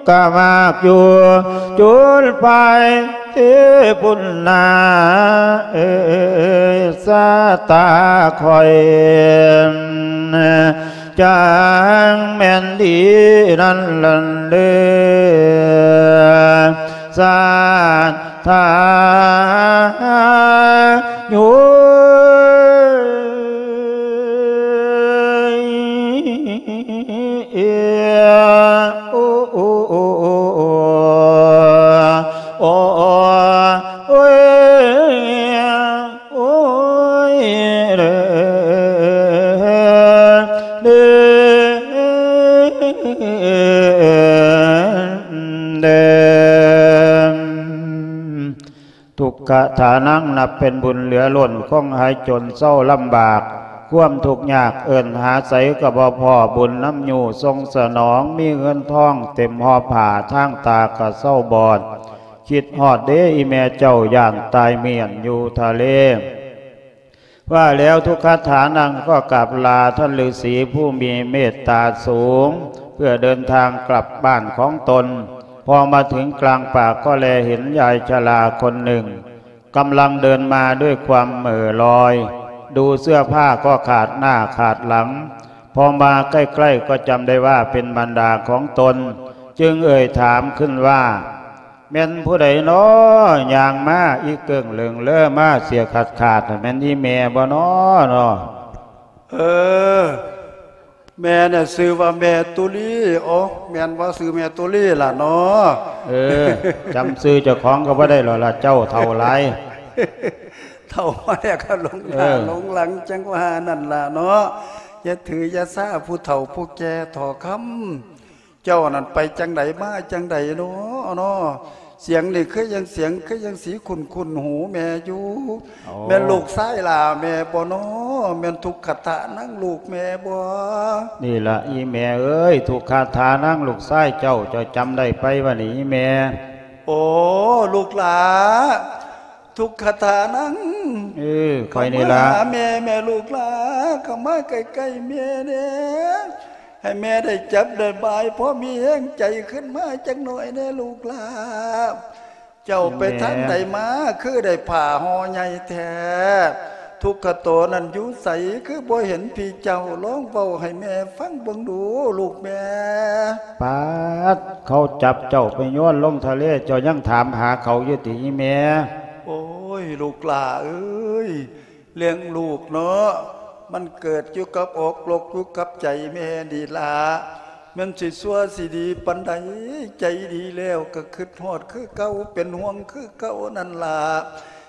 ກະມາກຢູ່ ຈຸດໄຟທີ່ພຸ້ນນາ ເອີ ຊາຕາຂ້ອຍ ຈັ່ງແມ່ນດີນັ້ນລະເດີ ສາທາໂຍ ໂອ ໂອ ໂອ ໂອ ໂອ ໂອ ໂອ ໂອ ໂອ ໂອ ໂອ ເດີ ເດີ ເດີ ທຸກຂະຖານັງ ນັບເປັນບຸນເຫຼືອລົ້ນ ຄົງຫາຍຈົນເຊົາລຳບາກ ຄວາມທຸກຍາກເອີ້ນຫາໃສກໍບໍ່ພໍ້ ບຸນນຳຍູ້ສົ່ງສະໜອງ ມີເງິນທອງເຕັມຫໍ່ຜ້າ ທາງຕາກໍເຊົາບອດ ຄິດຮອດເດອີ່ແມ່ເຈົ້າ ຢ້ານຕາຍມ້ຽນຢູ່ທະເລ. ວ່າແລ້ວທຸກຂະຖານັງກໍກາບລາທ່ານລືສີຜູ້ມີເມດຕາສູງ ເພື່ອເດີນທາງກັບບ້ານຂອງຕົນ. ພໍມາເຖິງກາງປ່າກໍແລເຫັນຍາຍຊະລາຄົນໜຶ່ງ ກຳລັງເດີນມາດ້ວຍຄວາມເໝີລອຍ ດູເສື້ອຜ້າກໍຂາດໜ້າຂາດຫຼັງ. ພໍມາໃກ້ໆກໍຈຳໄດ້ວ່າເປັນບັນດາຂອງຕົນ ຈຶ່ງເອີ່ຍຖາມຂຶ້ນວ່າ ແມ່ນຜູ້ໃດນໍ ຍ່າງມາອີ່ເກິ່ງເຫຼີງເລີມາເສຍຂາດໆ ແມ່ນອີ່ແມ່ບໍ່ນໍ ນໍ? ເອີ ແມ່ນະ ຊື່ວ່າແມ່ຕຸລີ. ໂອ ແມ່ນບໍ່ ຊື່ແມ່ຕຸລີລະນໍ? ເອີ ຈຳຊື່ເຈົ້າຂອງກໍບໍ່ໄດ້ແລ້ວລະ ເຈົ້າເຖົ້າຫຼາຍ. ເຖົ້າມາແລ້ວກໍຫຼົງໜ້າ ເອີ ຫຼົງຫຼັງ ຈັ່ງວ່ານັ້ນລະເນາະ. ຢ່າຖືຢ່າສາຜູ້ເຖົ້າຜູ້ແກ່ເຖາະຄຳ. ເຈົ້ານັ້ນໄປຈັ່ງໃດມາຈັ່ງໃດເນາະ ເນາະ? ສຽງນີ້ຄືຍັງ ສຽງຄືຍັງຊິຄຸ້ນໆຫູແມ່ຢູ່. ໂອ້ ແມ່ນລູກຊາຍຫຼ້າແມ່ບໍ່ນໍ? ແມ່ນທຸກຂະຖານັງລູກແມ່ບໍ່? ນີ້ລະອີ່ແມ່ເອີຍ ທຸກຂະຖານັງລູກຊາຍເຈົ້າ ເຈົ້າຈຳໄດ້ໄປວະນີ້ອີ່ແມ່? ໂອ້ ລູກຫຼ້າ ທຸກຂະຖານັງ ເອີ ຂ້ອຍນີ້ລະ ເຂົ້າມາຫາແມ່ ແມ່ລູກຫຼ້າ ເຂົ້າມາໃກ້ໆແມ່ແດ່ ໃຫ້ແມ່ໄດ້ຈັບໄດ້ບາຍ ພໍມີແຮງໃຈຂຶ້ນມາຈັກໜ້ອຍແດ່ລູກຫຼ້າ. ເຈົ້າໄປທາງໃດມາ ຄືໄດ້ຜ້າຫໍ່ໃຫຍ່ແທ້? ທຸກຂະໂຕນັ້ນຢູ່ໃສ ຄືບໍ່ເຫັນພີ່ເຈົ້າ? ລອງເວົ້າໃຫ້ແມ່ຟັງເບິ່ງດູລູກແມ່. ປາດ ເຂົາຈັບເຈົ້າໄປໂຍນລົງທະເລ ເຈົ້າຍັງຖາມຫາເຂົາຢູ່ຕິອີ່ແມ່? ໂອ້ຍ ລູກຫຼ້າເອີຍ ເລື່ອງລູກເນາະ ມັນເກີດຢູ່ກັບອກລົກຢູ່ກັບໃຈແມ່ນີ້ລະ. ແມ່ນຊິຊົ່ວຊິດີປານໃດ ໃຈດີແລ້ວກໍຄິດຮອດຄືເກົ່າ ເປັນຫ່ວງຄືເກົ່ານັ້ນລະ.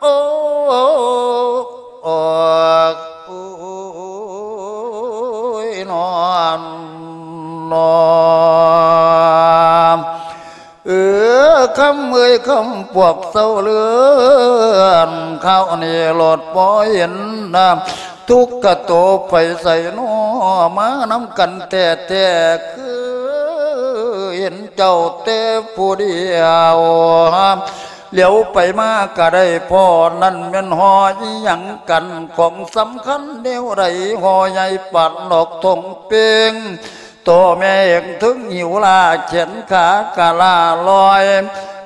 ໂອ້ ໂອ້ຍ ນອນ ນອນ ເອີ ຄຳເອີຍ ຄຳພວກເຊົາເລື່ອນ ຄາວນີ້ໂລດບໍ່ເຫັນນາ ທຸກກະໂຕໄປໃສນໍ ມານຳກັນແທ້ໆ ຄືເຫັນເຈົ້າແຕ່ຜູ້ດຽວ ຫຼຽວໄປມາກະໄດ້ພໍ້ ນັ້ນແມ່ນຫໍ່ອີ່ຫຍັງກັນ ຂອງສຳຄັນແນວໃດ ຫໍ່ໃຫຍ່ປານດອກທົ່ງເປ່ງ ໂຕແມ່ເອງເຖິງຫິວລາ ແຂນຂາກະລ້າລອຍ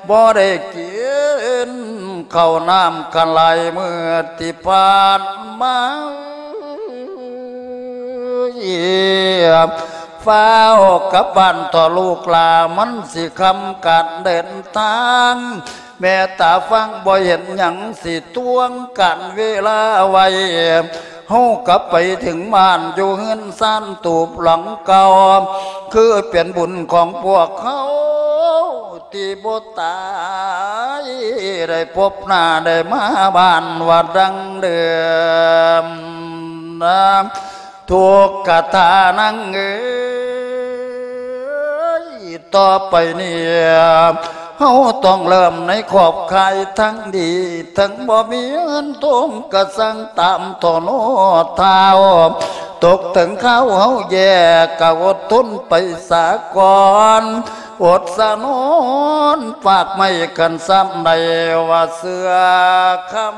ບໍ່ໄດ້ກິນເຂົ້ານ້ຳກະຫຼາຍມື້ທີ່ຜ່ານມາ ຟ້າວກັບບ້ານເຖາະລູກຫຼ້າ ມັນຊິຄ່ຳການເດີນທາງ ແມ່ຕາຟັງບໍ່ເຫັນຫຍັງ ຊິຕວງການເວລາໄວ້ ເຮົາກັບໄປເຖິງບ້ານ ຢູ່ເຮືອນຊານຕູບຫຼັງເກົ່າ ຄືເປັນບຸນຂອງພວກເຮົາ ທີ່ບໍ່ຕາຍ ໄດ້ພົບໜ້າໄດ້ມາບ້ານວ່າດັ່ງເດີມ ທຸກກະຕານາງເອີຍ ຕໍ່ໄປນີ້ ເຮົາຕ້ອງເລີ່ມໃນຂອບຂ່າຍທາງດີ ເຖິງບໍ່ມີເງິນທອງກະສັ່ງຕາມໂທໂນທ້າວ ຕົກເຖິງຄາວເຮົາແຍ່ກະອົດທົນໄປສາກ່ອນ ອົດສະໜອນປາກໄມ້ກັນຊ້ຳໃດວ່າເຊື່ອຄຳ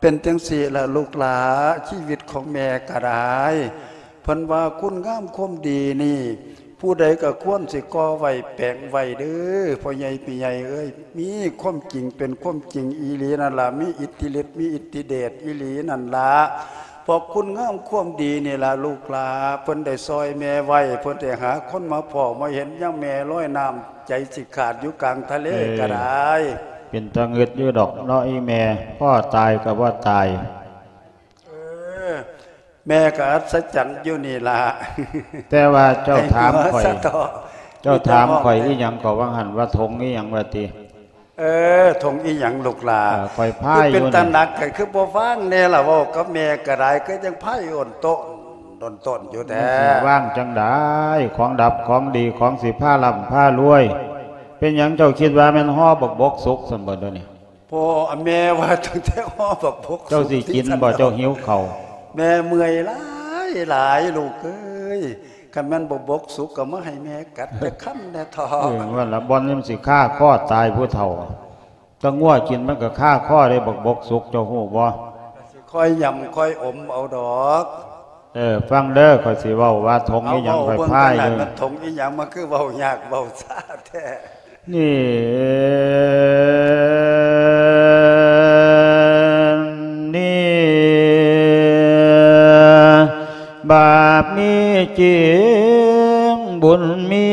ເປັນຈັ່ງຊີ້ລະລູກຫຼ້າ ຊີວິດຂອງແມ່ກະໄດ້ ເພິ່ນວ່າຄຸນງາມຄວາມດີນີ້ ຜູ້ໃດກະຄວນຊິກໍ່ໄວ້ແປງໄວ້ເດີ້ ພໍ່ໃຫຍ່ແມ່ໃຫຍ່ເອີຍ ມີຄວາມຈິງເປັນຄວາມຈິງອີ່ຫຼີນັ້ນລະ ມີອິດທິລິດ ມີອິດທິເດດອີ່ຫຼີນັ້ນລະ ເພາະຄຸນງາມຄວາມດີນີ້ລະລູກຫຼ້າ ເພິ່ນໄດ້ຊ່ອຍແມ່ໄວ້ ເພິ່ນໄດ້ຫາຄົນມາພໍ້ມາເຫັນ ຍາມແມ່ລອຍນ້ຳ ໃຈຊິຂາດຢູ່ກາງທະເລ ເອີ ກະໄດ້ ເປັນຕາງຶດຢູ່ດອກເນາະອີ່ແມ່ ພໍ້ຕາຍກະບໍ່ຕາຍ ເອີ ແມ່ກະອັດສະຈັນຢູ່ນີ້ລະ ແຕ່ວ່າເຈົ້າຖາມຂ້ອຍ ໃນຫົວສະເທາະ ເຈົ້າຖາມຂ້ອຍອີ່ຫຍັງກໍວ່າຫັ້ນ ວ່າຖົງອີ່ຫຍັງວ່າຕິ ເອີ ຖົງອີ່ຫຍັງລູກຫຼ້າ ເອີ ຂ້ອຍພາຍຢູ່ນີ້ ຄືເປັນຕາໜັກ ກະຄືບໍ່ວາງແດ່ລະ ເວົ້າກັບແມ່ກະໄດ້ ຄືຈັ່ງພາຍໂອນໂຕນ ໂດນຕົ້ນຢູ່ແທ້ ມັນຊິວາງຈັ່ງໃດ ຂອງດັບຂອງດີ ຂອງຊິພາລ່ຳພາລວຍ ເປັນຫຍັງເຈົ້າຄິດວ່າແມ່ນຫໍ່ບັກບົກສຸກຊັ້ນບໍ່ດຽວນີ້ ພໍ່ ແມ່ວ່າຕັ້ງແຕ່ຫໍ່ບັກບົກສຸກ ເຈົ້າຊິກິນບໍ່ ເຈົ້າຫິວເຂົ້າ ແມ່ເມື່ອຍຫຼາຍຫຼາຍ ລູກເອີຍ ຄັນແມ່ນບັກບົກສຸກກະມາໃຫ້ແມ່ກັດຈັກຄຳແດ່ເຖາະ ເອີ ວ່າລະ ບ່ອນມັນຊິຄາຄໍຕາຍຜູ້ເຖົ້າ ຕາງົວກິນມັນກະຄາຄໍເດ້ ບັກບົກສຸກ ເຈົ້າຮູ້ບໍ່ ຊິຄ່ອຍຫຍ້ຳຄ່ອຍອົມເອົາດອກ ເອີ ຟັງເດີ ຂ້ອຍຊິເວົ້າວ່າຖົງອີ່ຫຍັງ ເອົາ ຂ້ອຍພາຍຢູ່ ເວົ້າເບິ່ງກັນນັ້ນ ມັນຖົງອີ່ຫຍັງ ມັນຄືເວົ້າຍາກເວົ້າຊ້າແທ້ ນີ້ ນີ້ ບາບມີຈິງ ບຸນມີ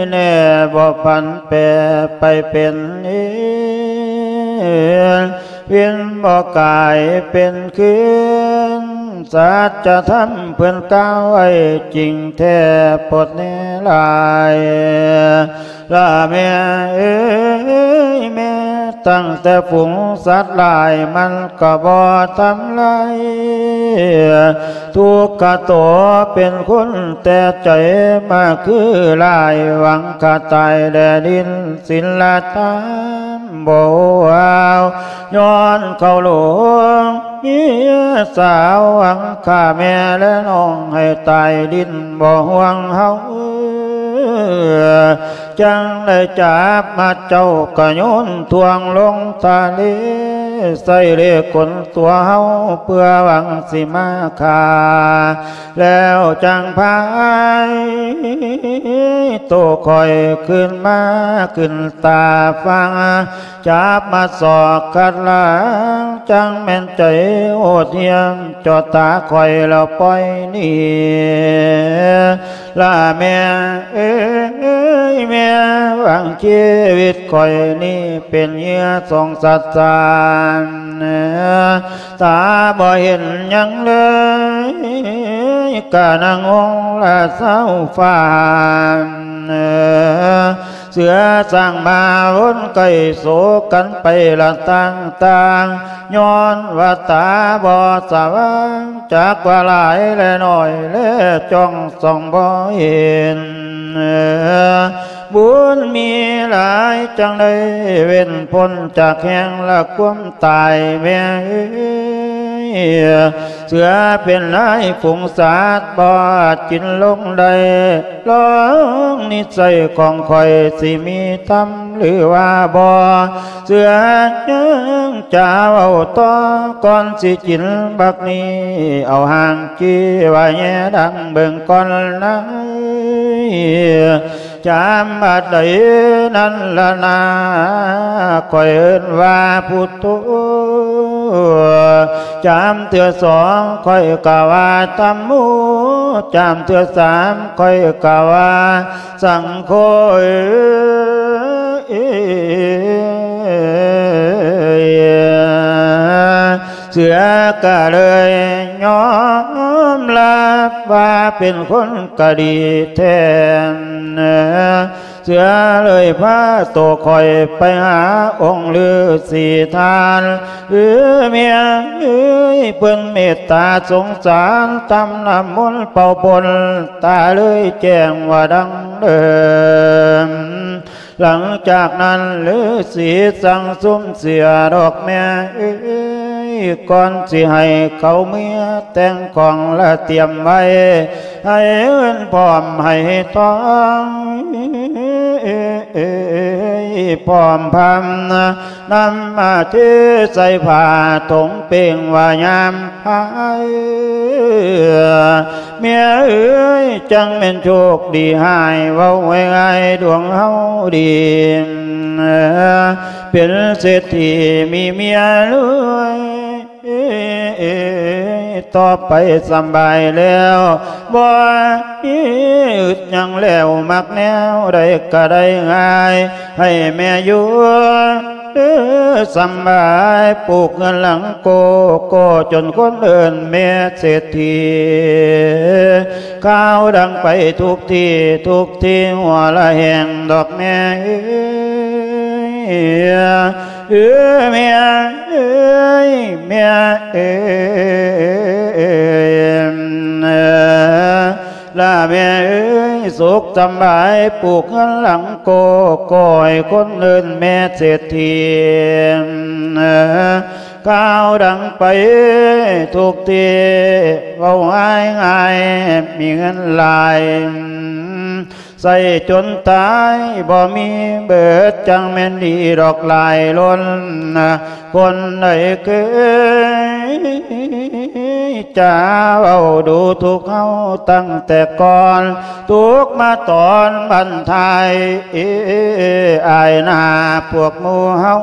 ແນ່ ບໍ່ຜັນແປໄປເປັນເອງ ເວນບໍ່ກາຍເປັນຄືນ ສັດຈະທຳເພິ່ນກ່າວໄວ້ຈິງແທ້ ໂພດແນ່ຫຼາຍ ລະແມ່ເອີຍ ແມ່ຕັ້ງແຕ່ຝູງສັດຫຼາຍ ມັນກະບໍ່ທຳລາຍ ທຸກກະໂຕເປັນຄົນແຕ່ໃຈ ມາຄືຫຼາຍ ຫວັງຂ້າຕາຍແລະດິນສິນລະທຳ ບໍ່ເວົ້າ ຍ້ອນເຂົາຫຼົງເມຍສາວ ຫວັງຂ້າແມ່ແລະນ້ອງໃຫ້ຕາຍດິນ ບໍ່ຫ່ວງເຮົາ ຈັ່ງໄດ້ຈັບມາເຈົ້າກະໂຍນຖ່ວງລົງທະເລ ໃສ່ເລຂົນຕົວເຮົາເພື່ອຫວັງຊິມາຂ້າ ແລ້ວຈັ່ງພາຍໂຕຂ້ອຍຄືນມາຂຶ້ນຕາຝັ່ງ ຈັບມາສອກຂັດລ້າງ ຈັ່ງແມ່ນໃຈໂຫດຫ້ຽມ ເຈາະຕາຂ້ອຍແລ້ວປ່ອຍໜີ ລະແມ່ເອີຍ ແມ່ຫວັງຊີວິດຂ້ອຍນີ້ເປັນເຫຍື່ອສົງສານ ຕາບໍ່ເຫັນຫຍັງເລີຍ ກະນັ່ງອົງລະເສົ້າຟ້ານ ເສືອສ້າງມາວົນໄກ່ໂສກັນໄປລະຕ່າງໆ ຍ້ອນວ່າຕາບໍ່ສະຫວ່າງ ຈັກວ່າຫຼາຍແລະໜ້ອຍແລ ຈ້ອງສ່ອງບໍ່ເຫັນ ບຸນມີຫຼາຍຈັ່ງໄດ້ເວັ້ນພົ້ນຈາກແຫ່ງລະຄວາມຕາຍແມ່ເອີຍ ເສືອເປັນຫຼາຍຝູງສັດບໍ່ອາດກິນລົງໄດ້ ລອງນິໄສຂອງຂ້ອຍຊິມີທຳຫຼືວ່າບໍ່ ເສືອຍັງຈະເວົ້າຕໍ່ ກ່ອນຊິກິນບັກນີ້ ເອົາຫາງຈີ້ວ່າແຍດັງເບິ່ງກ່ອນນາຍ ຈຳບາດໃດນັ້ນລະນາ ຂ້ອຍເອີ້ນວ່າພຸດໂທ ຈຳເທື່ອສອງຂ້ອຍກະວ່າທຳໂມ ຈຳເທື່ອສາມຂ້ອຍກະວ່າສັງໂຄ ເອີ ເສືອກະເລີຍຍອມຮັບວ່າເປັນຄົນກະດີແທ້ ເສືອເລີຍພາໂຕຂ້ອຍໄປຫາອົງລືສີທ່ານ ເອີ ແມ່ເອີຍ ເພິ່ນເມດຕາສົງສານ ຕຳນ້ຳມົນເປົ່າພົ້ນ ຕາເລີຍແຈ້ງວ່າດັ່ງເດີມ ຫຼັງຈາກນັ້ນ ລືສີສັ່ງຊຸມເສຍດອກແມ່ເອີຍ ກ່ອນຊິໃຫ້ເຂົາເມືອແຕ່ງຂອງລະຕຽມໄວ້ ໃຫ້ເງິນພ້ອມໃຫ້ທອງ ພ້ອມພຳ ນຳມາເທໃສ່ຜ້າຖົງເປ່ງວ່າຍາມພາຍ ແມ່ເອີຍ ຈັ່ງແມ່ນໂຊກດີຫາຍ ເວົ້າງ່າຍໆ ດວງເຮົາດີ ເປັນເສດຖີມີເມຍລວຍ ຕໍ່ໄປສຳບາຍແລ້ວ ບໍ່ມີອຶດຫຍັງແລ້ວ ມັກແນວໃດກະໄດ້ງ່າຍ ໃຫ້ແມ່ຢູ່ ເອີ ສຳບາຍ ປູກເຮືອນຫຼັງໂກໂກ້ ຈົນຄົນເອີ້ນແມ່ເສດຖີ ຂ່າວດັງໄປທຸກທີ່ທຸກທີ່ ຫົວລະແຫງດອກແມ່ເອີຍ ເອີ ແມ່ເອີຍ ແມ່ເອີຍ ລະແມ່ເອີຍ ສຸກສຳບາຍ ປູກເຮືອນຫຼັງໂກໂກ້ ໃຫ້ຄົນເອີ້ນແມ່ເສດຖີ ຂ່າວດັງໄປທຸກທີ່ ເວົ້າງ່າຍໆ ມີເງິນຫຼາຍ ໃຊ້ຈົນຕາຍບໍ່ມີເບີດ ຈັ່ງແມ່ນດີດອກຫຼາຍລົ້ນ ຄົນໃດເຄີຍຈະເວົ້າດູທຸກເຮົາຕັ້ງແຕ່ກ່ອນ ທຸກມາຕອນບັ້ນທ້າຍ ອາຍໜ້າພວກໝູ່ເຮົາ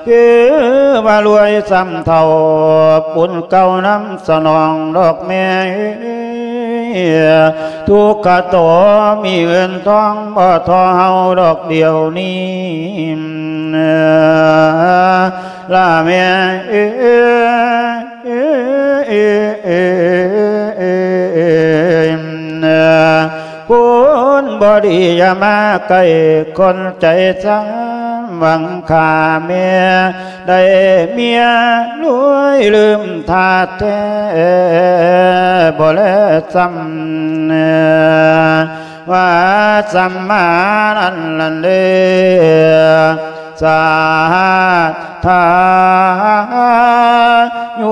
ຄືວ່າລວຍຊ້ຳເທົ່າ ບຸນເກົ່ານຳສະໜອງດອກແມ່ ທຸກກະໂຕມີເງິນທອງ ບໍ່ທໍ່ເຮົາດອກດຽວນີ້ ລະແມ່ເອີຍ ຄົນບໍ່ດີຢ່າມາໃກ້ ຄົນໃຈຊ້ຳຫວັງຂ້າແມ່ ໄດ້ເມຍລວຍລືມທາດແທ້ ບໍ່ແລຊ້ຳ ວ່າສຳມານັ້ນນັ້ນເດ້ ສາທາໂຍ.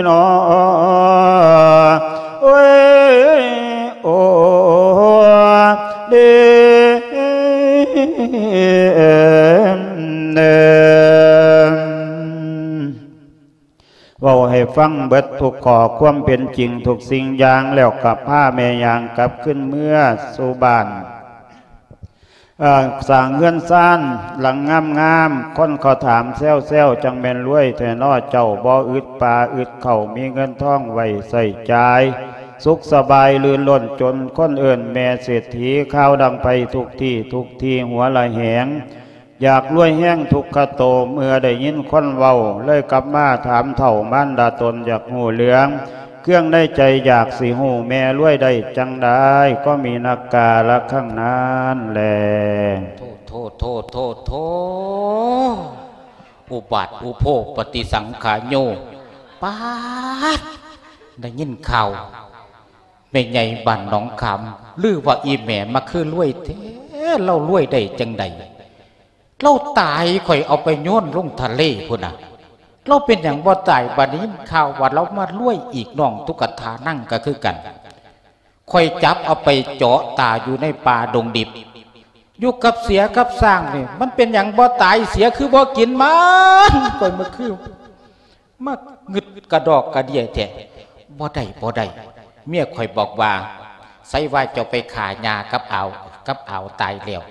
ເນາະ ໂອ້ຍ ໂອ້ເດ ເວົ້າໃຫ້ຟັງເບິດທຸກຂໍ້ຄວາມເປັນຈິງທຸກສິ່ງຢ່າງ ແລ້ວກໍພາແມ່ຍ່າງກັບຄືນເມືອສູ່ບ້ານ. ເອີ ສ້າງເຮືອນຊານຫຼັງງາມໆ ຄົນເຂົາຖາມແຊວໆ ຈັ່ງແມ່ນລວຍແທ້ນໍເຈົ້າ ບໍ່ອຶດປາອຶດເຂົ້າ ມີເງິນທອງໄວ້ໃຊ້ຈ່າຍ ສຸກສະບາຍລື່ນລົນ ຈົນຄົນເອີ້ນແມ່ເສດຖີ ຂ່າວດັງໄປທຸກທີ່ທຸກທີ່ ຫົວລະແຫງ ຢາກລວຍແຮງທຸກຂະໂຕ ເມື່ອໄດ້ຍິນຄົນເວົ້າ ເລີຍກັບມາຖາມເຖົ້າມານດາຕົນ ຢາກຮູ້ເລື່ອງເຄື່ອງໃນໃຈ ຢາກຊິຮູ້ແມ່ລວຍໄດ້ຈັ່ງໃດ ກໍມີນັກກາລະຄັ້ງນັ້ນແລ. ໂທ ໂທ ໂທ ໂທ ໂທ ອຸບາດອຸໂພ ປະຕິສັງຂາໂຍ ປາດ ໄດ້ຍິນຂ່າວ ແມ່ໃຫຍ່ບ້ານໜອງຂາມ ຫຼືວ່າອີ່ແມ່ມາຄືລວຍແທ້ ລາວລວຍໄດ້ຈັ່ງໃດ? ລາວຕາຍ ຂ້ອຍເອົາໄປໂຍນລົງທະເລພຸ້ນນະ ລາວເປັນຫຍັງບໍ່ຕາຍ? ບາດນີ້ຍິນຂ່າວວ່າລາວມາລວຍອີກ ນ້ອງຕຸກກະຖານັງກໍຄືກັນ ຂ້ອຍຈັບເອົາໄປເຈາະຕາຢູ່ໃນປ່າດົງດິບ ຢູ່ກັບເສືອກັບຊ້າງນີ້ ມັນເປັນຫຍັງບໍ່ຕາຍ? ເສືອຄືບໍ່ກິນມັນ? ຂ້ອຍມາຄື ມາງຶດກະດອກກະເດຍແທ້ ບໍ່ໄດ້ ບໍ່ໄດ້ ເມຍຂ້ອຍບອກວ່າ ໃສວ່າເຈົ້າໄປຂ້າຍ່າກັບອາວ ກັບອາວຕາຍແລ້ວ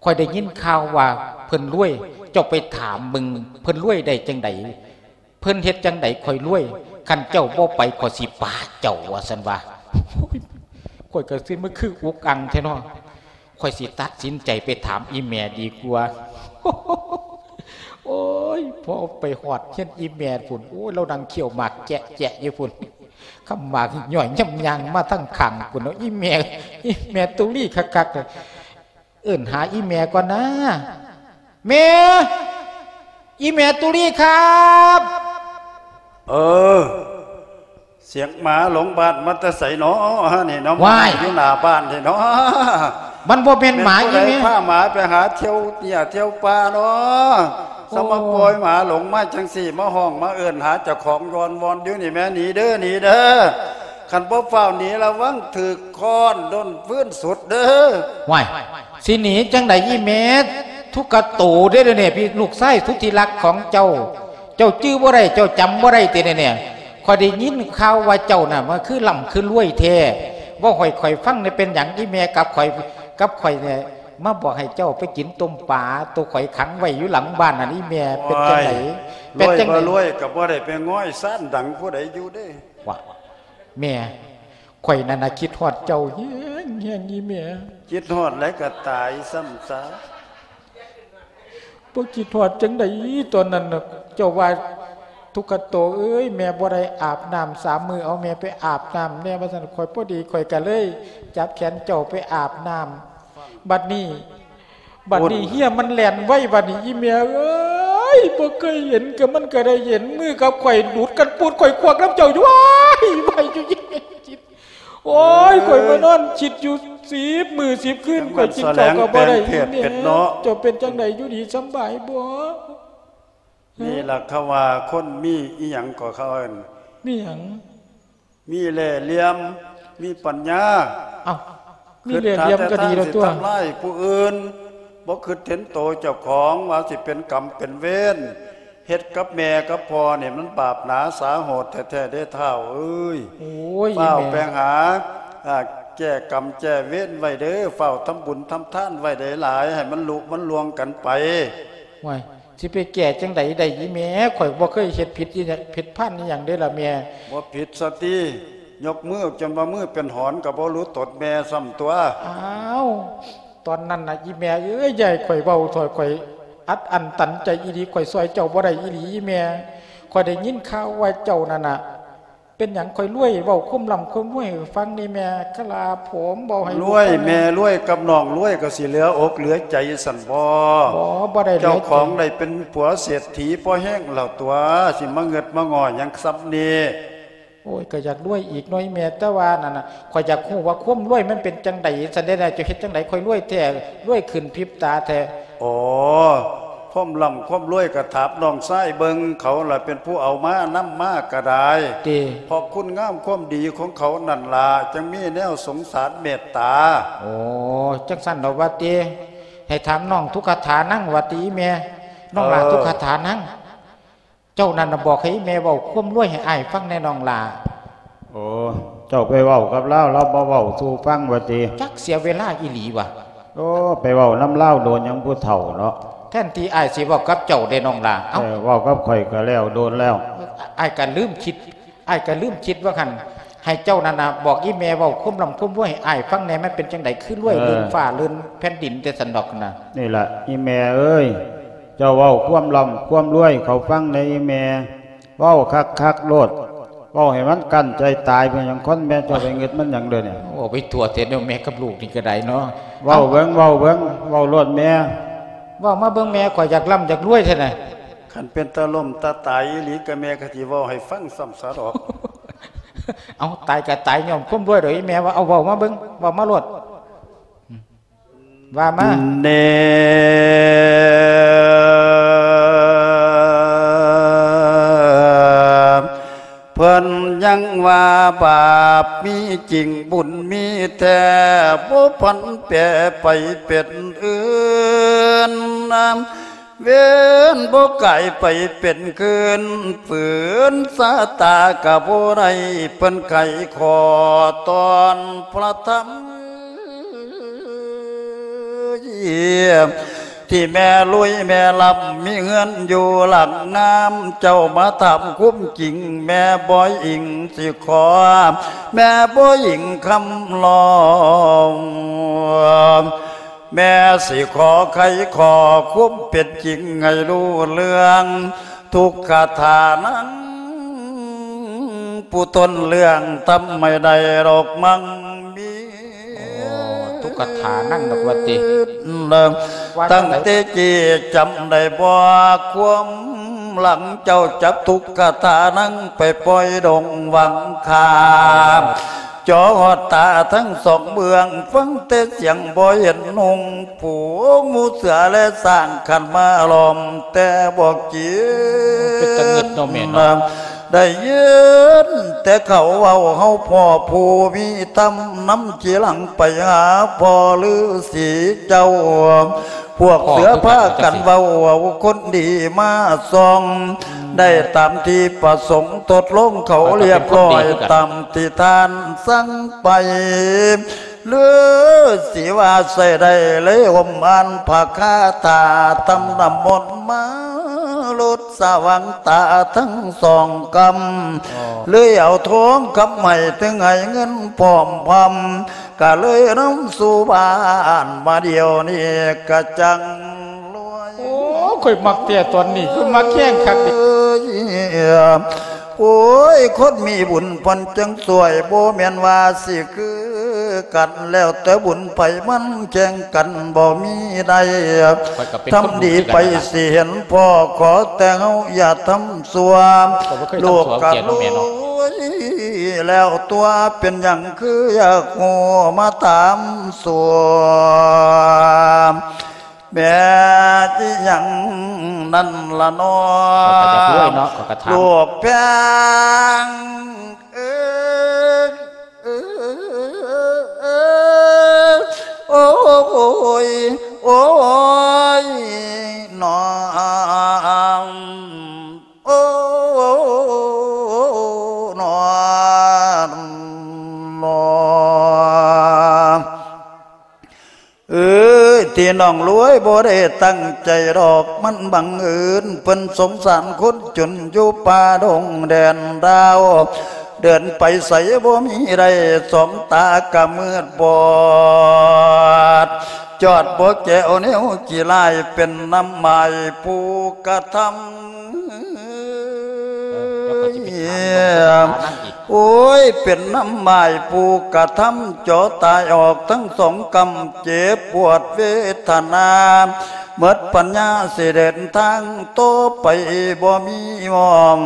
ຂ້ອຍໄດ້ຍິນຂ່າວວ່າເພິ່ນລວຍ ເຈົ້າໄປຖາມເບິ່ງ ເພິ່ນລວຍໄດ້ຈັ່ງໃດ? ເພິ່ນເຮັດຈັ່ງໃດຂ້ອຍລວຍ? ຄັນເຈົ້າບໍ່ໄປ ຂ້ອຍຊິປະເຈົ້າ ວ່າຊັ້ນວ່າ. ໂອ້ຍ ຂ້ອຍກໍຊິມາຄືອຸກອັ່ງແທ້ເນາະ. ຂ້ອຍຊິຕັດສິນໃຈໄປຖາມອີ່ແມ່ດີກວ່າ. ໂອ້ຍ ພໍໄປຮອດເຮືອນອີ່ແມ່ພຸ້ນ ໂອ້ຍ ລາວນັ່ງຄ້ຽວໝາກແຈະໆຢູ່ພຸ້ນ ຄຳໝາກຍ່ອຍຍຳຍ່າງມາທາງຂ້າງພຸ້ນເນາະ. ອີ່ແມ່ ອີ່ແມ່ຕຸລີຄັກໆ ເອີ້ນຫາອີ່ແມ່ກ່ອນນາ. ແມ່ ອີ່ແມ່ຕຸລີຄັບ. ເອີ ສຽງໝາຫຼົງບ້ານມາແຕ່ໃສເນາະ ນີ້ເນາະ? ວ້າຍ ຢູ່ໜ້າບ້ານນີ້ເນາະ. ມັນບໍ່ແມ່ນໝາອີ່ແມ່ ແມ່ນຜູ້ໃດພາໝາໄປຫາທ່ຽວເຫຍື້ອທ່ຽວປ່າເນາະ? ໂອ້ ສະມາປ່ອຍໝາຫຼົງມາຈັ່ງຊີ້ ມາຮ້ອງມາເອີ້ນຫາເຈົ້າຂອງວອນໆຢູ່ນີ້ແມ່. ໜີເດີ ໜີເດີ ຄັນບໍ່ຟ້າວໜີ ລະວັງຖືກຄ້ອນໂດນຟືນສຸດເດີ. ວ້າຍ ຊິໜີຈັ່ງໃດອີ່ແມ່? ທຸກກະໂຕເດ້ ເດນີ້ ພີ່ ລູກຊາຍສຸດທີ່ລັກຂອງເຈົ້າ ເຈົ້າຈື່ບໍ່ໄດ້ ເຈົ້າຈຳບໍ່ໄດ້ຕິເດນີ້? ຂ້ອຍໄດ້ຍິນຂ່າວວ່າເຈົ້ານະ ມັນຄືລ່ຳຄືລວຍແທ້ ເວົ້າໃຫ້ຂ້ອຍຟັງແດ່ ເປັນຫຍັງອີ່ແມ່ກັບຂ້ອຍ ກັບຂ້ອຍນີ້ ມາບອກໃຫ້ເຈົ້າໄປກິນຕົ້ມປາ ໂຕຂ້ອຍຂັງໄວ້ຢູ່ຫຼັງບ້ານນັ້ນ ອີ່ແມ່ ເປັນຈັ່ງໃດ? ໂອ້ຍ ເປັນຈັ່ງໃດ? ລວຍບໍ່ລວຍກໍບໍ່ໄດ້ໄປງອຍຊານດັງຜູ້ໃດຢູ່ເດ້. ວ່າ ແມ່ ຂ້ອຍນັ້ນນະຄິດຮອດເຈົ້າແຮງໆ ອີ່ແມ່. ຄິດຮອດແລ້ວກໍຕາຍຊ້ຳຊະ. ບໍ່ຄິດຮອດຈັ່ງໃດ ຕອນນັ້ນນະ ເຈົ້າວ່າ ທຸກຂະໂຕເອີຍ ແມ່ບໍ່ໄດ້ອາບນ້ຳສາມມື້ ເອົາແມ່ໄປອາບນ້ຳແດ່ ວ່າຊັ້ນ. ຂ້ອຍພໍດີ ຂ້ອຍກະເລີຍຈັບແຂນເຈົ້າໄປອາບນ້ຳ. ບັດນີ້ ບັດນີ້ເຫື່ອມັນແລ່ນໄວ ບັດນີ້ ອີ່ແມ່ເອີຍ ບໍ່ເຄີຍເຫັນ ກໍມັນກໍໄດ້ເຫັນ ມືກັບຂ້ອຍຫຼຸດກັນປູດ ຂ້ອຍຄວັກນຳເຈົ້າຢູ່ ວ້າຍ ໄວຢູ່ ອີ່ແມ່. ໂອ້ຍ ຂ້ອຍມານອນຄິດຢູ່ສິບມື້ສິບຄືນ ຂ້ອຍກິນເຂົ້າກໍບໍ່ໄດ້ ອີ່ແມ່. ເຈົ້າເປັນຈັ່ງໃດ ຢູ່ດີສຳບາຍບໍ່? ນີ້ລະເຂົາວ່າຄົນມີອີ່ຫຍັງກໍເຂົາເອີ້ນ ມີຫຍັງ? ມີແລ່ຫຼ່ຽມ ມີປັນຍາ. ເອົ້າ ມີແລ່ຫຼ່ຽມກໍດີແລ້ວຕົວະ. ຄິດຫາແຕ່ທາງຊິທຳລາຍຜູ້ອື່ນ ບໍ່ຄິດເຫັນໂຕເຈົ້າຂອງ ວ່າຊິເປັນກຳເປັນເວນ ເຮັດກັບແມ່ກັບພໍ່ນີ້ມັນບາບໜາສາໂຫດແທ້ໆເດ້ທ້າວເອີຍ. ໂອ້ຍ ຟ້າວ ແມ່ ໄປຫາ ອາ ແກ້ກຳແກ້ເວນໄວ້ເດີ້ ຟ້າວທຳບຸນທຳທານໄວ້ຫຼາຍໆ ໃຫ້ມັນລຸມັນລ່ວງກັນໄປ. ໂອ້ຍ ຊິໄປແກ້ຈັ່ງໃດໄດ້ອີ່ແມ່ ຂ້ອຍບໍ່ເຄີຍເຮັດຜິດອີ່ຫຍັງ ຜິດພານອີ່ຫຍັງເດ້ລະແມ່. ບໍ່ຜິດຊະຕິ ຍົກມືຈົນວ່າມືເປັນຫອນກໍບໍ່ຮູ້ຕົນແມ່ຊ້ຳຕົວະ. ອ້າວ ຕອນນັ້ນນະ ອີ່ແມ່ເອີຍ ຢ່າໃຫ້ຂ້ອຍເວົ້າເຖາະ ຂ້ອຍອັດອັ້ນຕັນໃຈອີ່ຫຼີ ຂ້ອຍຊ່ອຍເຈົ້າບໍ່ໄດ້ອີ່ຫຼີອີ່ແມ່. ຂ້ອຍໄດ້ຍິນຂ່າວວ່າເຈົ້ານັ້ນນະ ເປັນຫຍັງຂ້ອຍລວຍ ເວົ້າຄວາມລ່ຳຄວາມລວຍໃຫ້ຟັງແດ່ແມ່. ຄະລາຜົມ ເວົ້າໃຫ້ລູກຟັງແດ່. ລວຍ ແມ່ລວຍກັບນ້ອງລວຍ ກໍຊິເຫຼືອອົກເຫຼືອໃຈຊັ້ນບໍ? ບໍ່ ບໍ່ໄດ້ເຫຼືອໃຈ. ເຈົ້າຂອງໄດ້ເປັນຜົວເສດຖີພໍແຮງແລ້ວຕົວະ ຊິມາເງິດມາງໍ້ຫຍັງສ່ຳນີ້? ໂອ້ຍ ກໍຢາກລວຍອີກໜ້ອຍແມ່ ແຕ່ວ່ານັ້ນນະ ຂ້ອຍຢາກຮູ້ວ່າຄວາມລວຍມັນເປັນຈັ່ງໃດຊັ້ນເດນະ ເຈົ້າເຮັດຈັ່ງໃດຄ່ອຍລວຍແທ້ ລວຍຂຶ້ນພິບຕາແທ້? ອໍ ຄວາມລ່ຳຄວາມລວຍກໍຖາມນ້ອງຊາຍເບິ່ງ ເຂົາລະເປັນຜູ້ເອົາມານຳມາກໍໄດ້ ຕິ ເພາະຄຸນງາມຄວາມດີຂອງເຂົານັ້ນລະ ຈຶ່ງມີແນວສົງສານເມດຕາ. ໂອ້ ຈັ່ງຊັ້ນດອກວ່າຕິ ໃຫ້ຖາມນ້ອງທຸກຂະຖານັງວ່າຕິ ອີ່ແມ່ ນ້ອງຫຼ້າ ເອີ ທຸກຂະຖານັງ ເຈົ້ານັ້ນນະບອກໃຫ້ອີ່ແມ່ເວົ້າຄວາມລວຍໃຫ້ອ້າຍຟັງແດ່ນ້ອງຫຼ້າ. ໂອ້ ເຈົ້າໄປເວົ້າກັບລາວ ລາວບໍ່ເວົ້າສູ່ຟັງວ່າຕິ? ຈັກເສຍເວລາອີ່ຫຼີວ່າ. ໂອ້ ໄປເວົ້ານຳລາວໂດນຫຍັງຜູ້ເຖົ້າເນາະ. ແທນທີ່ອ້າຍຊິເວົ້າກັບເຈົ້າເດ້ນ້ອງຫຼ້າ. ເອົ້າ ເອີ ເວົ້າກັບຂ້ອຍກໍແລ້ວໂດນແລ້ວ. ອ້າຍກໍລືມຄິດ ອ້າຍກໍລືມຄິດວ່າຫັ້ນ ໃຫ້ເຈົ້ານັ້ນນະບອກອີ່ແມ່ເວົ້າຄວາມລ່ຳຄວາມລວຍໃຫ້ອ້າຍຟັງແດ່ ມັນເປັນຈັ່ງໃດ ຄືລວຍ ເອີ ລື່ນຟ້າລື່ນແຜ່ນດິນແຕ່ຊັ້ນດອກນະ. ນີ້ລະອີ່ແມ່ເອີຍ ເຈົ້າເວົ້າຄວາມລ່ຳຄວາມລວຍເຂົາຟັງແດ່ອີ່ແມ່. ເວົ້າຄັກໆໂລດ ເວົ້າໃຫ້ມັນກັ້ນໃຈຕາຍ. ເປັນຫຍັງຄົນແມ່ເຈົ້າໄປງຶດມັນຫຍັງເດີນີ້? ເວົ້າໄປທົ່ວແທ້ເນາະ ແມ່ກັບລູກນີ້ກໍໄດ້ເນາະ. ເວົ້າເບິ່ງ ເວົ້າເບິ່ງ ເວົ້າໂລດແມ່. ເວົ້າມາເບິ່ງແມ່ ຂ້ອຍຢາກລ່ຳຢາກລວຍແທ້ນະ. ຄັນເປັນຕາລົ້ມຕາຕາຍອີ່ຫຼີກໍແມ່ກໍຊິເວົ້າໃຫ້ຟັງຊ້ຳຊະດອກ. ເອົາ ຕາຍກໍຕາຍຍ້ອນຄວາມລວຍດອກອີ່ແມ່ວ່າ. ເອົາ ເວົ້າມາເບິ່ງ ເວົ້າມາໂລດ. ວ່າມາ. ແນ່ ເພິ່ນຍັງວ່າບາບມີຈິງ ບຸນມີແທ້ ບໍ່ຜັນແປໄປເປັນອື່ນ ເວນບໍ່ກາຍໄປເປັນຄືນ ຝືນຊາຕາກະບໍ່ໄດ້ ເພິ່ນໄຂຂໍຕອນພະທຳ ທີ່ແມ່ລຸຍແມ່ລຳ ມີເຮືອນຢູ່ຫຼັງງາມ ເຈົ້າມາຖາມຄວາມຈິງ ແມ່ບໍ່ອິງຊິຂໍ ແມ່ບໍ່ອິງຄຳລອງ ແມ່ຊິຂໍໄຂຂໍ້ຄວາມເປັນຈິງໃຫ້ຮູ້ເລື່ອງ ທຸກຂະຖານັງ ຜູ້ທົນເລື່ອງທຳໃຫ້ໄດ້ດອກມັງມີ. ໂອ້ ທຸກຂະຖານັງດອກວ່າຕິ ວ່າຈັ່ງໃດ? ຕັ້ງແຕ່ກີ້ຈຳໄດ້ບໍ່ ຄວາມຫຼັງເຈົ້າຈັບທຸກຂະຖານັງໄປປ່ອຍດົງວັງຄາ ເຈາະຮອດຕາທັງສອງເບື້ອງ ຟັງແຕ່ສຽງບໍ່ເຫັນຮຸ່ງ ປູງໝູເສືອແລະຊ້າງຂັນມາລ້ອມແຕ່ບໍ່ກິນ ເປັນຕາງຶດເນາະແມ່ເນາະ. ໄດ້ຍິນແຕ່ເຂົາເວົ້າ ເຮົາພໍ່ຜູ້ມີທຳ ນຳທີ່ຫຼັງໄປຫາພໍ່ລືສີເຈົ້າ ພວກເສືອພາກັນເວົ້າ ເອົາຄົນດີມາສ່ອງ ໄດ້ຕາມທີ່ປະສົງ ທົດລອງເຂົາລຽບຮ້ອຍ ຕາມທີ່ທ່ານສັ່ງໄປ ລືສີວ່າໃຊ້ໄດ້ ເລີຍຫົ່ມອ່ານພະຄາຖາ ທຳນ້ຳມົນມາຫຼຸດສະຫວ່າງຕາທັງສອງກຳ ເລີຍເອົາທອງຄຳໃຫ້ ເຖິງໃຫ້ເງິນພ້ອມພຳ ກະເລີຍນຳສູ່ບ້ານ ມາດຽວນີ້ກະຈັ່ງລວຍ. ໂອ້ ຂ້ອຍມັກແທ້ຕອນນີ້ ຄືມັກແຮງຄັກເດ. ໂອ້ຍ ຄົນມີບຸນເພິ່ນຈັ່ງຊ່ວຍ ບໍ່ແມ່ນວ່າຊິຄືກັນ ແລ້ວແຕ່ບຸນໃຜມັນແຂ່ງກັນບໍ່ມີໄດ້ ຂ້ອຍກໍເປັນ ທຳດີໄປ ຊິເຫັນພໍ່ ຂໍແຕ່ເຮົາຢ່າທຳ ຊົ່ວ ລູກກະລຸຍແລ້ວຕົວະ ເປັນຫຍັງຄືຢາກຮູ້ມາຖາມຊົ່ວ ແມ່ນອີ່ຫຍັງນັ້ນລະເນາະ ລູກແພງເອີຍ ໂອ້ຍ ໂອ້ຍ ນອງ ໂອ້ ນອງ ນອງ ເອີຍ ທີ່ນ້ອງລວຍບໍ່ໄດ້ຕັ້ງໃຈດອກ ມັນບັງເອີນ ເພິ່ນສົງສານຄົນຈົນຢູ່ປ່າດົງແດນດາວ ເດີນໄປໃສບໍ່ມີໄດ້ ສອງຕາກະມືດບອດ ຈອດບໍ່ແກ້ວແນວຂີ້ຮ້າຍ ເປັນນ້ຳໝາຍຜູ້ກະທຳ ໂອ້ຍ ເປັນນ້ຳໝາຍຜູ້ກະທຳ ເຈາະຕາຍອອກທັງສອງກຳ ເຈັບປວດເວທະນາ ໝົດປັນຍາຊິເດີນທາງຕໍ່ໄປບໍ່ມີຫວ່ອງ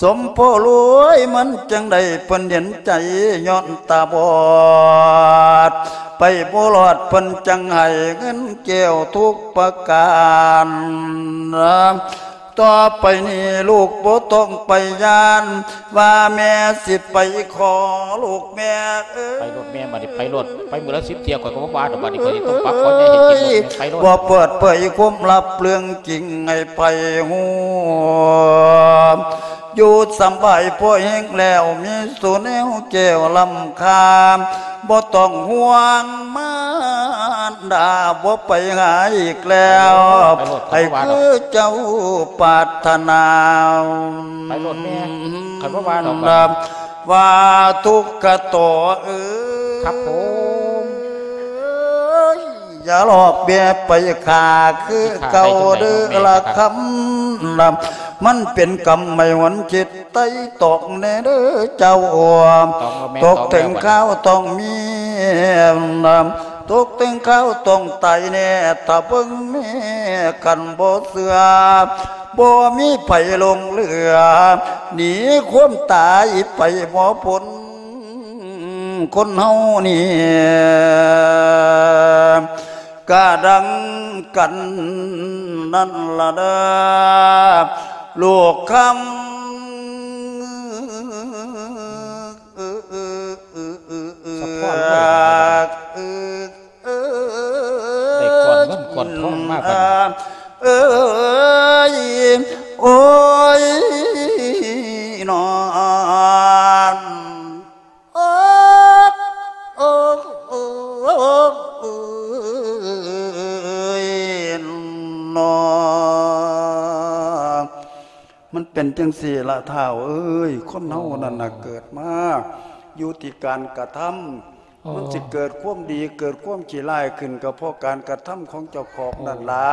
ສົມພໍລວຍມັນຈັ່ງໄດ້ ເພິ່ນເຫັນໃຈຍ້ອນຕາບອດ ໄປບໍ່ລອດ ເພິ່ນຈັ່ງໃຫ້ເງິນແກ້ວທຸກປະການ. ຕໍ່ໄປນີ້ລູກບໍ່ຕ້ອງໄປຢ້ານ ວ່າແມ່ຊິໄປຂໍລູກແມ່ເອີຍ. ໄປໂລດແມ່ ບາດນີ້ໄປໂລດ ໄປມື້ລະສິບເທື່ອ ຂ້ອຍກໍບໍ່ວ່າດອກ ບາດນີ້ຂ້ອຍຊິຕ້ອງປັກຂໍໃຫ້ເຮັດກິນໂລດແມ່ ໄປໂລດ. ບໍ່ເປີດເຜີຍຄວາມລັບເລື່ອງຈິງໃຫ້ໃຜຮູ້ ຢູ່ສຳບາຍພໍແຮງແລ້ວ ມີສູ່ແນວແກ້ວລ້ຳຄ່າ ບໍ່ຕ້ອງຫ່ວງມານດາ ບໍ່ໄປຫາອີກແລ້ວ ໄປໂລດ ໃຫ້ຄືເຈົ້າປາດຖະໜາ. ໄປໂລດແມ່ ຂ້ອຍບໍ່ວ່າດອກ ວ່າທຸກຂະໂຕເອີຍ ຄັບຜົມ ຢ່າລອກແບບໄປຂ້າຄືເກົ່າເດີລະຄຳ ມັນເປັນກຳໄມ້ຫວນຈິດໄຕ່ຕອງແດ່ເດີເຈົ້າ ຕົກເຖິງຄາວຕ້ອງມີ ຕົກເຖິງຄາວຕ້ອງຕາຍແນ່ ຖ້າເບິ່ງແມ່ຄັນບໍ່ເຊື່ອ ບໍ່ມີໃຜຫຼົງເຫຼືອ ໜີຄວາມຕາຍໄປບໍ່ພົ້ນ. ຄົນເຮົານີ້ກະດັ່ງກັນນັ້ນລະເດີ ລູກຄຳ ສະພອນເອີຍ ໄດ້ກ້ອນເງິນກ້ອນທອງມາບັດນີ້ ເອີຍ ໂອ້ຍ ນອນ ໂອກ ໂອກ ໂອກ ເອີຍ ນອ. ມັນເປັນຈັ່ງຊີ້ລະທ້າວເອີຍ ຄົນເຮົານັ້ນນະ ເກີດມາຢູ່ທີ່ການກະທຳ ມັນຊິເກີດຄວາມດີ ເກີດຄວາມຂີ້ຮ້າຍຂຶ້ນ ກໍເພາະການກະທຳຂອງເຈົ້າຂອງນັ້ນລະ.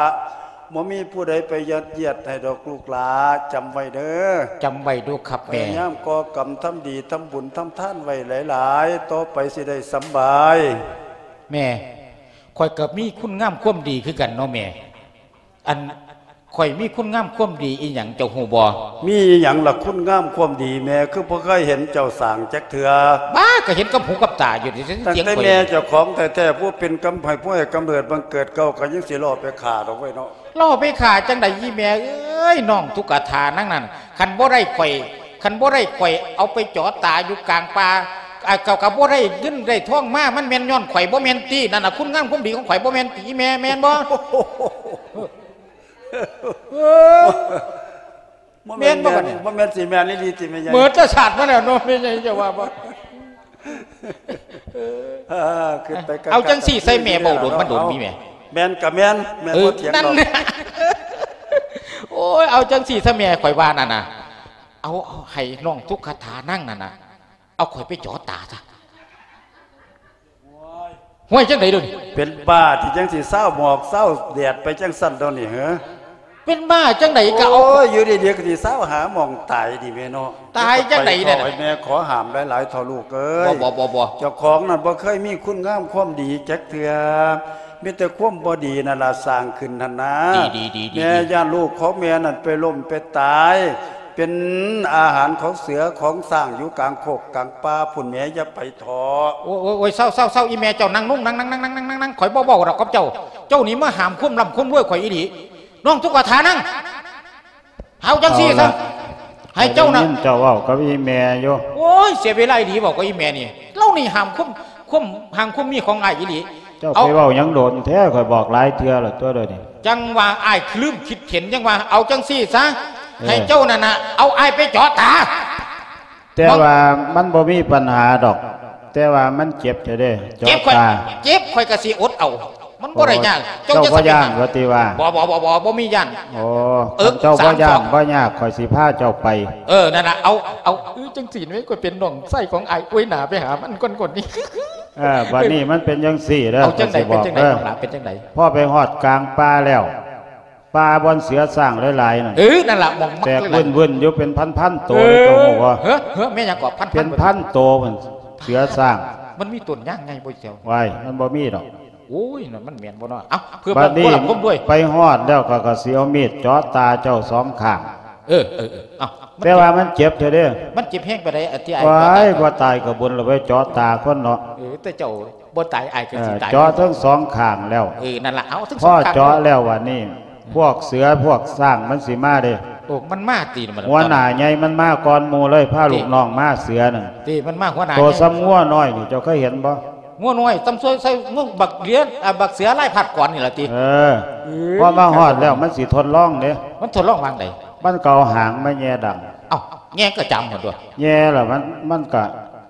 ບໍ່ມີຜູ້ໃດໄປຍັດຢຽດໃຫ້ດອກລູກຫຼາ ຈຳໄວ້ເດີ ຈຳໄວ້ດູຄັບແມ່ ພະຍາຍາມກໍ່ກຳທຳດີ ທຳບຸນທຳທານໄວ້ຫຼາຍໆ ຕໍ່ໄປຊິໄດ້ສຳບາຍ. ແມ່ ຂ້ອຍກໍມີຄຸນງາມຄວາມດີຄືກັນເນາະແມ່ ອັນ ຂ້ອຍມີຄຸນງາມຄວາມດີອີ່ຫຍັງເຈົ້າຮູ້ບໍ່? ມີອີ່ຫຍັງລະຄຸນງາມຄວາມດີ ແມ່ຄືບໍ່ເຄີຍເຫັນເຈົ້າສ້າງຈັກເທື່ອ? ບ້າ ກໍເຫັນກັບຫູກັບຕາຢູ່ນີ້ ຕັ້ງແຕ່ແມ່ເຈົ້າຂອງແທ້ໆ ຜູ້ເປັນກຳ ໃຫ້ຜູ້ໃຫ້ກຳເນີດບັງເກີດເກົ່າ ກໍຍັງຊິລໍ້ໄປຂ້າດອກເວີຍເນາະ. ລໍ້ໄປຂ້າຈັ່ງໃດອີ່ແມ່ເອີຍ ນ້ອງຕຸກກະຖານາງນັ້ນ ຄັນບໍ່ໄດ້ຂ້ອຍ ຄັນບໍ່ໄດ້ຂ້ອຍເອົາໄປຈໍຕາຢູ່ກາງປ່າ ອາ ກໍ ກໍບໍ່ໄດ້ເງິນໄດ້ທອງມາ ມັນແມ່ນຍ້ອນຂ້ອຍບໍ່ແມ່ນຕິ? ນັ້ນນະ ຄຸນງາມຄວາມດີຂອງຂ້ອຍບໍ່ແມ່ນຕິອີ່ແມ່ ແມ່ນບໍ່? ບໍ່ແມ່ນ ແມ່ນບໍ່ບັດນີ້? ບໍ່ແມ່ນຊິແມ່ນອີ່ຫຼີຕິແມ່ໃຫຍ່? ເໝິດແຕ່ຊາດມາແລ້ວເນາະ ແມ່ໃຫຍ່ຈະວ່າບໍ່? ເອີ ເອົາຈັ່ງຊີ້ຊະ ແມ່ເວົ້າດົນມາດົນນີ້ແມ່. ແມ່ນກະແມ່ນ ແມ່ບໍ່ຖຽງດອກ. ໂອ້ຍ ເອົາຈັ່ງຊີ້ຊະແມ່ ຂ້ອຍວ່ານັ້ນນະ ເອົາ ເອົາໃຫ້ນ້ອງຕຸກກະຖານາງນັ້ນນະ ເອົາຂ້ອຍໄປຈໍຕາຊະ. ໂອ້ຍ ຈັ່ງໃດເດີນີ້? ເປັນບ້າຕິ ຈັ່ງຊິຊາວໝອກຊາວແດດໄປຈັ່ງຊັ້ນດອກນີ້ເຫີ? ເປັນບ້າຈັ່ງໃດກະເອົາ ໂອ້ຍ ຢູ່ດີໆກໍຊິຊາວຫາໝ່ອງຕາຍນີ້ແມ່ເນາະ. ຕາຍຈັ່ງໃດແດ່? ໃຫ້ແມ່ຂໍຫ້າມຫຼາຍໆເຖາະລູກເອີຍ. ບໍ່ ບໍ່ ບໍ່ ບໍ່ ເຈົ້າຂອງນັ້ນບໍ່ເຄີຍມີຄຸນງາມຄວາມດີຈັກເທື່ອ ມີແຕ່ຄວາມບໍ່ດີນັ້ນລະສ້າງຂຶ້ນຫັ້ນນາ. ດີໆໆໆ ແມ່ຢ້ານລູກຂອງແມ່ນັ້ນໄປລົ້ມໄປຕາຍ ເປັນອາຫານຂອງເສືອຂອງຊ້າງຢູ່ກາງໂຄກກາງປ່າພຸ້ນແໝ ຢ່າໄປເຖາະ. ໂອ້ຍ ໂອ້ຍ ໂອ້ຍ ເຊົາ ເຊົາ ເຊົາ ອີ່ແມ່ເຈົ້າ ນັ່ງລົງ ນັ່ງ ນັ່ງ ນັ່ງ ນັ່ງ ນັ່ງ ຂ້ອຍບໍ່ເວົ້າດອກກັບເຈົ້າ. ເຈົ້ານີ້ມາຫ້າມຄວາມລ່ຳຄວາມລວຍຂ້ອຍອີ່ຫຼີ. ນ້ອງຕຸກກະຖານາງ ເອົາຈັ່ງຊີ້ຊະ ໃຫ້ເຈົ້ານະ ເຈົ້າເວົ້າກັບອີ່ແມ່ຢູ່. ໂອ້ຍ ເສຍເວລາອີ່ຫຼີເວົ້າກັບອີ່ແມ່ນີ້ ລາວນີ້ຫ້າມຄວາມ ຄວາມຮັ່ງຄວາມມີຂອງອ້າຍອີ່ຫຼີ. ເຈົ້າໄປເວົ້າຫຍັງດົນແທ້ ຂ້ອຍບອກຫຼາຍເທື່ອແລ້ວຕົວະເດີນີ້. ຈັ່ງວ່າອ້າຍລືມຄິດເຫັນ ຈັ່ງວ່າ ເອົາຈັ່ງຊີ້ຊະ ເອີ ໃຫ້ເຈົ້ານັ້ນນະ ເອົາອ້າຍໄປເຈາະຕາ. ແຕ່ວ່າມັນບໍ່ມີບັນຫາດອກ ແຕ່ວ່າມັນເຈັບແທ້ເດ້ ເຈາະຕາ. ເຈັບ ຂ້ອຍກະຊິອົດເອົາ ມັນບໍ່ໄດ້ຍາກ. ເຈົ້າບໍ່ຢ້ານວ່າຕິວ່າ? ບໍ່ ບໍ່ ບໍ່ ບໍ່ ບໍ່ມີຢ້ານ. ໂອ້ ເອີ ຄັນເຈົ້າບໍ່ຢ້ານບໍ່ຍາກ ຂ້ອຍຊິພາເຈົ້າໄປ. ເອີ ນັ້ນລະ ເອົາ ເອົາ ຈັ່ງຊີ້ແມ່ ຂ້ອຍເປັນນ້ອງຊາຍຂອງອ້າຍ. ໂອ້ຍ ໜ້າໄປຫາມັນກ່ອນໆນີ້. ເອີ ບາດນີ້ມັນເປັນຈັ່ງຊີ້ເດີ ເອົາຈັ່ງໃດ ເປັນຈັ່ງໃດ ນ້ອງຫຼາ ເປັນຈັ່ງໃດ? ພໍໄປຮອດກາງປ່າແລ້ວ ປ່າບ່ອນເສືອຊ້າງຫຼາຍໆນັ້ນ ເອີ ນັ້ນລະ ໝ່ອງມັກແຕກວຶ້ນໆຢູ່ເປັນພັນໆໂຕເລີຍ ເຈົ້າຮູ້ບໍ່? ເຮີ ເຮີ ແມ່ນຫຍັງເກາະ? ພັນໆ ເປັນພັນໂຕພຸ້ນ ເສືອຊ້າງ. ມັນມີຕົ້ນຍາງໃຫຍ່ບໍ່ແຖວ? ວ້າຍ ມັນບໍ່ມີດອກ. ໂອ້ຍ ນັ້ນມັນແມ່ນບໍ່ເນາະ? ເອົ້າ ເພື່ອເບິ່ງຄວາມລຳຄວາມລວຍ. ບາດນີ້ໄປຮອດແລ້ວ ຂ້ອຍກໍຊິເອົາມີດເຈາະຕາເຈົ້າສອງຂ້າງ. ເອີ ເອີ ເອີ ເອົ້າ ມັນ ແຕ່ວ່າມັນເຈັບແທ້ເດ້. ມັນເຈັບແຮງປານໃດ? ອັນທີ່ອ້າຍ ໂອ້ຍ ບໍ່ຕາຍກໍບຸນລະ ໄປເຈາະຕາຄົນເນາະ. ເອີ ແຕ່ເຈົ້າບໍ່ຕາຍ ອ້າຍກໍຊິຕາຍ. ເອີ ເຈາະທັງສອງຂ້າງແລ້ວ. ເອີ ນັ້ນລະ ເອົາທັງສອງຂ້າງ. ພໍເຈາະແລ້ວບັດນີ້ ອືມ ພວກເສືອພວກຊ້າງມັນຊິມາເດ້. ໂອ້ ມັນມາຕິ ມັນ ຫົວໜ້າໃຫຍ່ມັນມາກ່ອນໝູ່ເລີຍ ພາ ຕິ ລູກນ້ອງມາ ເສືອນັ້ນ. ຕິ ມັນມາຫົວໜ້າໃຫຍ່ ໂຕສ່ຳງົວນ້ອຍນີ້ ເຈົ້າເຄີຍເຫັນບໍ່? ງົວນ້ອຍ ສ່ຳ ສ່ຳ ສ່ຳ ງົວ ບັກເຫຼືອ ອ່າ ບັກເສືອລາຍພັດກ່ອນນີ້ລະຕິ. ເອີ ເອີ ພໍມາຮອດແລ້ວມັນຊິທົດລອງເດ້. ມັນທົດລອງວ່າງໃດ? ມັນກໍເອົາຫາງມາແຍ່ດັງ. ເອົ້າ ແຍ່ກະຈາມພຸ້ນຕົວະ. ແຍ່ແລ້ວມັນ ມັນກະ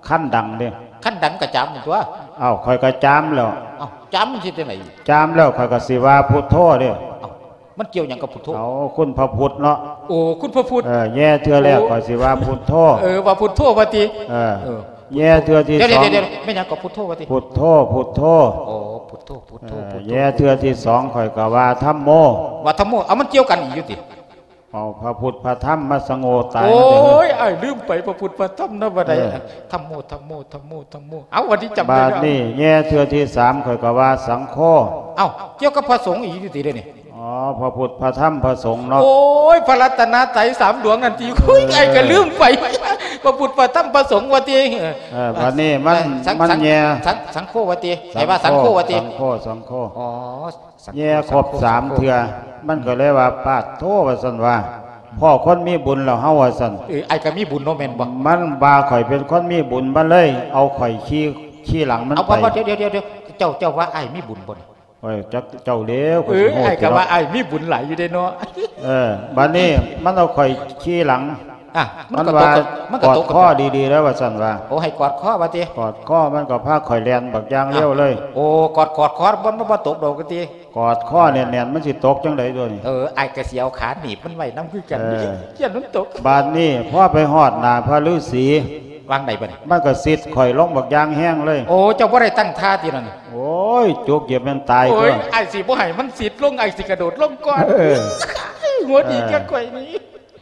ຄັນດັງເດ້. ຄັນດັງກະຈາມພຸ້ນຕົວະ. ເອົ້າ ຂ້ອຍກະຈາມແລ້ວ. ເອົ້າ ຈາມມັນຊິຈັ່ງໃດ? ຈາມແລ້ວຂ້ອຍກະຊິວ່າພຸດໂທເດ້. ເອົ້າ ມັນກ່ຽວຫຍັງກັບພຸດໂທ? ເອົາ ຄຸນພະພຸດເນາະ. ໂອ້ ຄຸນພະພຸດ. ເອີ ແຍ່ເທື່ອແລກ ໂອ້ ຂ້ອຍຊິວ່າພຸດໂທ. ເອີ ວ່າພຸດໂທວ່າຕິ. ເອີ ເອີ ແຍ່ເທື່ອທີສອງ ດຽວໆ ແມ່ນຫຍັງກໍພຸດໂທວ່າຕິ? ພຸດໂທ ພຸດໂທ. ໂອ້ ພຸດໂທ ພຸດໂທ ເອີ ພຸດໂທ. ແຍ່ເທື່ອທີສອງ ຂ້ອຍກໍວ່າທຳໂມ. ວ່າທຳໂມ. ເອົາ ມັນກ່ຽວກັນອີກຢູ່ຕິ? ເອົາ ພະພຸດພະທຳມາສະໂງ່ຕາຍ. ໂອ້ຍ ມັນເດີ ອ້າຍລືມໄປ ພະພຸດພະທຳນະ ບໍ່ໄດ້. ເອີ ທຳໂມ ທຳໂມ ທຳໂມ ທຳໂມ. ເອົາ ບັດນີ້ຈຳໄດ້ແລ້ວ. ບາດນີ້ແຍ່ເທື່ອທີສາມ ຂ້ອຍກໍວ່າສັງໂຄ. ເອົ້າ ກ່ຽວກັບພະສົງອີກຢູ່ຕິເດນີ້? ອໍ ພະພຸດພະທຳພະສົງເນາະ. ໂອ້ຍ ພະລັດຕະນະໄຕສາມດວງນັ້ນຕິ. ໂອ້ຍ ເອີ ອ້າຍກໍລືມໄປ ພະພຸດພະທຳພະສົງວ່າຕິ. ເອີ ເອີ ບັດນີ້ມັນ ສັງ ມັນແຍ່ ສັງ ສັງໂຄວ່າຕິ. ໃຫ້ວ່າສັງໂຄວ່າຕິ. ສັງໂຄ ສັງໂຄ. ອໍ ແຍ່ຄົບສາມເທື່ອ ມັນກໍເລີຍວ່າ ປາດໂທ ວ່າຊັ້ນວ່າ ພໍ້ຄົນມີບຸນແລ້ວເຮົາ ວ່າຊັ້ນ. ເອີ ອ້າຍກໍມີບຸນເນາະ ແມ່ນບໍ່? ມັນວ່າຂ້ອຍເປັນຄົນມີບຸນ ມັນເລີຍເອົາຂ້ອຍຂີ່ ຂີ່ຫຼັງມັນໄປ. ເອົາ ບໍ່ ບໍ່ ດຽວ ດຽວ ດຽວ ເຈົ້າ ເຈົ້າວ່າອ້າຍມີບຸນບໍ່ນີ້? ໂອ້ຍ ຈັກເຈົ້າເດ້ ຂ້ອຍຊິຮູ້ຕິເນາະ. ເອີ ອ້າຍກໍວ່າອ້າຍມີບຸນຫຼາຍຢູ່ເດ້ເນາະ. ເອີ ບັດນີ້ມັນເອົາຂ້ອຍຂີ່ຫຼັງ. ອ່ະ ມັນກໍຕົກ ມັນວ່າ ມັນກໍຕົກ ກອດຄໍດີໆເດີ ວ່າຊັ້ນວ່າ. ໂອ້ ໃຫ້ກອດຄໍວ່າຕິ? ກອດຄໍ ມັນກໍພາຂ້ອຍແລ່ນບັກຢ່າງເລັວເລີຍ. ໂອ້ ກອດ ກອດຄໍ ມັນ ມັນບໍ່ຕົກດອກວ່າຕິ? ກອດຄໍແໜ້ນໆ ມັນຊິຕົກຈັ່ງໃດຕົວນີ້? ເອີ ອ້າຍກໍຊິເອົາຂາໜີບມັນໄວ້ນຳຄືກັນ. ເອີ ຢ້ານມັນຕົກ. ບາດນີ້ພໍໄປຮອດໜ້າພະລືສີ ວ່າງໃດບັດນີ້? ມັນກໍຊິດຂ້ອຍລົງບັກຢ່າງແຮງເລີຍ. ໂອ້ ເຈົ້າບໍ່ໄດ້ຕັ້ງທ່າຕິນັ້ນ? ໂອ້ຍ ຈຸກຢຽບແມ່ນຕາຍ. ໂອ້ຍ ຕົວະ ອ້າຍຊິບໍ່ໃຫ້ມັນຊິດລົງ ອ້າຍຊິກະໂດດລົງກ່ອນ. ເອີ ຫົວດີ ເອີ ກັບຂ້ອຍນີ້.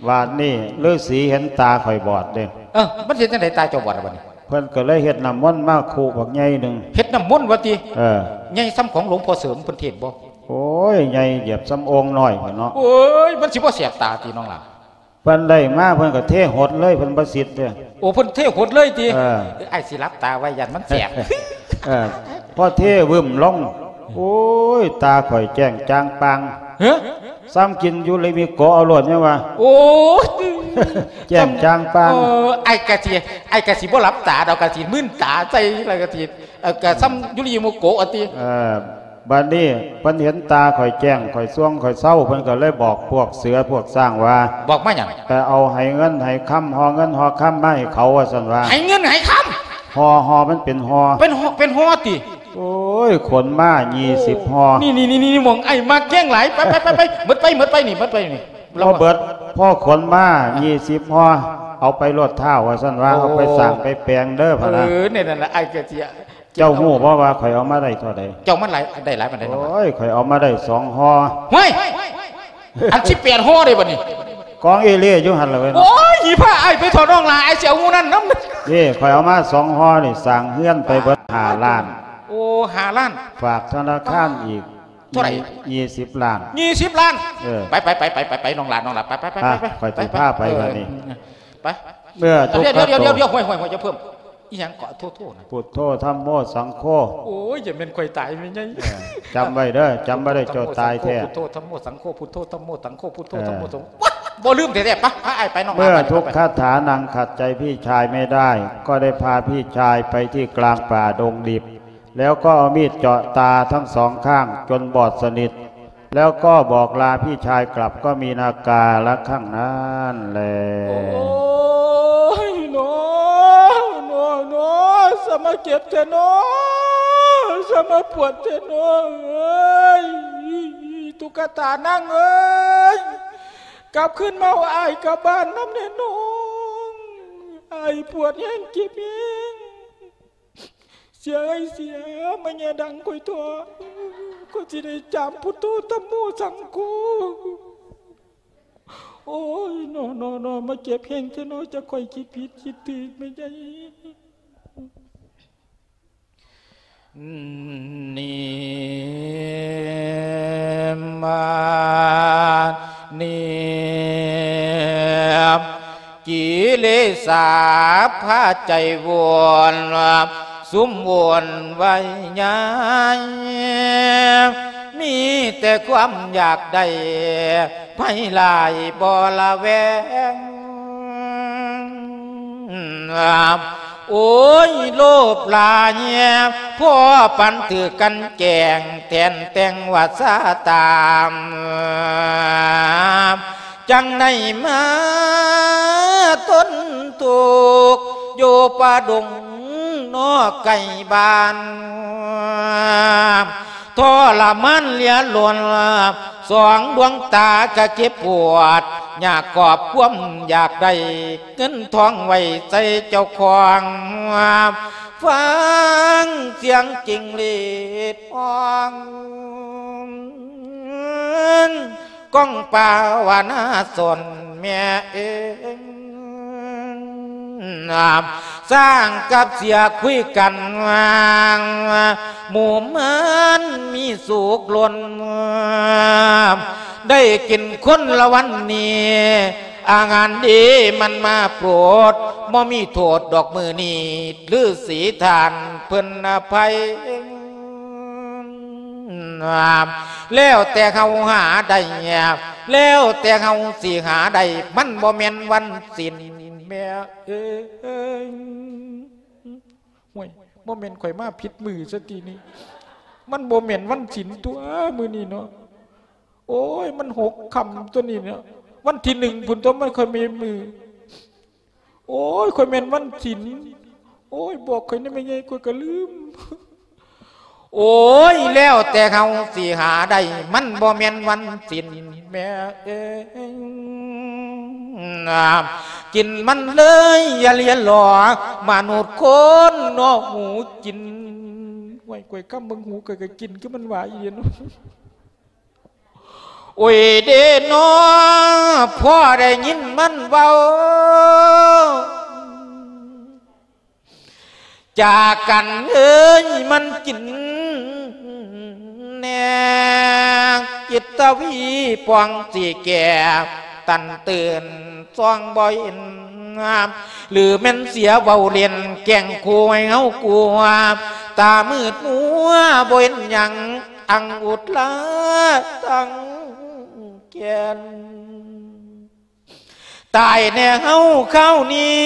ບາດນີ້ລືສີເຫັນຕາຂ້ອຍບອດເດ້. ເອີ ມັນເຮັດຈັ່ງໃດຕາເຈົ້າບອດລະບັດນີ້? ເພິ່ນກໍເລີຍເຮັດນ້ຳມົນມາຄຸບັກໃຫຍ່ໜຶ່ງ. ເຮັດນ້ຳມົນວ່າຕິ? ເອີ ໃຫຍ່ສ່ຳຂອງຫຼວງພໍ່ເສີມເພິ່ນເທດບໍ່? ໂອ້ຍ ໃຫຍ່ຢຽບສ່ຳໂອ່ງນ້ອຍພຸ້ນເນາະ. ໂອ້ຍ ມັນຊິບໍ່ແສບຕາຕິນ້ອງຫຼ້າ? ເພິ່ນໄດ້ມາເພິ່ນກໍເທຫົດເລີຍ ເພິ່ນບໍ່ຊິດເດ້. ໂອ້ ເພິ່ນເທຫົດເລີຍຕິ? ເອີ ເອີ ອ້າຍຊິຫຼັບຕາໄວ້ ຢ້ານມັນແສບ. ເອີ ພໍເທວຶ້ມລົງ ໂອ້ຍ ຕາຂ້ອຍແຈ້ງຈ່າງປ່າງ. ຮະ? ສ່ຳກິນຢູລິມິໂກະເອົາໂລດ ຍັງວ່າ. ໂອ້ຍ ແຈ້ງຈ່າງປ່າງ. ເອີ ອ້າຍກະຊິ ອ້າຍກະຊິບໍ່ຫຼັບຕາດອກ ກະຊິມືນຕາໃສ່ ແລ້ວກະຊິ ເອີ ກະສ່ຳຢູລິມິໂກະຕິ. ເອີ ບາດນີ້ເພິ່ນເຫັນຕາຂ້ອຍແຈ້ງ ຂ້ອຍສ່ວງ ຂ້ອຍເຊົາ ເພິ່ນກໍເລີຍບອກພວກເສືອພວກຊ້າງວ່າ. ບອກມາຫຍັງ? ໄປເອົາໄຫເງິນໄຫຄຳ ຫໍ່ເງິນຫໍ່ຄຳມາໃຫ້ເຂົາ ວ່າຊັ້ນວ່າ. ໄຫເງິນໄຫຄຳ? ຫໍ່ ຫໍ່ ມັນເປັນຫໍ່. ເປັນຫໍ່ ເປັນຫໍ່ຕິ? ໂອ້ຍ ຂົນມາ ໂອ້ ຍີ່ສິບຫໍ່. ນີ້ໆໆ ໝ່ອງອ້າຍມັກແຮງຫຼາຍ. ໄປໆໆ ໝົດໄປ ໝົດໄປນີ້ ໝົດໄປນີ້. ບໍ່ເບິດ ພໍຂົນມາ ອ່ະ ຍີ່ສິບຫໍ່ ເອົາໄປໂລດທ້າວ ວ່າຊັ້ນວ່າ. ໂອ້ ເອົາໄປສ້າງໄປແປງເດີ ພະນະ. ເອີ ແນວນັ້ນລະ ອ້າຍກະຊິ ເຈົ້າຮູ້ບໍ່ວ່າຂ້ອຍເອົາມາໄດ້ເທົ່າໃດ? ເຈົ້າມາໄດ້ຫຼາຍປານໃດ? ໂອ້ຍ ຂ້ອຍເອົາມາໄດ້ສອງຫໍ່. ເຮີ້ຍ ອັນສິບແປດຫໍ່ເດ້ບັດນີ້. ກອງເອເລ່ຢູ່ຫັ້ນລະເວີຍ. ໂອ້ຍ ຢ່າພາອ້າຍໄປເຖາະນ້ອງຫຼ້າ ອ້າຍຊິເອົາໝູ່ນັ້ນນຳ. ນີ້ ຂ້ອຍເອົາມາສອງຫໍ່ນີ້ ສ້າງເຮືອນໄປເບິດຫ້າລ້ານ. ໂອ້ ຫ້າລ້ານ. ຝາກທະນາຄານອີກ ເທົ່າໃດ? ຍີ່ສິບລ້ານ. ຍີ່ສິບລ້ານ. ເອີ ໄປໆໆໆ ນ້ອງຫຼ້າ ນ້ອງຫຼ້າ ໄປໆໆ ອ່ະ ຂ້ອຍຊິພາໄປ ເອີ ບັດນີ້. ໄປ ເມື່ອທຸກຂະ ດຽວໆໆໆ ຫ້ວຍໆໆ ຢ່າເພີ່ມ ອີ່ຫຍັງເກາະ ໂທໆ ນະ? ພຸດໂທ ທຳໂມ ສັງໂຄ. ໂອ້ຍ ຢ່າແມ່ນຂ້ອຍຕາຍແມ່ໃຫຍ່. ເອີ ຈຳໄວ້ເດີ ຈຳບໍ່ໄດ້ເຈົ້າຕາຍແທ້. ພຸດໂທ ທຳໂມ ສັງໂຄ ພຸດໂທ ທຳໂມ ສັງໂຄ ພຸດໂທ ທຳໂມ ສັງໂຄ. ບໍ່ລືມແທ້ໆ. ໄປ ພາອ້າຍໄປ ນ້ອງຫຼ້າ. ເມື່ອທຸກຄາຖານັ່ງຂັດໃຈພີ່ຊາຍໄມ່ໄດ້ ກໍໄດ້ພາພີ່ຊາຍໄປທີ່ກາງປ່າດົງດິບ ແລ້ວກໍເອົາມີດເຈາະຕາທັງສອງຂ້າງຈົນບອດສະໜິດ ແລ້ວກໍບອກລາພີ່ຊາຍກັບ ກໍມີນາກາລະຄັ້ງນັ້ນແລ. ໂອ້ຍ ໜໍ ໜໍ ໜໍ ສະມາເຈັບແທ້ໜໍ ສະມາປວດແທ້ໜໍເອີຍ. ຕຸກກະຕານາງເອີຍ ກັບຄືນມາເອົາອ້າຍກັບບ້ານນຳແດ່ນ້ອງ. ອ້າຍປວດແຮງ ເຈັບແຮງ. ເສຍເອີຍເສຍ ມາແຍ່ດັງຂ້ອຍເຖາະ ຂ້ອຍຊິໄດ້ຈາມພຸດໂທ ທຳໂມ ສັງໂຄ. ໂອ້ຍ ໜໍ ໜໍ ໜໍ ມາເຈັບແຮງແທ້ໜໍ ຈັກຂ້ອຍຄິດຜິດຄິດຖືກແມ່ໃຫຍ່. ນິມາ ນິ ກິເລສາພາໃຈວົນ ຊຸມວຸ່ນວາຍຍາຍ ມີແຕ່ຄວາມຢາກໄດ້ ໄພຫຼາຍບໍ່ລະແວງ. ໂອ້ຍ ໂລບຫຼາຍ ພໍປານຖືກກັນແກ້ງ ແທນແຕ່ງວ່າຊາຕາມ ຈັ່ງໄດ້ມາທົນທຸກ ຢູ່ປ່າດົງນອກໄກບ້ານ ທໍລະມານເຫຼືອລົ້ນ ສອງດວງຕາກະເຈັບປວດ ຢາກກອບຄວາມຢາກໄດ້ ເງິນທອງໄວ້ໃສ່ເຈົ້າຂອງ ຟັງສຽງຈິງຫຼີດຮ້ອງ ກ້ອງປາວະນາສົນແມ່ເອີຍ ຊ້າງກັບເສືອຄຸຍກັນ ໝູ່ມັນມີສຸກລົ້ນ ໄດ້ກິນຄົນລະວັນນີ້ ອາຫານດີມັນມາໂປດ ບໍ່ມີໂທດດອກມື້ນີ້ ລືສີທ່ານເພິ່ນອະໄພ ແລ້ວແຕ່ເຮົາຫາໄດ້ ແລ້ວແຕ່ເຮົາຊິຫາໄດ້ ມັນບໍ່ແມ່ນວັນສິນແມ່ເອີຍ. ໂອ້ຍ ບໍ່ແມ່ນຂ້ອຍມາຜິດມື້ຊະຕິນີ້ ມັນບໍ່ແມ່ນວັນສິນຕົວະມື້ນີ້ເນາະ. ໂອ້ຍ ມັນຫົກຄ່ຳຕົວະນີ້ເນາະ ວັນທີໜຶ່ງພຸ້ນຕົວະ ມັນຄ່ອຍແມ່ນມື້. ໂອ້ຍ ຂ້ອຍແມ່ນວັນສິນ ໂອ້ຍ ບອກຂ້ອຍແດ່ແມ່ໃຫຍ່ ຂ້ອຍກະລືມ. ໂອ້ຍ ແລ້ວແຕ່ເຮົາຊິຫາໄດ້ ມັນບໍ່ແມ່ນວັນສິນແມ່ເອີຍ. ກິນມັນເລີຍຢ່າລຽນຫຼໍ ມະນຸດຄົນເນາະຫູກິນ. ໂອ້ຍ ຂ້ອຍກຳເບິ່ງຫູ ຂ້ອຍກະກິນ ຄືມັນວ່າອີ່ຫຼີເນາະ. ໂອ້ຍເດເນາະ ພໍໄດ້ຍິນມັນເວົ້າ ຈາກັນເອີຍ ມັນກິນແນ່ ຈິດຕະວີປ່ອງຊິແກ່ ຕັນຕື່ນສ່ອງບໍ່ເຫັນ ຫຼືແມ່ນເສຍເວົ້າຫຼິ້ນ ແກ້ງຂູ່ໃຫ້ເຮົາກົວ ຕາມືດມົວບໍ່ເຫັນຫຍັງ ອັງອຸດລາຕັງແກ່ນ ຕາຍແນ່ເຮົາຄາວນີ້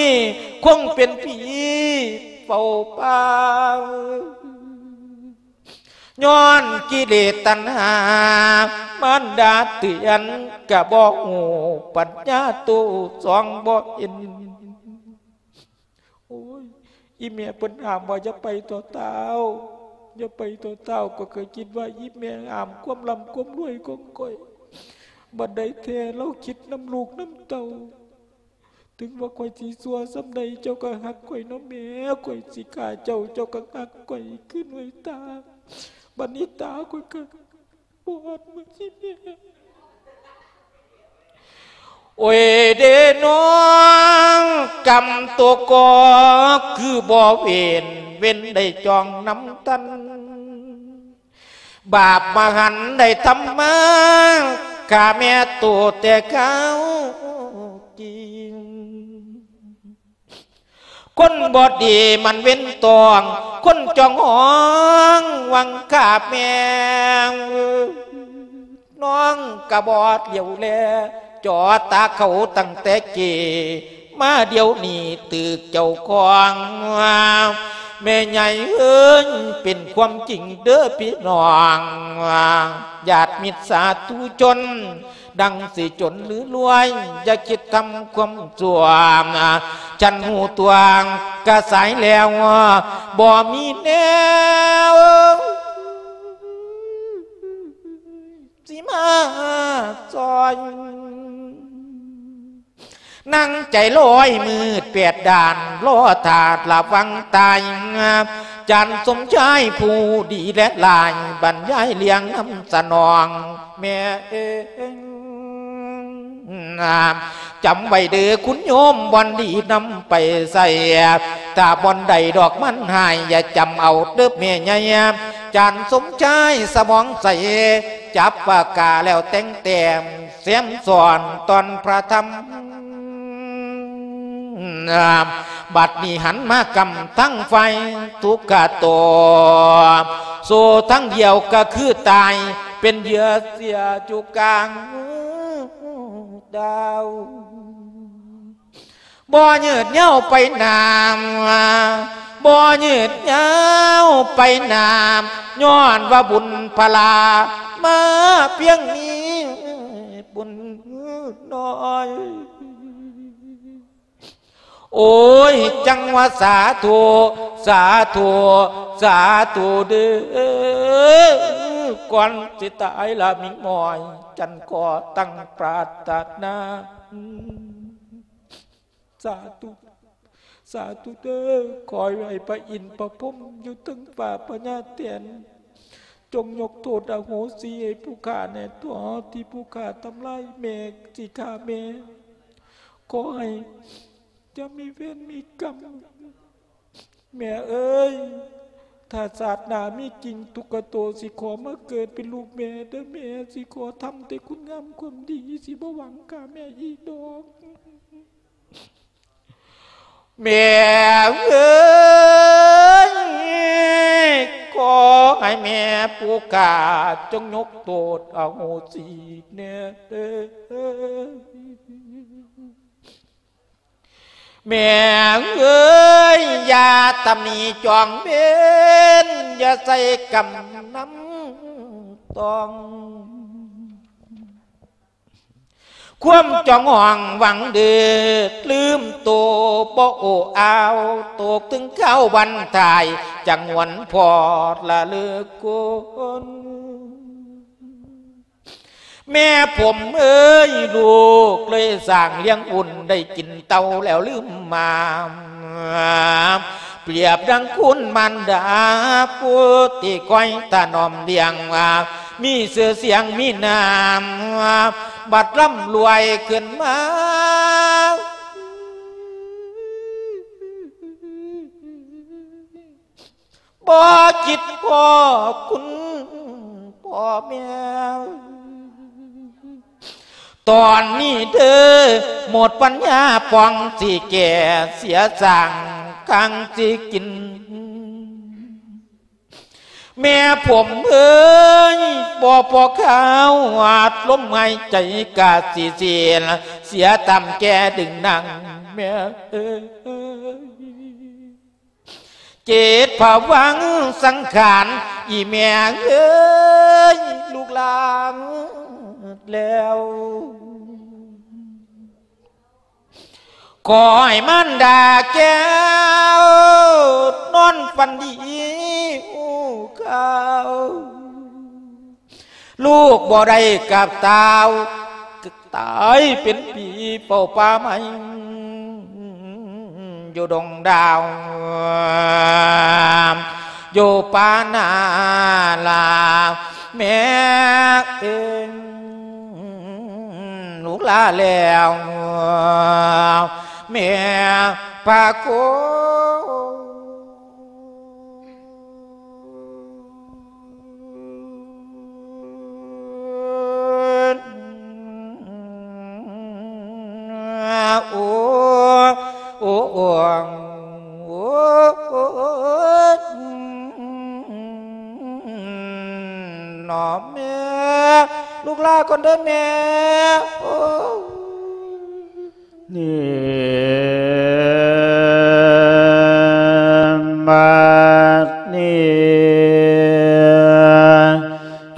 ຄົງເປັນຜີເຝົ້າປ່າ ຍ້ອນກິເລດຕັນຫາ ມານດາເຕືອນກະບໍ່ຮູ້ ປັນຍາໂຕສ່ອງບໍ່ເຫັນ. ໂອ້ຍ ອີ່ແມ່ເພິ່ນຫ້າມວ່າຢ່າໄປຕໍ່ທ້າວ ຢ່າໄປຕໍ່ທ້າວ ກໍເຄີຍຄິດວ່າອີ່ແມ່ຫ້າມຄວາມລ່ຳຄວາມລວຍຂອງຂ້ອຍ ບັດໃດແທ້ລາວຄິດນຳລູກນຳເຕົ້າ ເຖິງວ່າຂ້ອຍຊິຊົ່ວສ່ຳໃດ ເຈົ້າກໍຮັກຂ້ອຍເນາະແມ່ ຂ້ອຍຊິຂ້າເຈົ້າ ເຈົ້າກໍຮັກຂ້ອຍຄືນ້ອຍຕາ ບັດນີ້ຕາຂ້ອຍກໍ ປອດມັນຊິແຕກ ໂອ້ຍເດນ້ອງ ກຳໂຕກໍຄືບໍ່ເວນ ເວນໄດ້ຈອງນຳຕັນ ບາບມະຫັນໄດ້ທຳມາ ຂ້າແມ່ໂຕແຕ່ເກົ່າກິນ ຄົນບໍ່ດີມັນເວັນຕ້ອງ ຄົນຈ້ອງຫ້ອງຫວັງຂ້າແມ່ ນ້ອງກະບໍ່ຫຼຽວແລ ຈໍຕາເຂົາຕັ້ງແຕ່ກີ້ ມາດຽວນີ້ຖືກເຈົ້າຂອງ ແມ່ໃຫຍ່ເອີຍ ເປັນຄວາມຈິງເດີພີ່ນ້ອງ ຍາດມິດສາທຸຊົນ ດັ່ງຊິຈົນຫຼືລວຍ ຢ່າຄິດທຳຄວາມຊົ່ວ ຄັນຮູ້ຕົວກະສາຍແລ້ວ ບໍ່ມີແນວຊິມາຊ່ອຍ ນັ່ງໃຈລອຍມືດແປດດ້ານ ລໍຖ້າລະວັງຕາຍ ຈານສົມຊາຍຜູ້ດີແລະຫຼາຍ ບັນຍາຍລຽງນຳສະໜອງ ແມ່ເອີຍ ຈຳໄວ້ເດີຄຸນໂຍມ ບ່ອນດີນຳໄປໃຊ້ ຖ້າບ່ອນໃດດອກມັນຮ້າຍ ຢ່າຈຳເອົາເດີແມ່ໃຫຍ່ ຈານສົມຊາຍສະໝອງໃສ ຈັບປາກກາແລ້ວແຕ່ງແຕ້ມ ແຊມຊ້ອນຕອນພະທຳ ບັດນີ້ຫັນມາກຳທັງຝ່າຍທຸກຂະໂຕ ໂສທັງດຽວກໍຄືຕາຍ ເປັນເຫຍື່ອເສຍຈຸກາງດາວ. ບໍ່ຍືດຍາວໄປນານ ບໍ່ຍືດຍາວໄປນານ ຍ້ອນວ່າບຸນພະລາມາພຽງນີ້ບຸນນ້ອຍ. ໂອ້ຍ ຈັ່ງວ່າສາທຸ ສາທຸ ສາທຸເດີ້ ກ່ອນຊິຕາຍລະມິງມອຍ ຈັນຂໍຕັ້ງປາດຖະໜາ ສາທຸ ສາທຸເດີ້ ຂໍໃຫ້ພະອິນພະພົມຢູ່ເທິງຟ້າພະຍາແຖນ ຈົ່ງຍົກໂທດອະໂຫສິໃຫ້ຜູ້ຂ້າແດ່ເຖາະ ທີ່ຜູ້ຂ້າທຳລາຍແມ່ ຊິຂ້າແມ່ ຂໍໃຫ້ຢ່າມີເວນມີກຳ ແມ່ເອີຍ ຖ້າຊາດໜ້າມີຈິງ ທຸກຂະໂຕຊິຂໍມາເກີດເປັນລູກແມ່ເດີ້ແມ່ ຊິຂໍທຳແຕ່ຄຸນງາມຄວາມດີ ຊິບໍ່ຫວັງຂ້າແມ່ອີກດອກ. ແມ່ເອີຍ ຂໍໃຫ້ແມ່ຜູ້ຂ້າຈົ່ງຍົກໂທດອະໂຫສິແດ່ເດີ້ ແມ່ເອີຍ ຢ່າຕຳໜິຈອງເວັນ ຢ່າໃສ່ກຳນຳຕ້ອງ. ຄວາມຈອງຫອງຫວັງດີ ລືມໂຕບໍ່ໂອ້ອາວ ຕົກເຖິງຄາວວັນຕາຍ ຈັກຫວນພໍດລະເລີກຄົນ. ແມ່ຜົມເອີຍ ລູກເລີຍສ້າງລ້ຽງບຸນ ໄດ້ກິນເຕົ້າແລ້ວລືມມາ ປຽບດັ່ງຄຸນມານດາ ຜູ້ທີ່ຄອຍຖະໜອມລ້ຽງ ມີຊື່ສຽງມີນາມ ບັດລ່ຳລວຍຂຶ້ນມາ ບໍ່ຄິດພໍ້ຄຸນພໍ່ແມ່ ຕອນນີ້ເດີ້ ໝົດປັນຍາປ່ອງ ຊິແກ່ເສຍສ້າງ ຄັງຊິກິນ ແມ່ຜົມເອີຍ ບໍ່ພໍຄາວ ອາດລົມຫາຍໃຈກະຊິສິ້ນ ເສຍຕາມແກ່ດຶງນາງແມ່ເອີຍ ເຈັດພະວັງສັງຂານ ອີ່ແມ່ເອີຍ ລູກຫຼານແລ້ວ ຂໍໃຫ້ມານດາແກ້ວ ນອນຝັນດີ ຮູ້ຂ່າວ ລູກບໍ່ໄດ້ກັບຕາວ ຕາຍເປັນຜີເຝົ້າປ່າໄມ້ ຢູ່ດົງດາວ ຢູ່ປ່ານາລາ ແມ່ເອີຍ ລູກລາແລ້ວ ແມ່ພະໂຄ ໂອ້ ໂອ້ ໂອ້ ໂອ້ ໜໍ່ແມ່ ລູກລາກ່ອນເດີ້ແມ່ ໂອ້. ນີ້ ບັດນີ້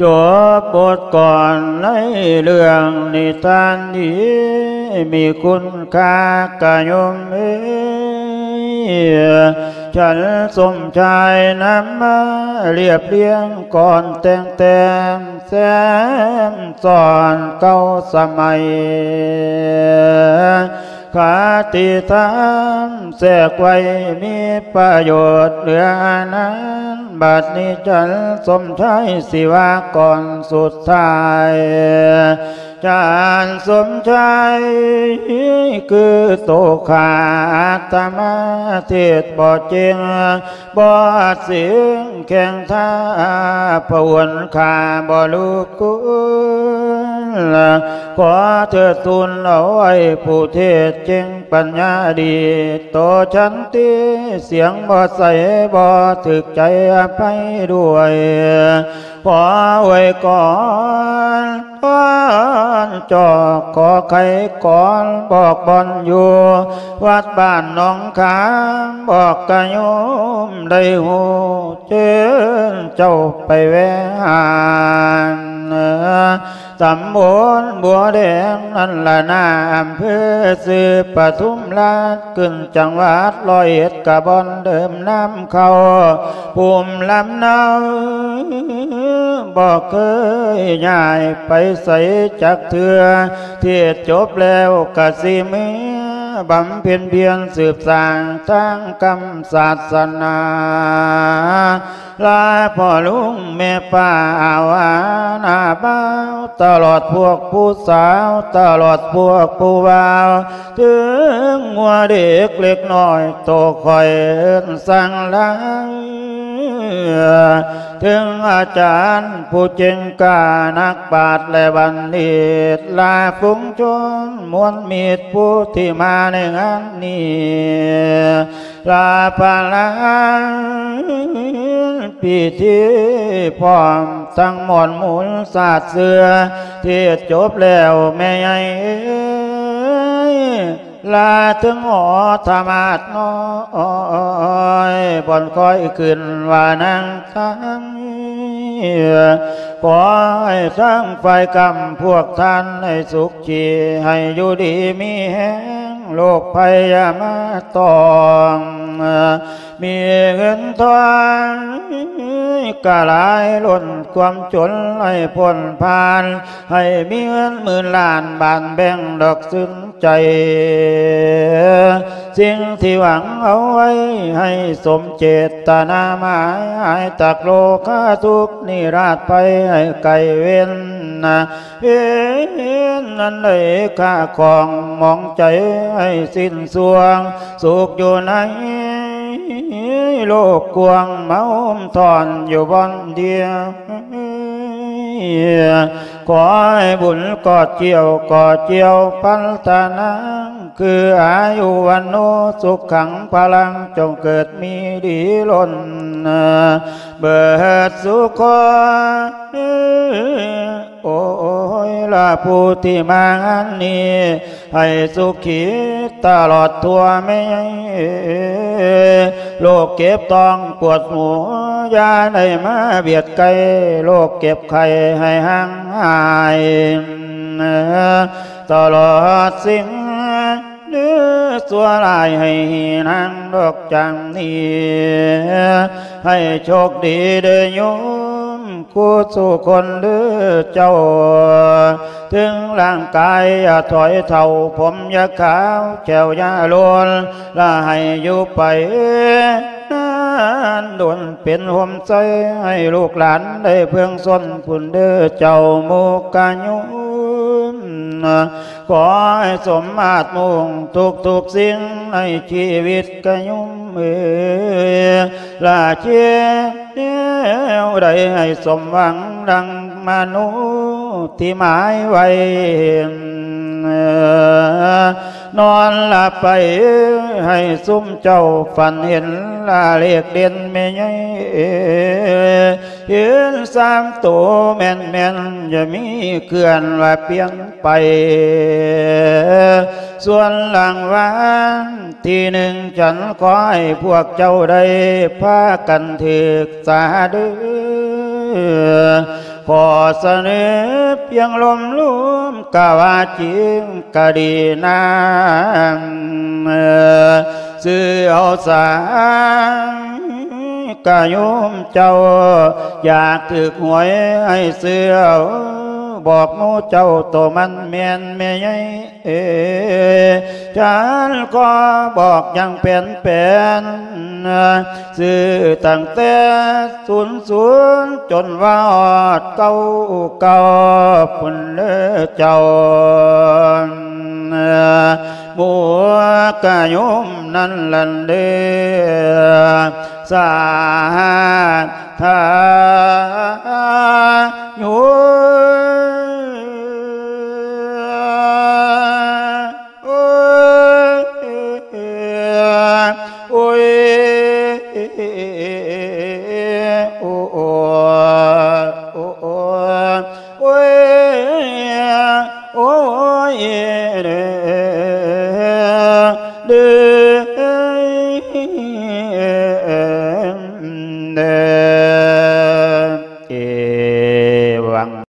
ຈົບບົດກ່ອນໃນເລື່ອງນິທານທີ່ມີຄຸນຄ່າກະໂຍມເອີຍ ສັນສົມຊາຍນຳມາລຽບລຽງກ່ອນແຕ່ງແຕ້ມ ແຊມຊ້ອນເກົ່າສະໄໝ ຄະຕິທຳແຊກໄວ້ມີປະໂຫຍດເຫຼືອອານານ. ບັດນີ້ຈັນສົມຊາຍຊິວ່າກ່ອນສຸດທ້າຍ ຈານສົມຊາຍ ຄືໂຕຂ້າອາດຕະມາເທດບໍ່ເກັ່ງ ບໍ່ເສັງແຂ່ງທ່າ ພະຫວນຂ້າບໍ່ລຸກຄຸນ ຂໍເທີດທູນເອົາໄວ້ຜູ້ເທດເກັ່ງ ປັນຍາດີ ໂຕສັນຕິສຽງບໍ່ໃສ ບໍ່ຖືກໃຈອະໄພດ້ວຍ ຂໍອວຍກອນ ກອນຈອກ ຂໍໄຂກອນ ບອກບ່ອນຢູ່ ວັດບ້ານໜອງຂາມ ບອກກະໂຍມໄດ້ຮູ້ ເຊີນເຈົ້າໄປແວ່ຫານ ຕຳບົນບົວແດງນັ້ນລະນາ ອຳເພີຊື່ປະທຸມລາດ ຂຶ້ນຈັງຫວັດຮ້ອຍເອັດ ກະບ່ອນເດີມນຳເຂົ້າ ພູມລຳເນົາ ບໍ່ເຄີຍຍ້າຍໄປໃສຈັກເທື່ອ ເທດຈົບແລ້ວກະຊິເມືອ ບຳເພັນພຽນສືບສ້າງທາງກຳສາສະໜາ ລາພໍ່ລຸງແມ່ປ້າອາວາໜ້າບ່າວ ຕະຫຼອດພວກຜູ້ສາວ ຕະຫຼອດພວກຜູ້ບ່າວ ເຖິງງົວເດັກເລັກນ້ອຍ ໂຕຂ້ອຍເອີ້ນຊ່າງລາ ເຖິງອາຈານຜູ້ເກັ່ງກ້າ ນັກປາດ ແລະ ບັນດິດ ລາຝູງຊົນມວນມິດ ຜູ້ທີ່ມາໃນງານນີ້ ລາພະລານພິທີພ້ອມທັງມ່ອນມູນສາດເສື່ອ ເທດຈົບແລ້ວແມ່ໃຫຍ່ເອີຍ ລາເຖິງຫໍທະມາດນ້ອຍ ບ່ອນຄອຍຂຶ້ນວ່ານາງທັງ ຂໍໃຫ້ທັງຝ່າຍກຳພວກທ່ານໃຫ້ສຸຂ ທີ່ໃຫ້ຢູ່ດີມີແຮງ ໂລກໄພຢ່າມາຕ້ອງ ມີເງິນທອງກະຫຼາຍລົ້ນ ຄວາມຈົນໃຫ້ພົ້ນຜ່ານ ໃຫ້ມີເງິນໝື່ນລ້ານ ບານແບ່ງດອກຊື່ນໃຈ ສິ່ງທີ່ຫວັງເອົາໄວ້ ໃຫ້ສົມເຈດຕະນາໝາຍ ຫາຍຈາກໂລຄາທຸກນິລາດໄພ ໃຫ້ໄກເວັນນະ ເວນນັ້ນໄດ້ຂ້າຂອງໝອງໃຈໃຫ້ສິ້ນຊ່ວງ ສຸກຢູ່ໃນໂລກກວ້າງ ມາໂຮມທ່ອນຢູ່ບ່ອນດຽວ ຂໍໃຫ້ບຸນກອດກ່ຽວ ກອດກ່ຽວພັນຕານາງ ຄືອາຍຸວັນໂນ ສຸຂັງພະລັງ ຈົ່ງເກີດມີດີລົ້ນເບີດສຸຄົນ ໂອ້ຍລະຜູ້ທີ່ມາງານນີ້ ໃຫ້ສຸຂີຕະຫຼອດທົ່ວແມ່ ໂລກເຈັບທ້ອງປວດຫົວ ຢ່າໄດ້ມາບຽດໃກ້ ໂລກເຈັບໄຂ້ໃຫ້ຫ່າງຫາຍ ຕະຫຼອດສິ່ງ ເດີຊົ່ວຮ້າຍໃຫ້ນາງດອກຈັງນີ້ ໃຫ້ໂຊກດີເດີໂຍມ ຄູ່ສູ່ຄົນເດີເຈົ້າ ເຖິງຮ່າງກາຍຢ່າຖອຍເຖົ້າ ຜົມຢ່າຂາວ ແຂ້ວຢ່າໂລນ ລະໃຫ້ຢູ່ໄປນານດົນ ເປັນຮົ່ມໄຊໃຫ້ລູກຫຼານໄດ້ເພິ່ງຊົນ ພຸ້ນເດີເຈົ້າໝູ່ກະໂຍມ ຂໍໃຫ້ສົມມາດມຸ່ງທຸກໆສິ່ງໃນຊີວິດກະໂຍມເອີຍ ລະເຮັດແນວໃດໃຫ້ສົມຫວັງດັ່ງມະໂນທີ່ໝາຍໄວ້ ນອນຫຼັບໄປໃຫ້ຊຸມເຈົ້າຝັນເຫັນລະເລກເດັ່ນແມ່ໃຫຍ່ ເຫັນສາມໂຕແມ່ນໆ ຢ່າມີເຄື່ອນວ່າປ່ຽນ ໄປ ສ່ວນລາງວັນທີໜຶ່ງ ຈັນຂໍໃຫ້ພວກເຈົ້າໄດ້ພາກັນຖືກສາເດີ ຂໍສະເໜີພຽງລົມລວມ ກະວ່າຈິງກະດີນາງ ຊື້ເອົາສາ ກະໂຍມເຈົ້າ ຢາກຖືກຫວຍໃຫ້ຊື້ເອົາ ບອກໝູ່ເຈົ້າໂຕມັນແມ່ນແມ່ໃຫຍ່ ເອີ ຈານຂໍບອກຢ່າງແປນແປນ ຊື້ຕັ້ງແຕ່ສູນສູນຈົນວ່າຮອດເກົ້າເກົ້າພຸ້ນເດີເຈົ້າ ໝູ່ກະໂຍມນັ້ນຫັ້ນເດີ ສາທາໂຍ